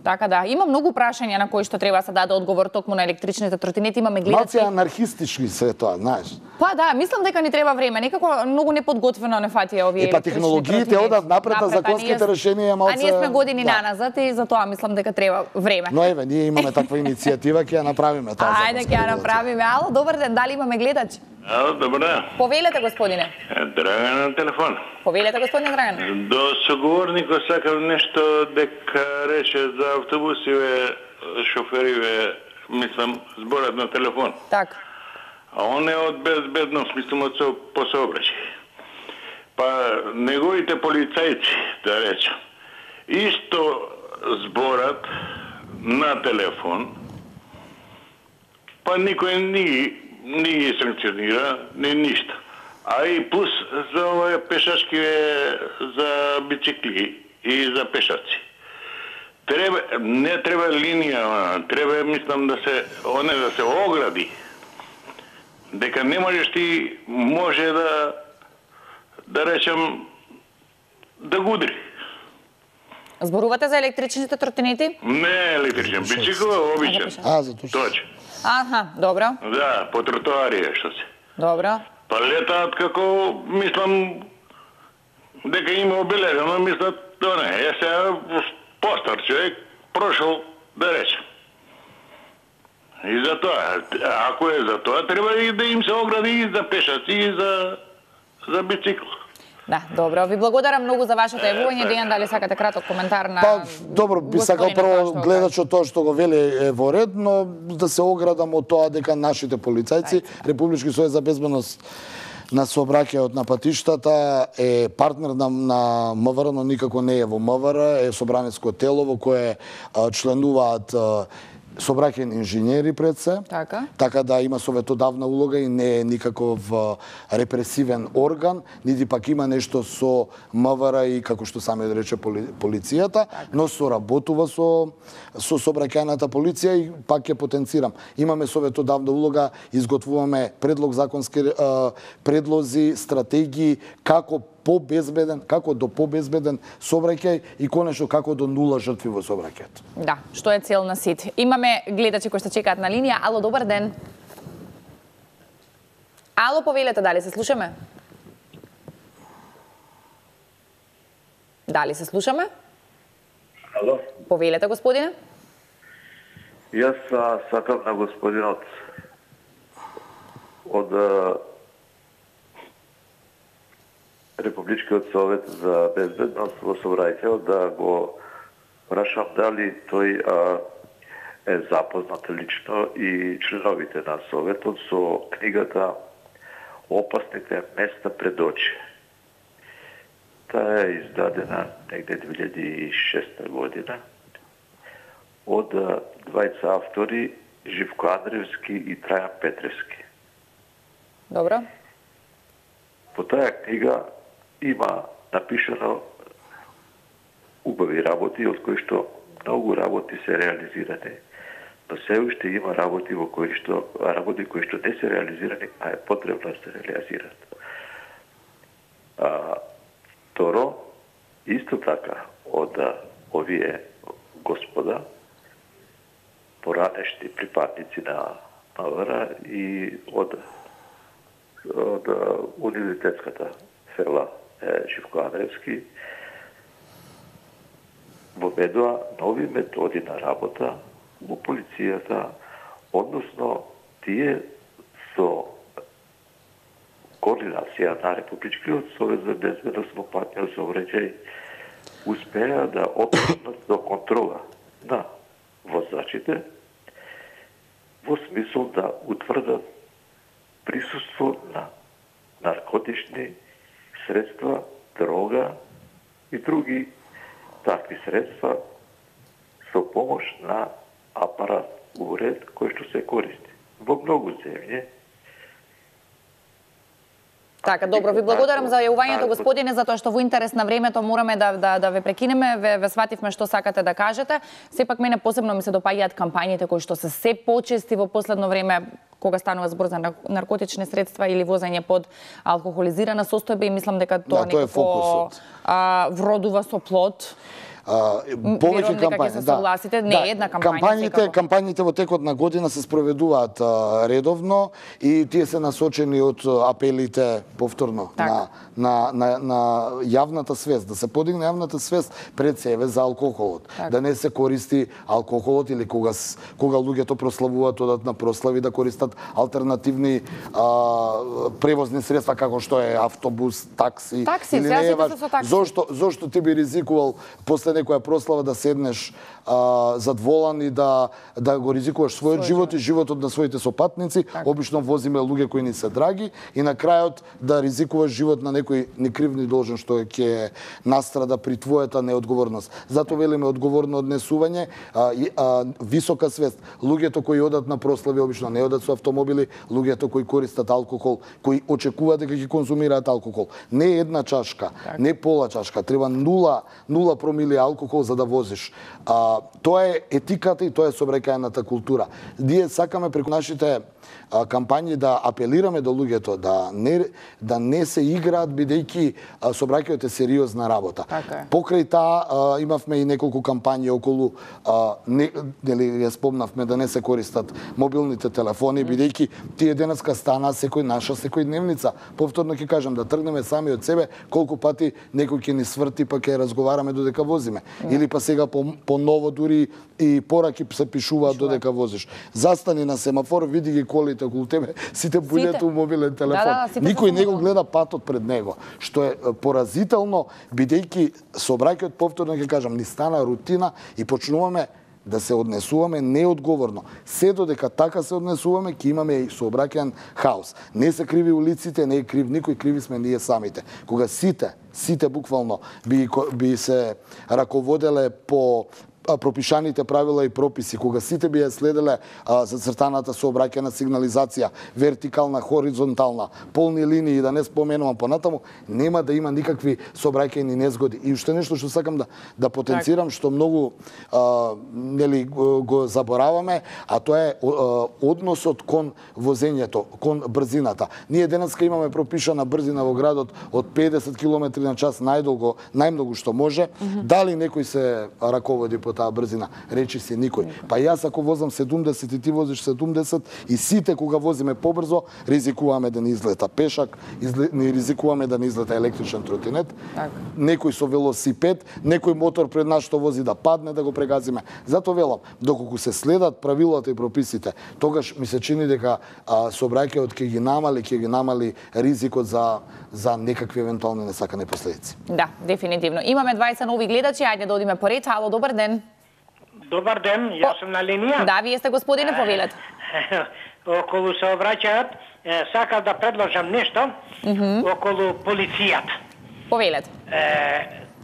Така да, има многу прашања на кои што треба да се даде одговор токму на електричните тротинети, имаме гледачи. Малце анархистички се тоа, знаеш. Па да, мислам дека ни треба време, некако многу неподготвено не фатија овие електрични тротинети. Технологиите одат напред, а законските решенија малце. А ние сме години наназад и затоа мислам дека треба време. Но еве, ние имаме таква иницијатива, ќе ја направиме таа. Ајде ќе ја направиме. Ало, добар ден, дали имаме гледач? Ало, добар ден. Повелете, господине. Драган на телефон. Повелете, господине Драган. До соговорникот сакам нешто дека рече за автобусиве, шофериве, мислам, зборат на телефон. Так. а он е од безбедност, мислам, од по сообраќај. Па неговите полицајци, да речем, исто зборат на телефон, па никој не ги санкционира, не ништа. А и плюс за овие пешачки, за бицикли и за пешаци. Не треба линија, треба, мислам, да се огради. Дека не можеш ти, може да речем, да гудри. Зборувате за електричните тротинети? Не електричен, бицикл обичен. За точно. Аха, добро. Да, по тротоарија, што се. Добро. Па летаат како, мислам, дека има обележено, мислат, да не, сега постар човек, прошол, да речем. И за тоа, ако е за тоа, треба и да им се огради и за пешаци, и за бицикл. Да, добро. Ви благодарам многу за вашето јавување. Дејан, дали сакате краток коментар на... Па, добро, би сакал прво гледачот тоа што го вели е во ред, но да се оградам од тоа дека нашите полицајци, Републички сојуз за безбедност на сообраќајот на патиштата е партнер на МВР, но никако не е во МВР, е собранецко тело во кое членуваат сообраќајни инженери пред се, така да има советодавна улога и не е никаков репресивен орган, нити пак има нешто со МВР и, како што сами рече, полицијата, но соработува со сообраќајната полиција и пак ќе потенцирам. Имаме советодавна улога, изготвуваме предлози, стратегии, како до побезбеден сообраќај и конечно како до нула жртви во сообраќајот. Да, што е цел на сите. Имаме гледачи кои се чекаат на линија. Ало, добар ден. Ало, повелете, дали се слушаме? Дали се слушаме? Ало. Повелете, господине. Јас сакам на господинот од Републичкиот совет за безбедност во сообраќајот да го прашам дали тој е запознат лично и членовите на советот со книгата Опасните места пред очи. Таа е издадена негде 2006 година од двајца автори Живко Андревски и Трајан Петревски. Добро. По таа книга има напишано убави работи, од кои што многу работи се реализирани, но се уште има работи кои што не се реализирани, а е потребно да се реализираат. Второ, исто така од овие господа, поранешни припадници на МВР и од универзитетската фела Живко Андревски, воведоа нови методи на работа во полицијата, односно тие со координација на Републичкиот совет за безбедност во патниот сообраќај успеа да отпрнат до контрола на возачите во смисол да утврдат присуство на наркотични средства, дрога и други такви средства со помош на апарат уред кој што се користи во многу земји. Така, добро, ви благодарам за јавувањето, господине, затоа што во интерес на времето мораме да ве прекинеме, ве свативме што сакате да кажете. Сепак мене посебно ми се допаѓаат кампањите кои што се се почести во последно време, кога станува збор за наркотични средства или возење под алкохолизирана состојба, и мислам дека тоа некако вродува со плод. Повеќе кампањи, не една кампања. Кампањите во текот на година се спроведуваат редовно и тие се насочени од апелите повторно на јавната свест, да се подигне јавната свест пред себе за алкохолот, да не се користи алкохолот или кога луѓето прославуваат, одат на прослави, да користат алтернативни превозни средства како што е автобус, такси или не е важно. Зошто ти би ризикувал после некоја прослава да седнеш зад волан и да го ризикуваш својот живот и животот на своите сопатници. Обично возиме луѓе кои ни се драги и на крајот да ризикуваш живот на некој некрив ни должен што ќе настрада при твојата неодговорност. Затоа велиме одговорно однесување, висока свест. Луѓето кои одат на прослави обично не одат со автомобили, луѓето кои користат алкохол, кои очекуваат дека ќе конзумираат алкохол. Не една чашка, не пола чашка, треба 0 промили алкохол за да возиш. Тоа е етиката и тоа е сообраќајната култура. Ние сакаме преку нашите кампањи да апелираме до луѓето да не се играат бидејќи сообраќајот е сериозна работа. Покрај таа имавме и неколку кампањи околу ја спомнавме да не се користат мобилните телефони бидејќи тие денеска стана наша секојдневница. Повторно ќе кажам да тргнеме сами од себе колку пати некој ќе ни сврти па ќе разговараме додека возиме. Или па сега по ново дури и пораки се пишуваат додека возиш. Застани на семафор, види ги колите околу тебе, сите бујнете у мобилен телефон. Никој не го гледа патот пред него, што е поразително бидејќи сообраќајот, повторно ќе кажам, ни стана рутина и почнуваме да се однесуваме неодговорно. Се додека така се однесуваме, ќе имаме и сообраќајен хаос. Не се криви улиците, не е крив никој, криви сме ние самите. Кога сите буквално би се раководеле по пропишаните правила и прописи, кога сите би ја следеле зацртаната сообраќајна сигнализација, вертикална, хоризонтална, полни линии, да не споменувам понатаму, нема да има никакви сообраќајни незгоди. И уште нешто што сакам да потенцирам, што многу го забораваме, а тоа е односот кон возењето, кон брзината. Ние денеска имаме пропишана брзина во градот од 50 км на час најмногу што може. Дали некој се раководи по таа брзина? Речи си никој. Па јас ако возам 70 и ти возиш 70 и сите кога возиме побрзо, ризикуваме да ни излета пешак, ни ризикуваме да ни излета електричен тротинет, некој со велосипед, некој мотор пред нас што вози да падне, да го прегазиме. Затоа велам, доколку се следат правилата и прописите, тогаш ми се чини дека сообраќајот ќе ги намали ризикот за некакви евентуални несакани последици. Да, дефинитивно. Имаме 20 нови гледачи, ајде да одиме поред. Ало, добар ден. Добар ден, јас сум на линија. Да, вие сте господине, повелете. Околу сообраќајот, сакав да предложам нешто околу полицијата. Повелете.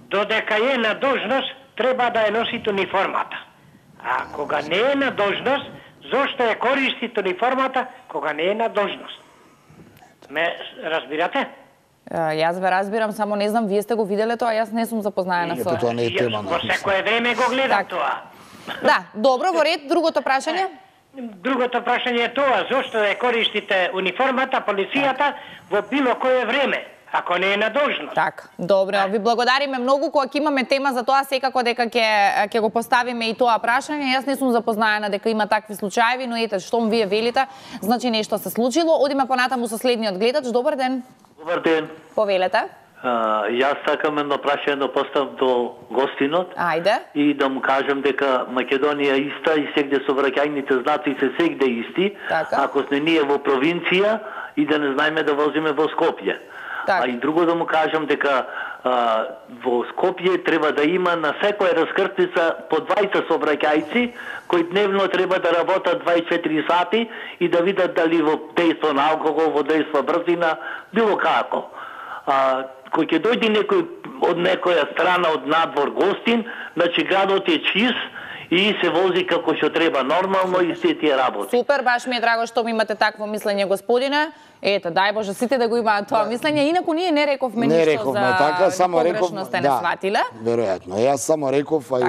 Додека е на должност, треба да ја носите униформата. А кога не е на должност, зошто ја користите униформата кога не е на должност? Ме разбирате? Јас ве разбирам, само не знам, вие сте го виделе тоа, јас не сум запознаена со... Тоа не е тема. Во секое време го гледам тоа. Да, добро, во ред, другото прашање? Другото прашање е тоа, зошто ја користите униформата, полицијата во било кое време, ако не е на должност. Така, добро, ви благодариме многу, кога ќе имаме тема за тоа, секако дека ќе го поставиме и тоа прашање. Јас не сум запознаена дека има такви случаеви, но ете, штом вие велите, значи нешто се случило. Одиме понатаму со следниот гледач. Добар ден. Добар ден. Повелете. Јас сакам едно прашање да поставам до гостинот. Ајде. И да му кажам дека Македонија е иста и сегде сообраќајните знаци се сегде исти. Така. Ако сме ние во провинција и да не знаеме да возиме во Скопје. Так. А и друго да му кажам дека во Скопје треба да има на секоја раскртица по 20 сообраќајци кои дневно треба да работат 24 сати и да видат дали во дејство на алкохол, во дејство брзина, било како. Кој ќе дојде некој од некоја страна од надвор гостин, значи градот е чист и се вози како што треба нормално и се тие работи. Супер, баш ми е драго што ми имате такво мислење, господине. Ете, дај Боже, сите да го имаат тоа мислење. Инаку ние не рековме ништо за така, само погрешно сте не сватиле. Веројатно. Јас само реков, а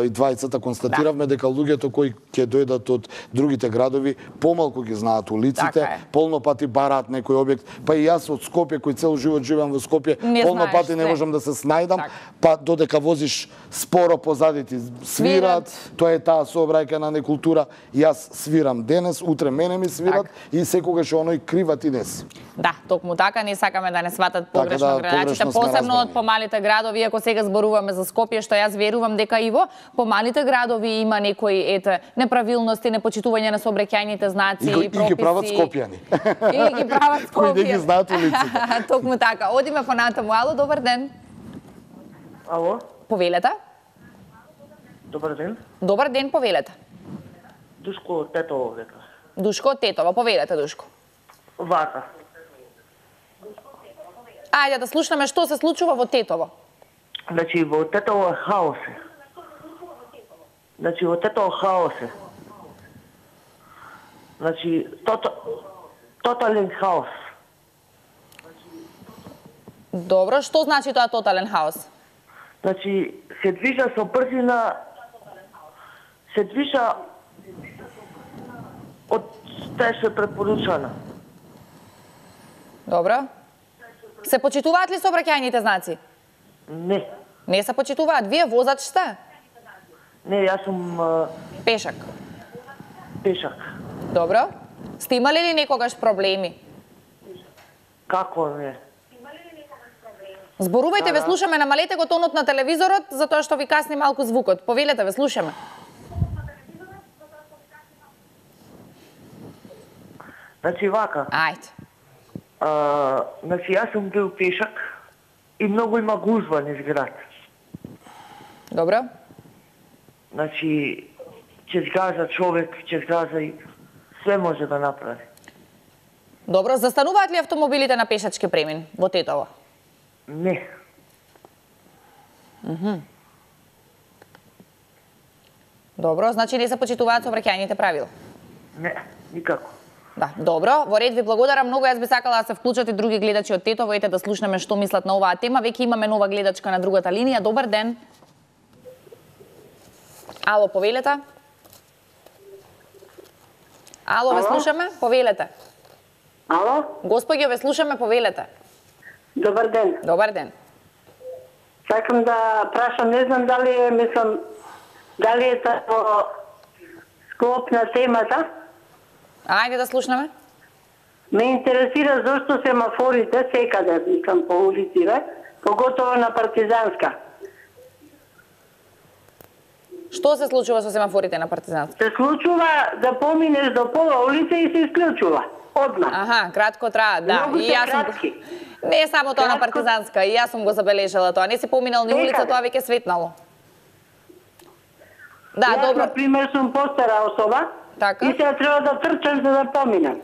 и двајцата констатиравме дека луѓето кои ќе дојдат од другите градови помалку ги знаат улиците, полно пати бараат некој објект. Па и јас од Скопје, кој цел живот живеам во Скопје, полно пати не можам да се снајдам, па додека возиш споро позади ти свират, тоа е таа сообраќајна некултура. Јас свирам денес, утре мене ми свират и секогаш оној криват и неси. Да, токму така, не сакаме да не сватат погрешно градачите, посебно од помалите градови, ако сега зборуваме за Скопје, што јас верувам дека и во помалите градови има некои неправилности, непочитување на сообраќајните знаци и прописи. И ги прават скопјани. И ги прават скопјани. Кои не ги знаат улиците. Токму така. Одиме понатаму. Ало, добар ден. Ало. Повелете. Добар ден. Добар ден, повелете. Душко од Тетово века. Душко од Тетово, повелете, Душко. Вака. Ајде да слушнеме што се случува во Тетово. Значи, во Тетово е хаос. Значи, во Тетово хаос е. Значи, тотален хаос. Добро, што значи тоа тотален хаос? Значи, се движа со брзина, се движа од што е препоручано. Добро. Се почитуваат ли сообраќајните знаци? Не. Не се почитуваат? Вие возач сте? Не, јас сум... Пешак. Пешак. Добро. Сте имали ли некогаш проблеми? Како не? Зборувајте, ве слушаме, намалете го тонот на телевизорот, затоа што ви касни малку звукот. Повелете, ве слушаме. Значи, вака. Ајде. Значи, јас сум бил пешак и многу има гузва низ град. Добро. Значи, ќе згаза човек, ќе згаза и све може да направи. Добро, застануваат ли автомобилите на пешачки премин во Тетово? Не. Добро, значи не се почитуваат сообраќајните правила? Не, никако. Да, добро. Во ред ви благодарам многу. Јас би сакала да се вклучат и други гледачи од Тетово, ете да слушнеме што мислат на оваа тема. Веќе имаме нова гледачка на другата линија. Добар ден. Ало, повелете. Ало, ве слушаме, повелете. Ало? Господјо, ве слушаме, повелете. Добар ден. Добар ден. Сакам да прашам, не знам дали е, дали е во склоп на темата. Ајде да слушнеме. Ме интересира зошто семафорите секаде, по улиците, поготово на Партизанска. Што се случува со семафорите на Партизанска? Се случува да поминеш до пола улица и се исклучува. Одма. Аха, кратко траа, да. Многу И се јас сум... кратки. Не само тоа на Партизанска, и јас сум го забележала тоа. Не си поминал ни улица, тоа веќе светнало. Да, јас, добро. например, сум постара особа, така? И сега треба да трчам за да поминам.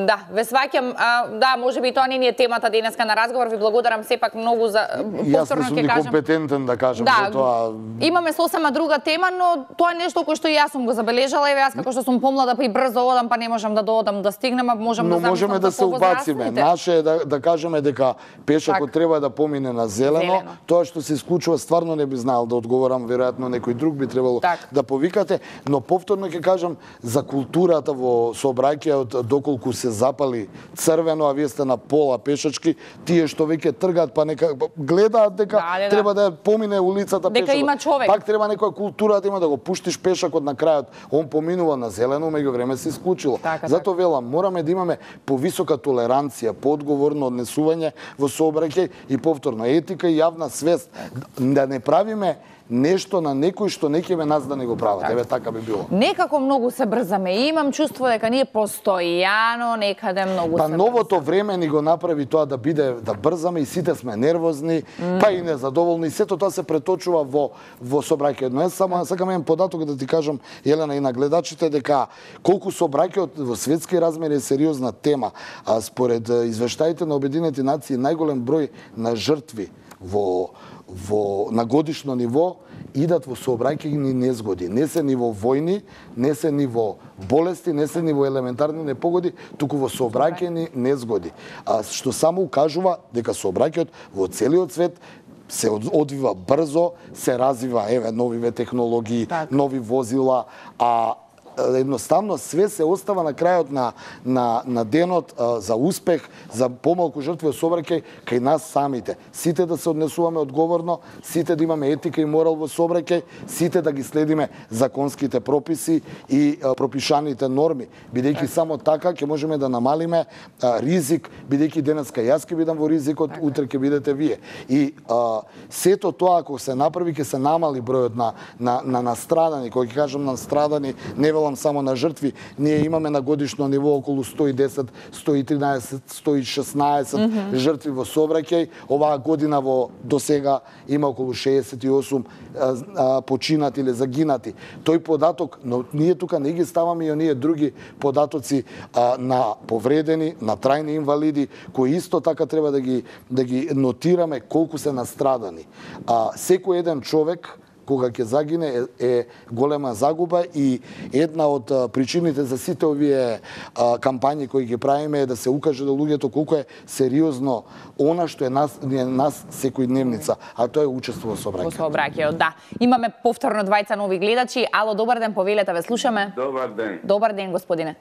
Да, ве сваќам, да, можеби тоа не е темата денеска на разговор, ви благодарам сепак многу за Јас не сум ни компетентен да кажам да, за тоа. Имаме сосема друга тема, но тоа е нешто кој што и јас сум го забележала, и јас како што сум помлада па и брзо одам, па не можам да доодам да стигнем, а можам да замислам. Но можеме да се убациме. Наше е да кажеме дека пешакот треба да помине на зелено. Тоа што се исклучува стварно не би знаел да одговорам, веројатно некој друг би требало да повикате, но повторно ќе кажам за културата во сообраќајот, доколку се запали црвено, а вие сте на пола пешачки, тие што веќе тргаат па нека гледаат дека треба да помине улицата пешакот. Дека има човек. Пак треба некоја култура да има да го пуштиш пешакот на крајот. Он поминува на зелено, меѓувреме се исклучило. Зато велам, мораме да имаме повисока толеранција, поодговорно однесување во сообраќај и повторно етика и јавна свест, да не правиме нешто на некој што не ќе нас да не го прават. Еве така би било. Некако многу се брзаме. Имам чувство дека ние постојано некаде многу се. Па новото време ни го направи тоа да биде да брзаме и сите сме нервозни, па и незадоволни. Сето тоа се преточува во сообраќајот. Но само сакам еден податок да ти кажам, Елена, и на гледачите, дека колку сообраќајот во светски размери е сериозна тема. А според извештаите на Обединените нации најголем број на жртви на годишно ниво идат во сообраќајни незгоди. Не се ниво војни, не се ниво болести, не се ниво елементарни непогоди, туку во сообраќајни незгоди. Што само укажува дека сообраќајот во целиот свет се одвива брзо, се развива новиве технологии, нови возила, а едноставно све се остава на крајот на денот за успех, за помалку жртви од сообраќај кај нас самите. Сите да се однесуваме одговорно, сите да имаме етика и морал во сообраќај, сите да ги следиме законските прописи и пропишаните норми, бидејќи само така ќе можеме да намалиме ризик, бидејќи денеска јас ќе бидам во ризикот, утре ќе бидете вие. И сето тоа ако се направи ќе се намали бројот на настрадани, кој ќе кажам настрадани, не велам зборувам само на жртви, ние имаме на годишно ниво околу 110, 113, 116 жртви во сообраќај. Оваа година до сега има околу 68 починати или загинати. Тој податок, но ние тука не ги ставаме и оние други податоци на повредени, на трајни инвалиди, кои исто така треба да ги нотираме колку се настрадани. Секој еден човек кога ќе загине е голема загуба и една од причините за сите овие кампањи кои ги правиме е да се укаже до луѓето колку е сериозно она што е нас секојдневница, а тоа е учество во сообраќај. Во сообраќајот, да. Имаме повторно двајца нови гледачи. Ало, добар ден, повелете, ве слушаме. Добар ден. Добар ден, господине.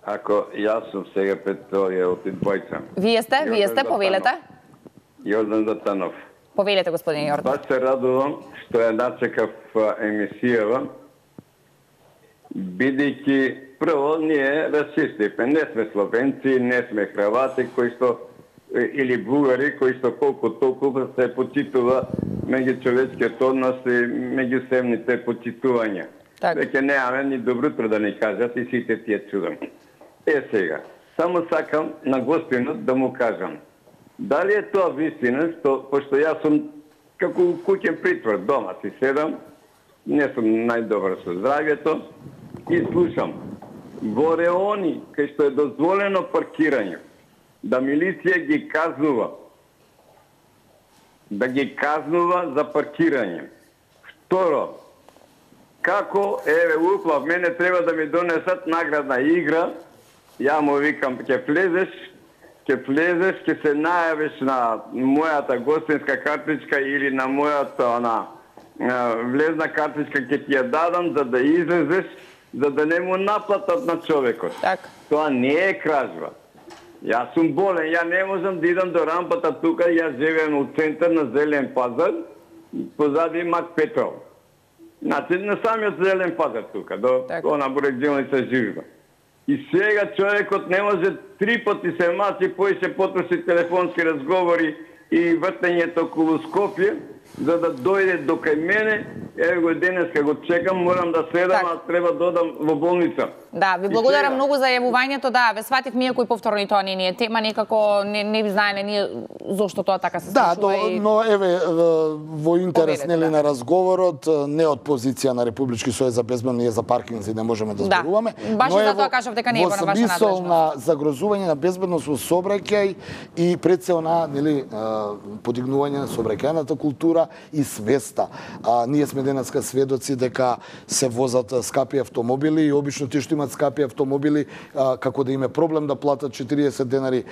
Ако јас сум сега пред овие од двајца. Вие сте, повелете. Јордан Затанов. Повелете, господин Јордан. Баш се радувам што ја начекав емисијава, бидејќи прво ние расисти, не сме словенци, не сме хрвати кои што или бугари кои што колку толку се почитува меѓучовечкиот однос и меѓусебните почитувања. Веќе немаме ни добро утро да ни кажат и сите тие чудам. Сега, само сакам на гостинот да му кажам. Дали е тоа вистина, пошто јас сум како куќен притвор, дома си седам, не сум најдобар со здравјето и слушам. Во реони, кај што е дозволено паркирање, да милиција ги казнува. Да ги казнува за паркирање. Второ, како, уплав, мене треба да ми донесат наградна игра, ја му викам, ќе влезеш, ќе се најавиш на мојата гостинска картичка или на мојата влезна картичка, ќе ти ја дадам за да излезеш, за да не му наплатат на човекот. Тоа не е кражба. Јас сум болен, ја не можам да идам до рампата тука, јас живеем у центар на Зелен пазар, позади Мак Петров. Значи, на самиот Зелен пазар тука, до она бурекделница Жижба. И сега човекот не може 3 пати се мачи, поише потроши телефонски разговори и вртењето околу Скопје, за да дојде до кај мене. Еве го денеска го чекам, морам да следам, а треба да одам во болница. Да, ви благодарам многу за јавувањето, да, ве сватив ние кои повторно и тоа не е тема, некако не знаеле ние зошто тоа така се случува. Да, но еве во интерес нели на разговорот, не од позиција на Републички сојуз за безбедно, ние за паркинзи не можеме да зборуваме. Баш и затоа кажав дека не е во ваша надлежност. Во смисол на загрозување на безбедност во сообраќај и пред се на нели подигнување на сообраќајната култура и свеста. Ние сме денеска сведоци дека се возат скапи автомобили и обично тие што имаат скапи автомобили, како да име проблем да платат 40 денари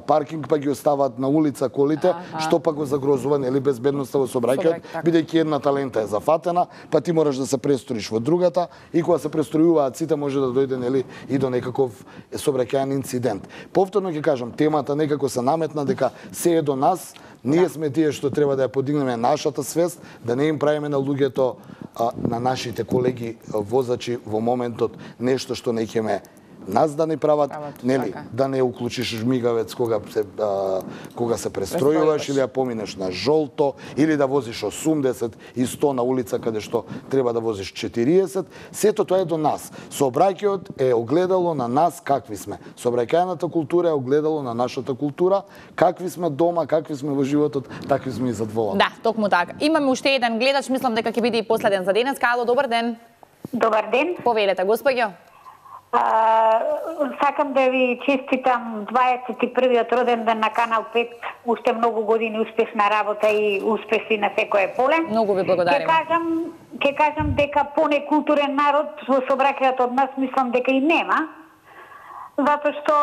паркинг, па ги остават на улица колите, што па го загрозува нели безбедноста во сообраќајот, бидејќи едната лента е зафатена, па ти мораш да се престроиш во другата и кога се престројуваат сите може да дојде нели и до некаков сообраќајен инцидент. Повторно ќе кажам, темата некако се наметна дека се е до нас. Ние сме тие што треба да ја подигнеме нашата свест, да не им правиме на луѓето, на нашите колеги возачи во моментот нешто што не ќе ме нас да не прават, нели, да не уклучиш жмигавец кога се престројуваш или ја поминеш на жолто, или да возиш 80 и 100 на улица каде што треба да возиш 40, сето тоа е до нас. Сообраќајот е огледало на нас какви сме. Сообраќајната култура е огледало на нашата култура, какви сме дома, какви сме во животот, такви сме и задволени. Да, токму така. Имаме уште еден гледач, мислам дека ќе биде и последен за денес. Ало, добар ден. Добар ден. Повелете, господјо. Сакам да ви честитам 21-тиот роден ден на Канал 5. Уште многу години успешна работа и успеси на секое поле. Многу ви благодариме. Ќе кажам дека понекултурен народ во сообраќајот од нас мислам дека и нема. Затоа што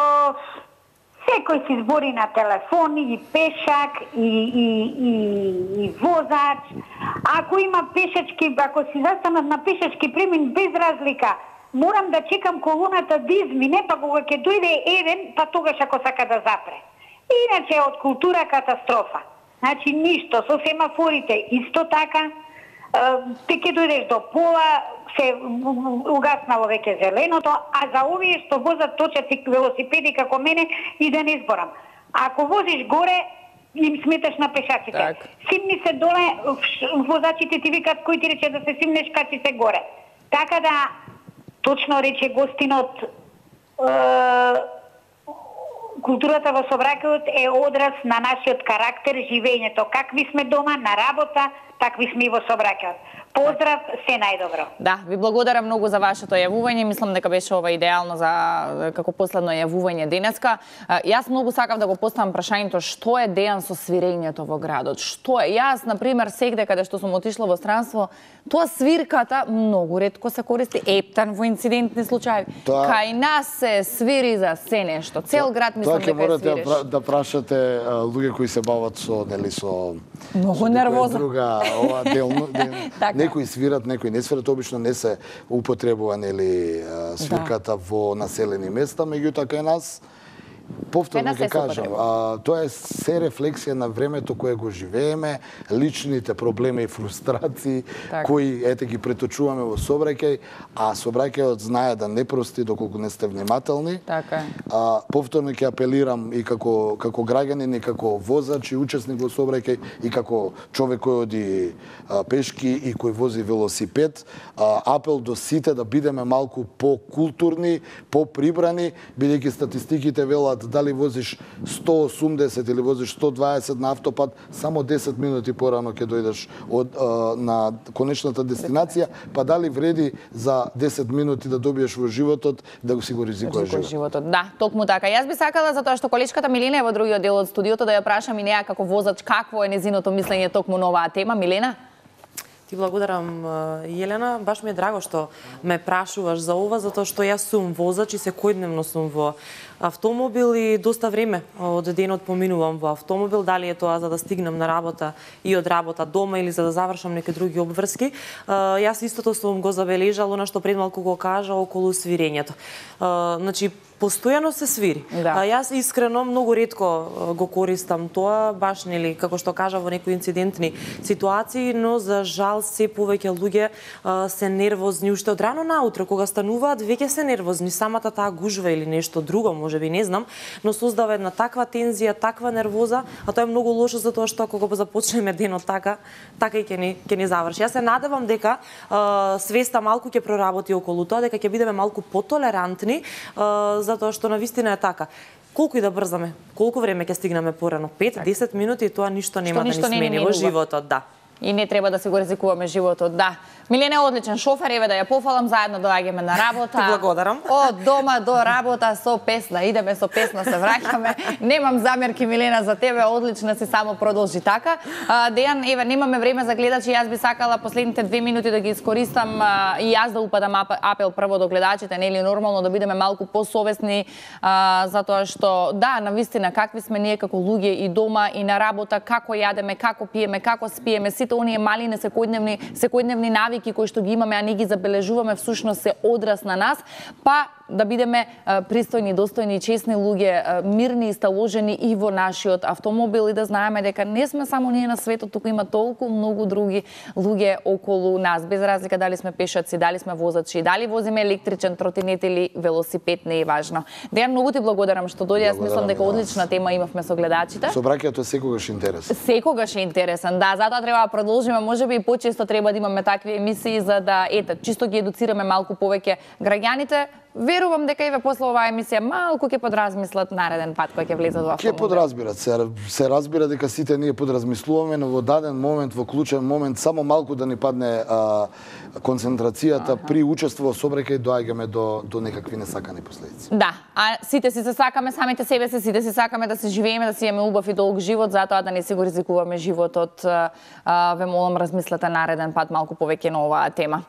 секој си збори на телефон, и пешак, и возач. Ако има пешачки, ако си застанат на пешачки премин без разлика, морам да чекам колоната да измине, па кога ќе дојде еден, па тогаш ако сака да запре. Иначе од култура катастрофа. Значи ништо, со семафорите исто така, те ќе дојдеш до пола, се угаснало веќе зеленото, а за овие што возат точаци велосипеди како мене и да не изборам. Ако возиш горе, им сметаш на пешаците. Симни се доле, возачите ти викат кој ти рече да се симнеш, качи се горе. Така да точно рече гостинот, културата во собраќајот е одраз на нашиот карактер, живењето. Какви сме дома, на работа, такви сме и во собраќајот. Поздрав, се најдобро. Да, ви благодарам многу за вашето јавување. Мислам дека беше ова идеално за како последно јавување денеска. Јас многу сакав да го поставам прашањето што е Дејан со свирењето во градот. Што е? Јас, на пример, сегде каде што сум отишла во странство, тоа свирката многу ретко се користи, ептан во инцидентни случаи. Кај нас се свири за се нешто. Цел град мислам дека е свириш. Тоа ќе морате да прашате луѓе кои се бават со многу нервоза. Друга ова делно. Некои свират, некои не свират, обично не се употребува свирката во населени места, меѓутоа кај нас повторно ќе кажам, тоа е се рефлексија на времето кое го живееме, личните проблеми и фрустрации кои ете ги преточуваме во собраќај, а собраќајот знае да не прости доколку не сте внимателни. Така. Повторно ќе апелирам и како граѓанин и како возач и учесник во собраќај и како човек кој оди пешки и кој вози велосипед, апел до сите да бидеме малку по-културни, по-прибрани, бидејќи статистиките велат дали возиш 180 или возиш 120 на автопат, само 10 минути порано ќе дојдеш на конечната дестинација, па дали вреди за 10 минути да добиеш во животот, да го си го ризикуваш животот. Да, токму така. Јас би сакала, затоа што колечката Милена е во другиот дел од студиото, да ја прашам и неа како возач какво е незиното мислење токму на оваа тема. Милена? Ти благодарам, Јелена. Баш ми е драго што ме прашуваш за ова, затоа што јас сум возач и секојдневно сум во автомобил и доста време од денот поминувам во автомобил, дали е тоа за да стигнам на работа и од работа дома или за да завршам неки други обврски. Јас истото сум го забележала, она што пред малку го кажа околу свирењето. Значи, постојано се свири. Јас искрено многу ретко го користам тоа, баш нели како што кажа во некои инцидентни ситуации, но за жал се повеќе луѓе се нервозни уште од рано наутро, кога стануваат веќе се нервозни, самата таа гужва или нешто друго, можеби не знам, но создава една таква тензија, таква нервоза, а тоа е многу лошо затоа што ако го започнеме денот така и ќе ни заврши. Јас се надевам дека свеста малку ќе проработи околу тоа, дека ќе бидеме малку потолерантни, затоа што навистина е така. Колку и да брзаме, колку време ќе стигнеме порано? 5-10 минути, тоа ништо нема да ни смени во животот, да. И не треба да се го ризикуваме животот, да. Милена е одличен шофер, еве да ја пофалам, заедно доаѓаме на работа. Ти благодарам. Од дома до работа со песна, идеме со песна, се враќаме. Немам замерки, Милена, за тебе, одлична си, само продолжи така. Дејан, еве, немаме време за гледачи, јас би сакала последните 2 минути да ги искористам и јас да упадам апел прво до гледачите, нели нормално да бидеме малку посовесни, затоа што, да, навистина, какви сме ние како луѓе и дома и на работа, како јадеме, како пиеме, како спиеме, сите оние мали секојдневни навики кои што ги имаме, а не ги забележуваме, всушност се одраз на нас, па да бидеме пристојни, достојни, честни луѓе, мирни и сталожени и во нашиот автомобил и да знаеме дека не сме само ние на светот, туку има толку многу други луѓе околу нас, без разлика дали сме пешаци, дали сме возачи, дали возиме електричен тротинет или велосипед, не е важно. Дејан, многу ти благодарам што дојде, јас мислам дека одлична тема имавме со гледачите. Собраќајот е секогаш интересен. Секогаш е интересен, да, затоа треба да продолжиме, можеби и почесто треба да имаме такви емисии за да чисто ги едуцираме малку повеќе граѓаните. Верувам дека и ве после оваа емисија малку ќе подразмислат нареден пат кој ќе влезат во автомобил. Ќе подразбират, се разбира дека сите ние подразмислуваме, но во даден момент, во клучен момент, само малку да ни падне концентрацијата при учество во собраќај, доаѓаме до некакви несакани последици. Да, а сите си се сакаме, самите себе си, сите си сакаме да се живееме, да си имаме убав и долг живот, затоа да не си го ризикуваме животот. Ве молам, размислете нареден пат малку повеќе на оваа тема.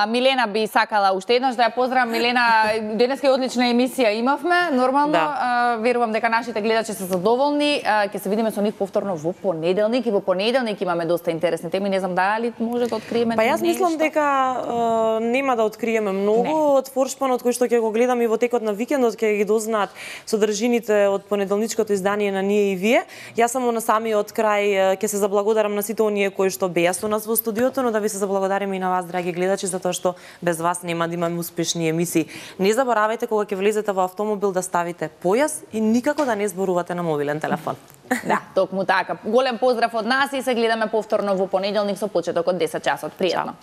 Милена би сакала уште еднаш да ја поздравам. Милена, денеска е одлична емисија имавме, нормално. Верувам дека нашите гледачи се задоволни. Ќе се видиме со нив повторно во понеделник и во понеделник имаме доста интересни теми. Не знам дали може да откриеме нешто. Па јас мислам дека нема да откриеме многу од форшпанот кој што ќе го гледам и во текот на викендот ќе ги дознаат содржините од понеделничкото издание на Ние и вие. Јас само на самиот крај ќе се заблагодарам на сите оние кои што беа со нас во студиото, но да ви се заблагодарим и на вас, драги гледачи, затоа што без вас нема да имаме успешни емисии. Не заборавајте кога ќе влезете во автомобил да ставите појас и никако да не зборувате на мобилен телефон. Да, токму така. Голем поздрав од нас и се гледаме повторно во понеделник со почеток од 10 часот. Пријатно.